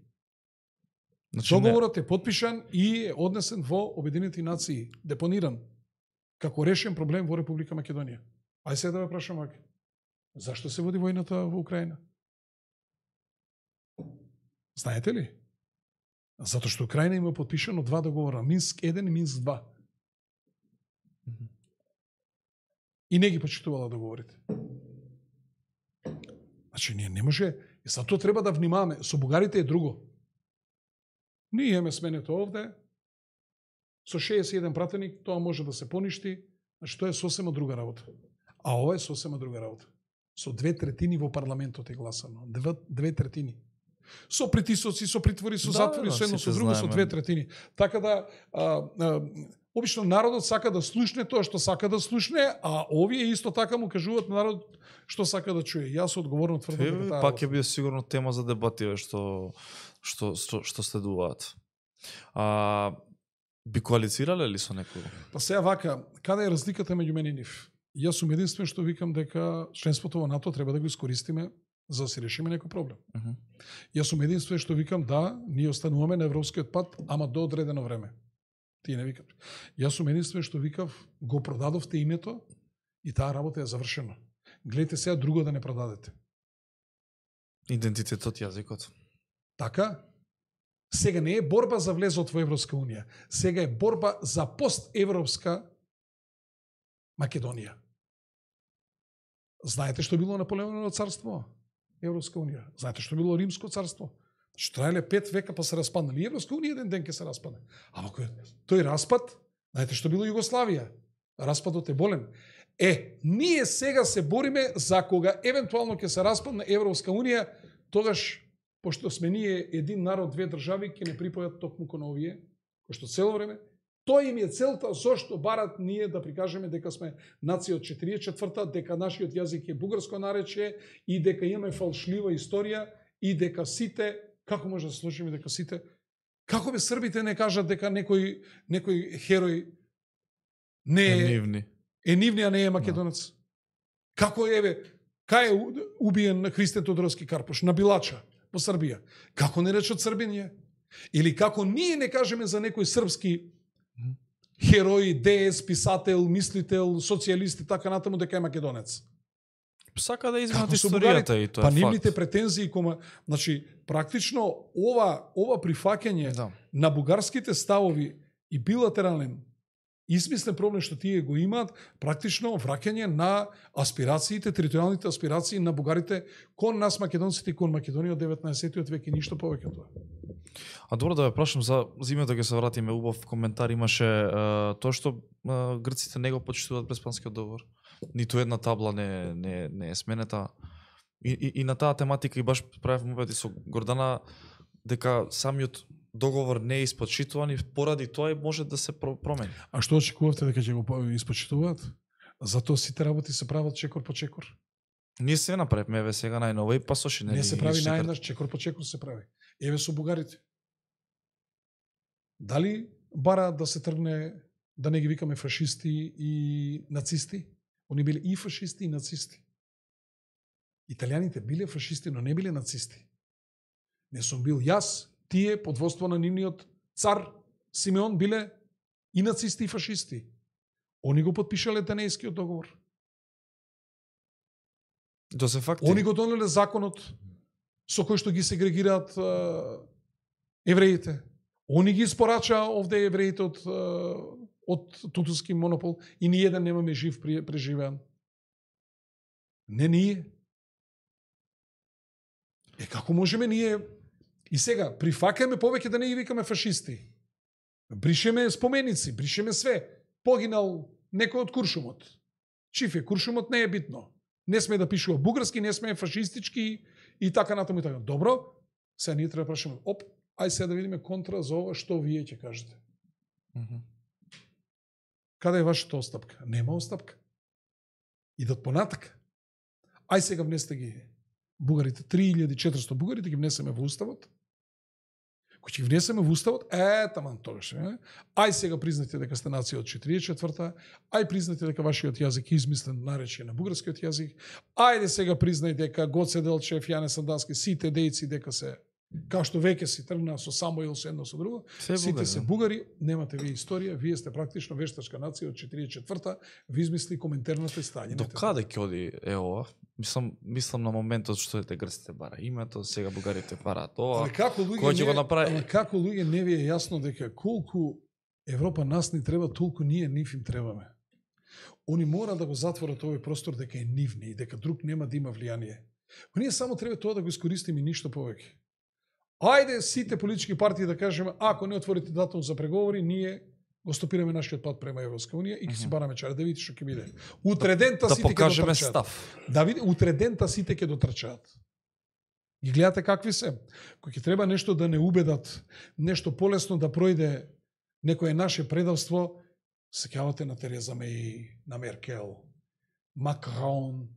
Значи, договорот не... е подпишан и е однесен во Обединените нации, депониран, како решен проблем во Република Македонија. Ај сега да ве прашам, Аки, зашто се води војната во Украина? Знаете ли? Затоа што Украина има подпишано два договора, Минск еден и Минск два. И не ги почитувала договорите. Значи, ние не може, и за тоа треба да внимаваме. Со бугарите е друго. Ние имаме сменето овде, со шеесет и еден пратеник, тоа може да се поништи, значи тоа е сосема друга работа. А ова е сосема друга работа. Со две третини во парламентот е гласано. Две, две третини. Со притисоци, со притвори, со да, затвори, да, со едно, со друго, знаеме. Со две третини. Така да, а, а, обично народот сака да слушне тоа што сака да слушне, а овие исто така му кажуваат народот што сака да чуе. Јас одговорно тврдам дека таа пак ќе биде сигурно тема за дебати што што што, што следуваат. А би коалицирале ли со некој? Па сега вака, каде е разликата меѓу мене и нив? Јас сум единствен што викам дека членството во НАТО треба да го искористиме за да се решиме некој проблем. Uh -huh. Јас сум единствен што викам да, ние остануваме на европскиот пат, ама до одредено време. Тие не викат. Јас сум единствен што викав, го продадовте името и таа работа е завршена. Гледайте сега друго да не продадете. Идентитетот, јазикот. Така? Сега не е борба за влезот во Европска унија. Сега е борба за постевропска Македонија. Знаете што било Наполеоново царство? Европска унија. Знаете што било Римско царство? Што траеле пет века па се распаднали. Европска унија еден ден ќе се распадне. Ама кој тој распад, знаете што било Југославија? Распадот е болен. Е, ние сега се бориме за кога евентуално ќе се распадне Европска унија, тогаш пошто сме ние един народ, две држави, ќе не припојат токму кон овие, кој што цело време тој им е целта зошто барат ние да прикажеме дека сме нација од четиридесет и четврта, дека нашиот јазик е бугарско наречје и дека имаме фалшлива историја и дека сите, како може да се случи дека сите, како бе србите не кажат дека некој некој херој не е, е нивни. Е нивни, а не е македонец. No. Како еве, кај е убиен Христен Тодоровски Карпош на Билача во Србија? Како не речат Србинија? Или како ние не кажеме за некој српски херој, деец, писател, мислител, социјалист и така натаму дека е македонец. Сака да изменат историјата и тоа е па факт. Па нивните претензии кома, значи практично ова ова прифаќање да. на бугарските ставови и билатерален измислен проблем што тие го имаат, практично враќање на аспирациите, територијалните аспирации на бугарите кон нас македонците и кон Македонија од деветнаесеттиот век и ништо повеќе тоа. А добро да ве прашам за зимето, ќе се вратиме, убав коментар имаше е, тоа што е, грците не го почитуваат Преспанскиот договор. Ниту една табла не не не е сменета. И, и, и на таа тематика и баш правев мовети со Гордана дека самиот договор не е испочитуван и поради тоа може да се промени. А што очекувавте дека ќе го испочитуваат? Затоа сите работи се прават чекор по чекор. Ние се направивме еве сега најново и пасоши не. Не се прави најнаш чекор по чекор се прави. Еве со бугарите. Дали бара да се тргне да не ги викаме фашисти и нацисти? Они биле и фашисти и нацисти. Италијаните биле фашисти, но не биле нацисти. Не сум бил јас, тие под водство на нивниот цар Симеон биле И нацисти и фашисти. Они го подпишале Денејскиот договор. Тоа се факти. Они го донеле законот со кој што ги сегрегираат евреите. Они ги испорачаа овде евреите од, од тутуски монопол и ни еден немаме жив преживеан. Не ние. Е, како можеме ние... И сега, прифакаме повеќе да не ги викаме фашисти. Бришеме споменици, бришеме све. Погинал некој од Куршумот. Чиф е, Куршумот не е битно. Не сме да пишува бугарски, не сме фашистички и така натаму и така. Добро, сега ние треба да прашаме, оп, ај сега да видиме контра за ова, што вие ќе кажете. Mm-hmm. Каде е вашата остапка? Нема остапка. Идат понатака. Ај сега внесете ги бугарите, три илјади и четиристотини бугарите ги внесеме во уставот. Кој ќе ги внесеме во уставот, е, таман тогаш. Е. Ај сега признате дека сте нација од четиридесет и четврта, ај признате дека вашиот јазик е измислен наречие на бугарскиот јазик, ајде сега признај дека Гоце Делчев, Јане Сандански, сите дејци дека се, као што веќе си тргна со Самоил со едно со друго, Се сите бугари, се бугари, немате вие историја, вие сте практично вештачка нација од четиридесет и четврта, ви измисли коментарната стање. До каде ќе оди е ова? Мислам, мислам на моментот што ете грците бара името, сега бугарите бараат ова. Али како луѓе, кој ќе го не, направи? али како луѓе не ви е јасно дека колку Европа нас ни треба, толку ние нив им требаме. Они мора да го затворат овој простор дека е нивни и дека друг нема да има влијание. Но ние само треба тоа да го искористиме и ништо повеќе. Ајде сите политички партии да кажеме, ако не отворите датум за преговори, ние го стопираме нашиот пат према Европска унија и ќе си бараме чаре, да видите што ќе биде. Утредента да сите ќе покажеме дотрчаат. став. Да види, утредента сите ќе дотрчаат. Ги гледате какви се. Кој ќе треба нешто да не убедат, нешто полесно да пројде некое наше предавство, сеќавате на Тереза Меј, на Меркел, Макрон,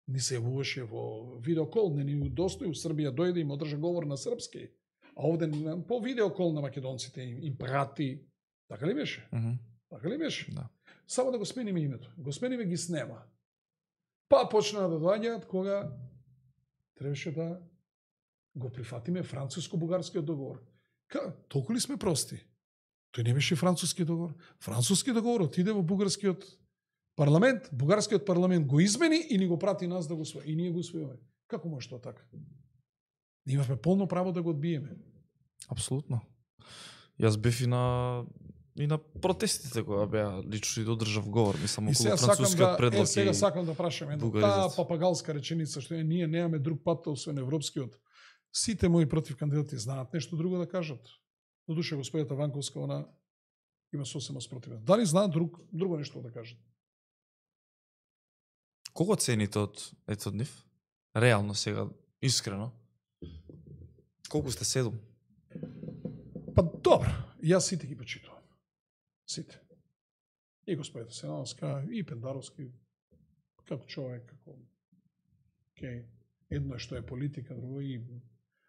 ни се јавуваше во видеокол, не ни удостои у Србија дојде и му одржа говор на српски, а овде по видеокол на македонците им, им прати. Така ли беше? Mm -hmm. Така ли беше? Да. Само да го смениме името. Го смениме, ги снема. Па почнаа да доаѓаат кога требаше да го прифатиме француско-бугарскиот договор. Ка, толку ли сме прости? Тој не беше француски договор. Француски договор отиде во бугарскиот парламент, бугарскиот парламент го измени и ни го прати нас да го усвои. И ние го усвоиме. Како може тоа така? Ние имавме полно право да го одбиеме. Апсолутно. Јас бев и на и на протестите кога беа лично и додржав говор, мислам околу францускиот да, предлог. Е, сега сакам да прашам една таа папагалска реченица што е, ние немаме друг пат освен европскиот. Сите мои против кандидати знаат нешто друго да кажат. До душа господјата Ванковска, она има сосема спротивен. Дали знаат друг, друго нешто да кажат? Кого цените од ето од нив? Реално сега, искрено. Колку сте седум? Па добро, јас сите ги почитувам. Сите. И господјата Сенановска, и Пендаровски, како човек, како... Okay. Едно е што е политика, друго и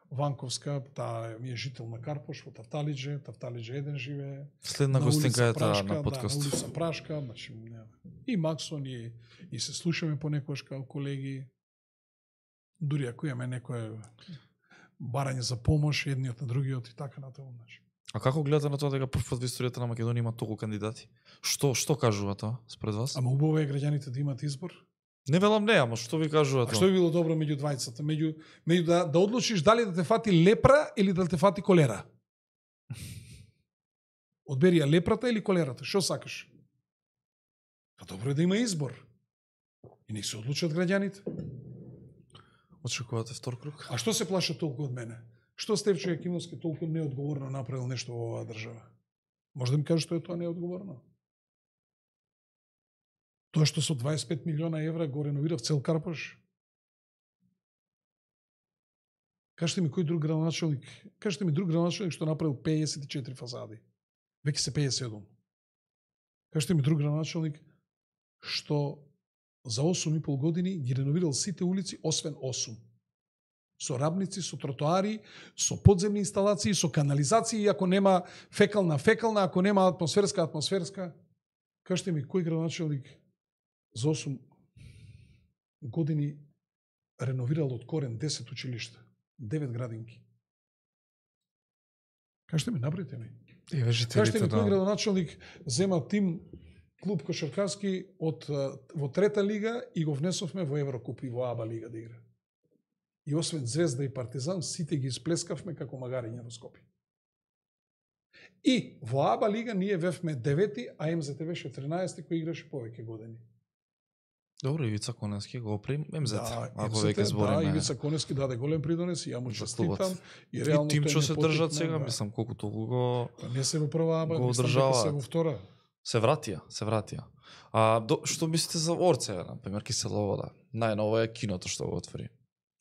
Ванковска, таа ми е жител на Карпош, во Тавталиџе, Тавталиџе еден живее. Следна гостинка е таа на Да, подкаст. на улица Прашка, значи, и Максон, и, и се слушаме понекогаш као колеги. Дури ако имаме некое барање за помош, едниот на другиот и така натаму. Значи. А како гледате на тоа дека прв пат во историјата на Македонија има толку кандидати? Што што кажува тоа спред вас? Ама убаво е граѓаните да имат избор. Не велам не, ама што ви кажува А тоа? што би било добро меѓу двајцата? Меѓу, меѓу да, да одлучиш дали да те фати лепра или да те фати колера? Одбери ја лепрата или колерата? Што сакаш? Па добро е да има избор. И не се одлучат граѓаните. Очекувате втор круг? А што се плаша толку од мене? Што Стефчо Јакимовски толку неодговорно направил нешто во оваа држава? Може да ми кажеш што е тоа неодговорно? Тоа што со дваесет и пет милиона евра го реновирав цел Карпош? Кажете ми кој друг градоначалник, кажете ми друг градоначалник што направил пеесет и четири фазади. Веќе се пеесет и седум. Кажете ми друг градоначалник што за осум и пол години ги реновирал сите улици освен осум. Со рабници, со тротоари, со подземни инсталации, со канализации, ако нема фекална фекална, ако нема атмосферска атмосферска. Кажете ми кој градоначалник за осум години реновирал од корен десет училишта, девет градинки. Кажете ми, набрите ми. И Кажете жителите ми, кој на градоначалник зема тим клуб кошаркарски од во трета лига и го внесовме во Еврокуп и во Аба лига да игра. И освен Звезда и Партизан, сите ги исплескавме како магариња во Скопје. И во Аба лига ние вевме девети, а М З Т беше тринаесети кој играше повеќе години. Добро, Ивица Коневски го опри М З Т. Да, ако М З Т, веќе збориме. Да, Ивица Коневски даде голем придонес и ја му За честитам. клубот. И реално И тимчо тој се не држат потикна, сега, да. мислам колку толку го Не се во прва Аба, го мислам дека одржаваат. се во втора. се вратија, се вратија. А до, што мислите за Орце, на пример, Киселовода? Најново е киното што го отвори.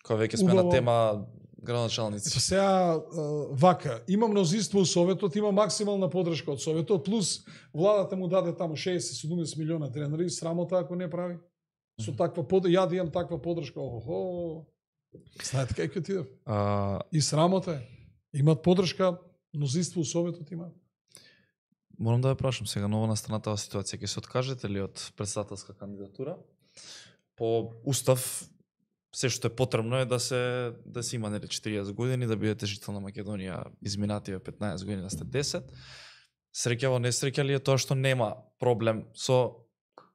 Кога веќе сме Убаво. на тема градоначалници. Ето сега вака, има мнозинство у Советот, има максимална подршка од Советот, плюс владата му даде таму шеесет седумдесет милиона тренари, срамота ако не прави. Со таква под ја да имам таква подршка, охо. Знаете кај ќе отидам? А, И срамота е. Имат подршка, мнозинство у Советот има. морам да ја прашам сега ново настаната ситуација, ќе се откажете ли од претседателска кандидатура? По устав се што е потребно е да се да се има нели четириесет години да бидете жител на Македонија, изминативе петнаесет години да сте десет. Среќаво несреќа ли е тоа што нема проблем со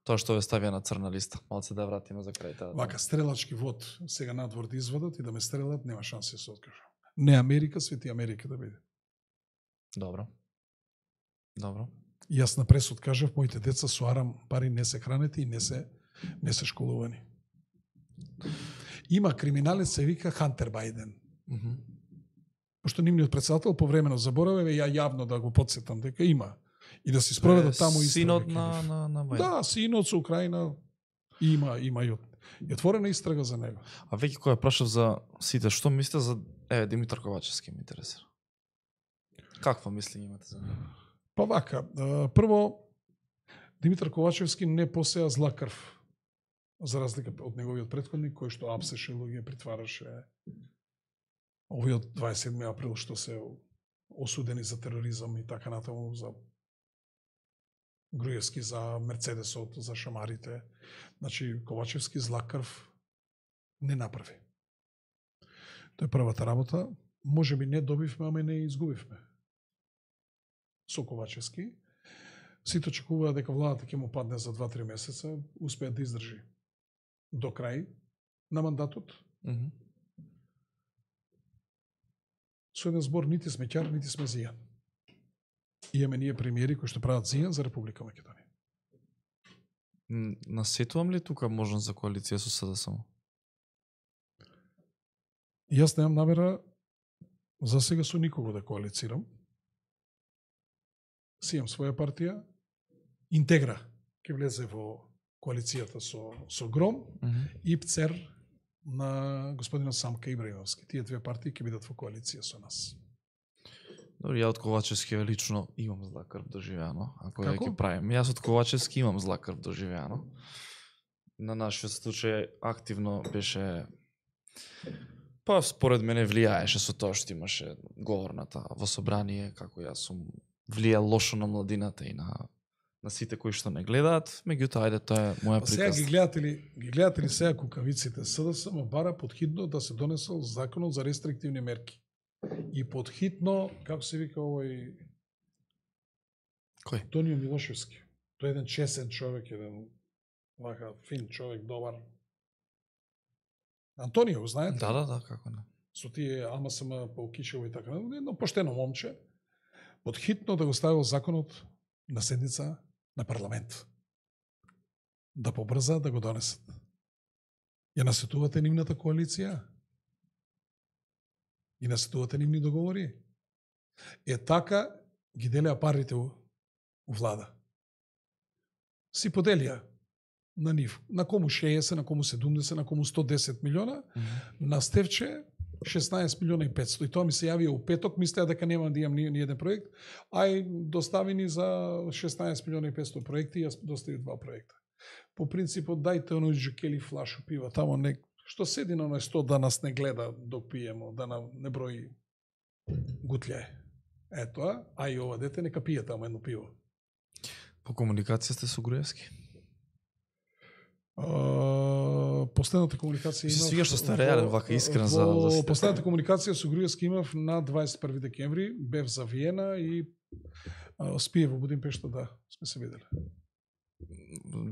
тоа што ве ставија на црна листа? Малце да вратиме за крај таа. Вака, стрелачки вод сега надвор да извадат и да ме стрелат, нема шанси да се откажам. Не Америка, свети Америка да биде. Добро. Добро. И јас на пресуд кажав, моите деца со арам пари не се хранети и не се не се школувани. Има криминалец се вика Хантер Бајден. Mm -hmm. Пошто нивниот председател по време на забораве ја јавно да го подсетам дека има и да се спроведат таму истрага. Синот на на на Бајден. Да, синот со Украина има има и, и отворена истрага за него. А веќе кој ја прашав за сите, што мислите за е Димитар Ковачевски ме интересира. Каква мисли имате за него? Па вака, прво Димитар Ковачевски не посеа зла крв. За разлика од неговиот претходник кој што апсеше луѓе, притвараше овојот дваесет и седми април што се осудени за тероризам и така натаму, за Груевски, за Мерцедесот, за шамарите. Значи, Ковачевски зла крв не направи. Тоа е првата работа. Може би не добивме, ама и не изгубивме. Со Ковачевски. Сите очекуваа дека владата ќе му падне за два-три месеца, успеа да издржи до крај на мандатот. Mm -hmm. Со еден збор, нити сме ќар, нити сме зијан. Имаме ние премиери кои што прават зијан за Република Македонија. Насетувам ли тука можност за коалиција со С Д С М? Јас немам намера за сега со никого да коалицирам. Си имам своја партија. Интегра ќе влезе во коалицијата со, со Гром Mm -hmm. и ПЦЕР на господинот Самка Ибраимовски. Тие две партии ќе бидат во коалиција со нас. Добро, ја од Ковачевски лично имам зла крв доживеано, ако ја Како? ќе правим. Јас од Ковачевски имам зла крв доживеано. На нашиот случај активно беше, па според мене влијаеше со тоа што имаше говорната во собрание, како јас сум влијал лошо на младината и на на сите кои што не гледаат, меѓутоа ајде тоа е моја Па сега приказна. ги гледате ли, ги гледате ли сега кукавиците? С Д С М бара подхитно да се донесел законот за рестриктивни мерки. И подхитно, како се вика овој Кој? Антонио Милошевски. Тој е еден чесен човек, еден вака фин човек, добар. Антонио, знаете? Да, да, да, како не. Со тие А М С М Паукишево и така, едно поштено момче, подхитно да го ставил законот на седница на парламент. Да побрза да го донесат. Ја насетувате нивната коалиција? И насетувате нивни договори? Е така ги делеа парите у, у влада. Си поделија на нив. На кому шеесет, на кому седумдесет, на кому сто десет милиона, Mm -hmm. на Стевче шеснаесет милиона и петсто. И тоа ми се јавија у петок, мислеа дека нема да имам ни, ни еден проект, ај достави ни за шеснаесет милиона и петсто проекти, јас достави два проекта. По принципот, дајте оној джукели флашу пива, тамо не, што седи на оној сто да нас не гледа док пиемо, да нам не брои гутлјај. Ето, а и ова дете нека пие тамо едно пиво. По комуникација сте со Груевски? Uh, последната комуникација Ми се имав... свига што сте реален, вака искрен за- во за сите. Последната комуникација со Груевски имав на дваесет и први декември, бев за Виена и А, спие во Будимпешта, да, сме се видели.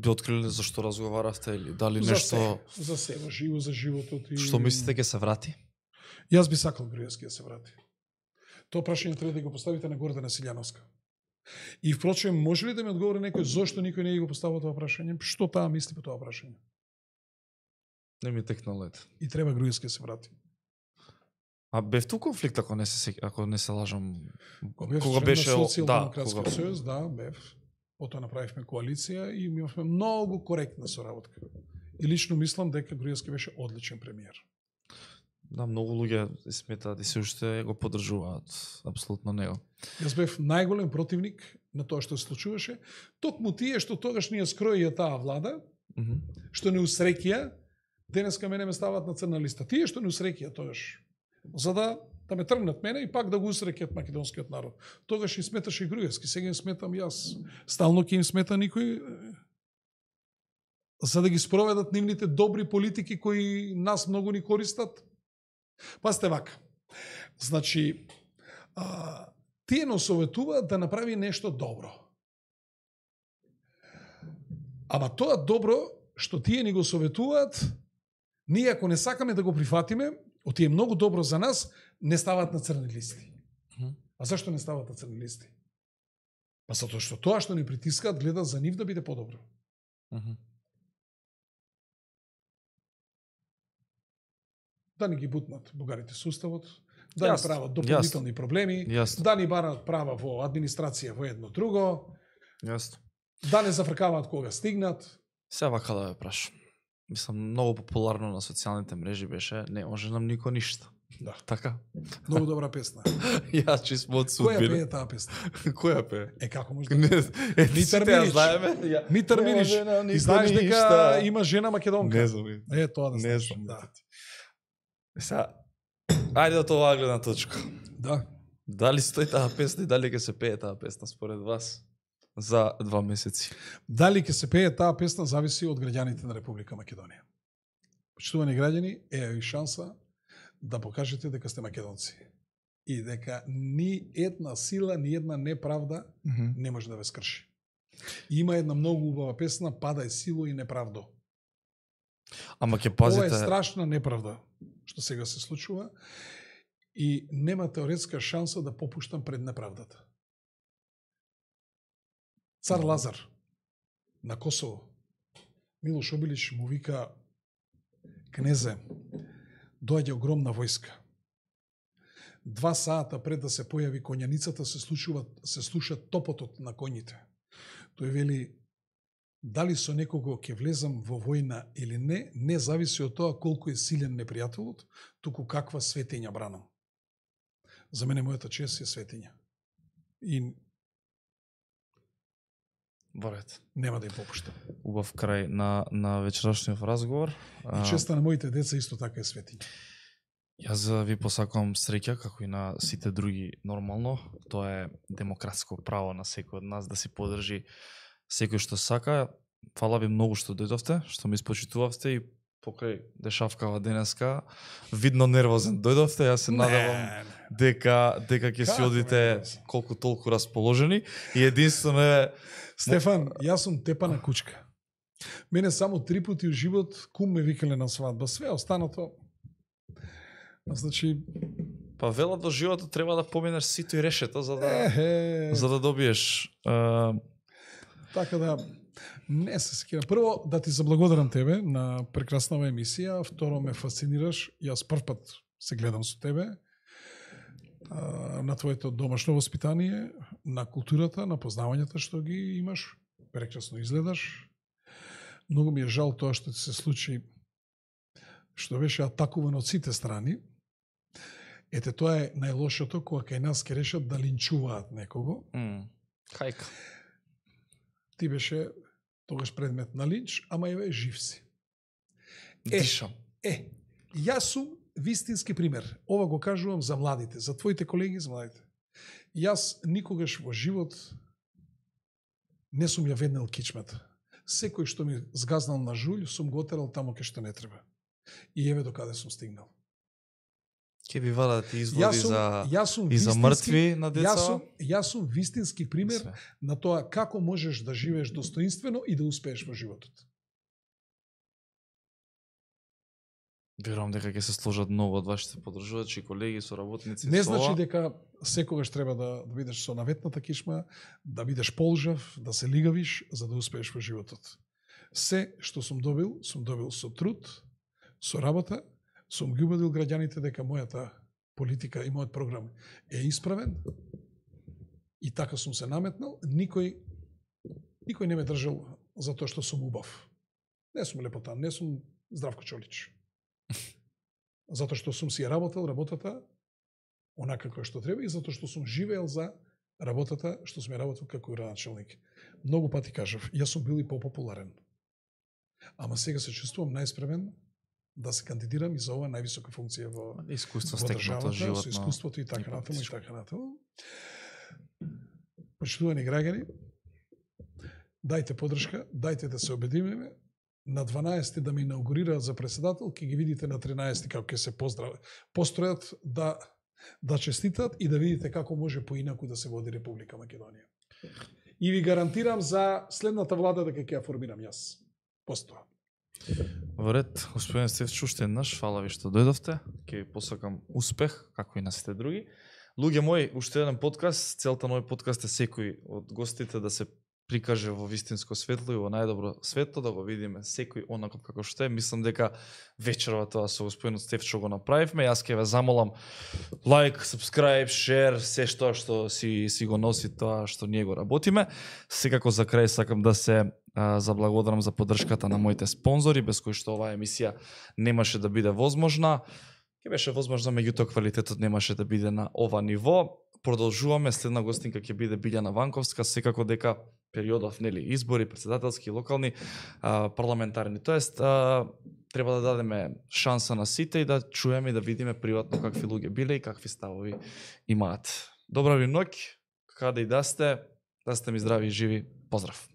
Би откриле зашто разговаравте или дали За нешто се, за се, за живо, за животот и... што мислите ќе се врати? Јас би сакал Груевски да се врати. Тоа прашање треба да го поставите на Гордана Силјановска. И впрочем, може ли да ми одговори некој зошто никој не го поставил тоа прашање? Што таа мисли по тоа прашање? Не ми текна лед. И треба Груевски да се врати. А бев ту конфликт ако не се ако не се лажам. Кога, Кога беше да, Социјалдемократскиот кога... сојуз, да, бев. Потоа направивме коалиција и имавме многу коректна соработка. И лично мислам дека Груевски беше одличен премиер. Да, многу луѓе сметаат и се уште го поддржуваат апсолутно него. Јас бев најголем противник на тоа што се случуваше. Токму тие што тогаш ние скроија таа влада, Mm -hmm. што не усрекија, денеска мене ме стават на црна листа. Тие што не усрекија тогаш, за да да ме тргнат мене и пак да го усрекјат македонскиот народ. Тогаш и сметаше и Груевски, сега им сметам јас. Стално ќе им смета никој за да ги спроведат нивните добри политики кои нас многу ни користат. Пасте вака. Значи, а, тие но советуваат да направи нешто добро. Ама тоа добро што тие ни го советуваат, ние ако не сакаме да го прифатиме, оти е многу добро за нас, не стават на црни листи. Мгм. А зашто не стават на црни листи? Па затоа што тоа што ни притискаат гледа за нив да биде подобро. Mm -hmm. Да ни ги бутнат бугарите со уставот, да ни Јасно, прават дополнителни проблеми, Јасно. да ни бараат права во администрација во едно друго, Јасно. да не зафркаваат кога стигнат. Се вака да ве прашам. Мислам, многу популарно на социјалните мрежи беше, не може нам нико ништо. Да. Така? Многу добра песна. Јас чисмо од Која судбина. пее таа песна? Која пее? Е, како може да Не, пее? е, Митар сите ја Милич. знаеме. Ја- Митар Не Милич. може нам И нико знаеш дека ништа. има жена македонка. Не знам. Е, тоа да Не знаеш. знам. Да. Сега, ајде од оваа гледна точка. Да. Дали стои таа песна и дали ќе се пее таа песна според вас за два месеци? Дали ќе се пее таа песна зависи од граѓаните на Република Македонија. Почитувани граѓани, е и шанса да покажете дека сте македонци и дека ни една сила, ни една неправда не може да ве скрши. И има една многу убава песна "Падај сило и неправдо". Ама ќе Ова пазите. е страшна неправда што сега се случува и нема теоретска шанса да попуштам пред неправдата. Цар Лазар на Косово, Милош Обилич му вика: "Кнезе, доаѓа огромна војска. Два сата пред да се појави коњаницата се слушува се слуша топотот на коњите. Тој вели: дали со некого ќе влезам во војна или не, не зависи од тоа колку е силен непријателот, туку каква светиња бранам. За мене мојата чест е светиња. И Борет. нема да ја попуштам. Убав крај на, на вечерашниот разговор. И честа на моите деца исто така е светиња. Јас ви посакувам среќа, како и на сите други нормално. Тоа е демократско право на секој од нас да си подржи секој што сака. Фала ви многу што дојдовте, што ме испочитувавте и покрај дешавкава денеска. Видно нервозен дојдовте, јас се надевам дека дека ќе си Како одите нервозен? колку толку расположени и единствено е Стефан, јас сум тепана кучка. Мене само три пати у живот кум ме викале на свадба. Све останато... Значи... па велат до животот треба да поминеш сито и решето за да Ехе, за да добиеш а, така да... Не се секирам. Прво, да ти заблагодарам тебе на прекраснава емисија. Второ, ме фасцинираш. Јас прв пат се гледам со тебе. А, на твоето домашно воспитание, на културата, на познавањата што ги имаш. Прекрасно изгледаш. Многу ми е жал тоа што ти се случи, што беше атакувано од сите страни. Ете, тоа е најлошото кога кај нас ке решат да линчуваат некого. м, хајка. Ти беше тогаш предмет на линч, ама еве жив си. Е, Дишам. Е, јас сум вистински пример. Ова го кажувам за младите, за твоите колеги, за младите. Јас никогаш во живот не сум ја веднел кичмата. Секој што ми згазнал на жулј, сум го отерал тамо кај што не треба. И еве до каде сум стигнал. Ке би валат изводи Јас сум, за јас сум и за вистински- мртви на деца. Јас сум, јас сум вистински пример Све. на тоа како можеш да живееш достоинствено и да успееш во животот. Верувам дека ќе се сложат многу од вашите подржувачи, колеги, соработници. Не со значи ова. дека секогаш треба да, да бидеш со наветната кишма, да бидеш полжав, да се лигавиш за да успееш во животот. Се што сум добил, сум добил со труд, со работа, сум ги убедил граѓаните дека мојата политика и мојот програм е исправен и така сум се наметнал. Никој, никој не ме држал за тоа што сум убав. Не сум лепотан, не сум Здравко Чолич. Затоа што сум си ја работел работата онака како што треба и затоа што сум живеел за работата што сум ја работел како градоначелник. Многу пати кажав, јас сум бил и попопуларен. Ама сега се чувствувам најспремен да се кандидирам и за оваа највисока функција во, искуство во стекнато државата, животно. со искуството и така и натаму и политичко. така натаму. Почитувани граѓани, дајте подршка, дајте да се обединеме. На дванаесети да ме инаугурираат за председател, ќе ги видите на тринаесети како ќе се поздрав... постројат да да честитат и да видите како може поинаку да се води Република Македонија. И ви гарантирам за следната влада дека ќе ја формирам јас. Постоја. Во ред, господин Стефчо, уште еднаш, фала ви што дојдовте. Ќе ви посакам успех, како и на сите други. Луѓе мои, уште еден подкаст. Целта на овој подкаст е секој од гостите да се прикаже во вистинско светло и во најдобро светло, да го видиме секој онако како што е. Мислам дека вечерва тоа со господинот Стефчо го направивме. Јас ќе ве замолам лайк, subscribe, share, се што што си си го носи тоа што ние го работиме. Секако за крај сакам да се а, заблагодарам за поддршката на моите спонзори, без кои што оваа емисија немаше да биде возможна. Ќе беше возможно, меѓутоа квалитетот немаше да биде на ова ниво. Продолжуваме, следна гостинка ќе биде Билјана Ванковска, секако дека периодов, нели, избори, председателски, локални, а, парламентарни. Тоест, а, треба да дадеме шанса на сите и да чуеме и да видиме приватно какви луѓе биле и какви ставови имаат. Добра ви ноќ, каде и да сте, да сте ми здрави и живи. Поздрав!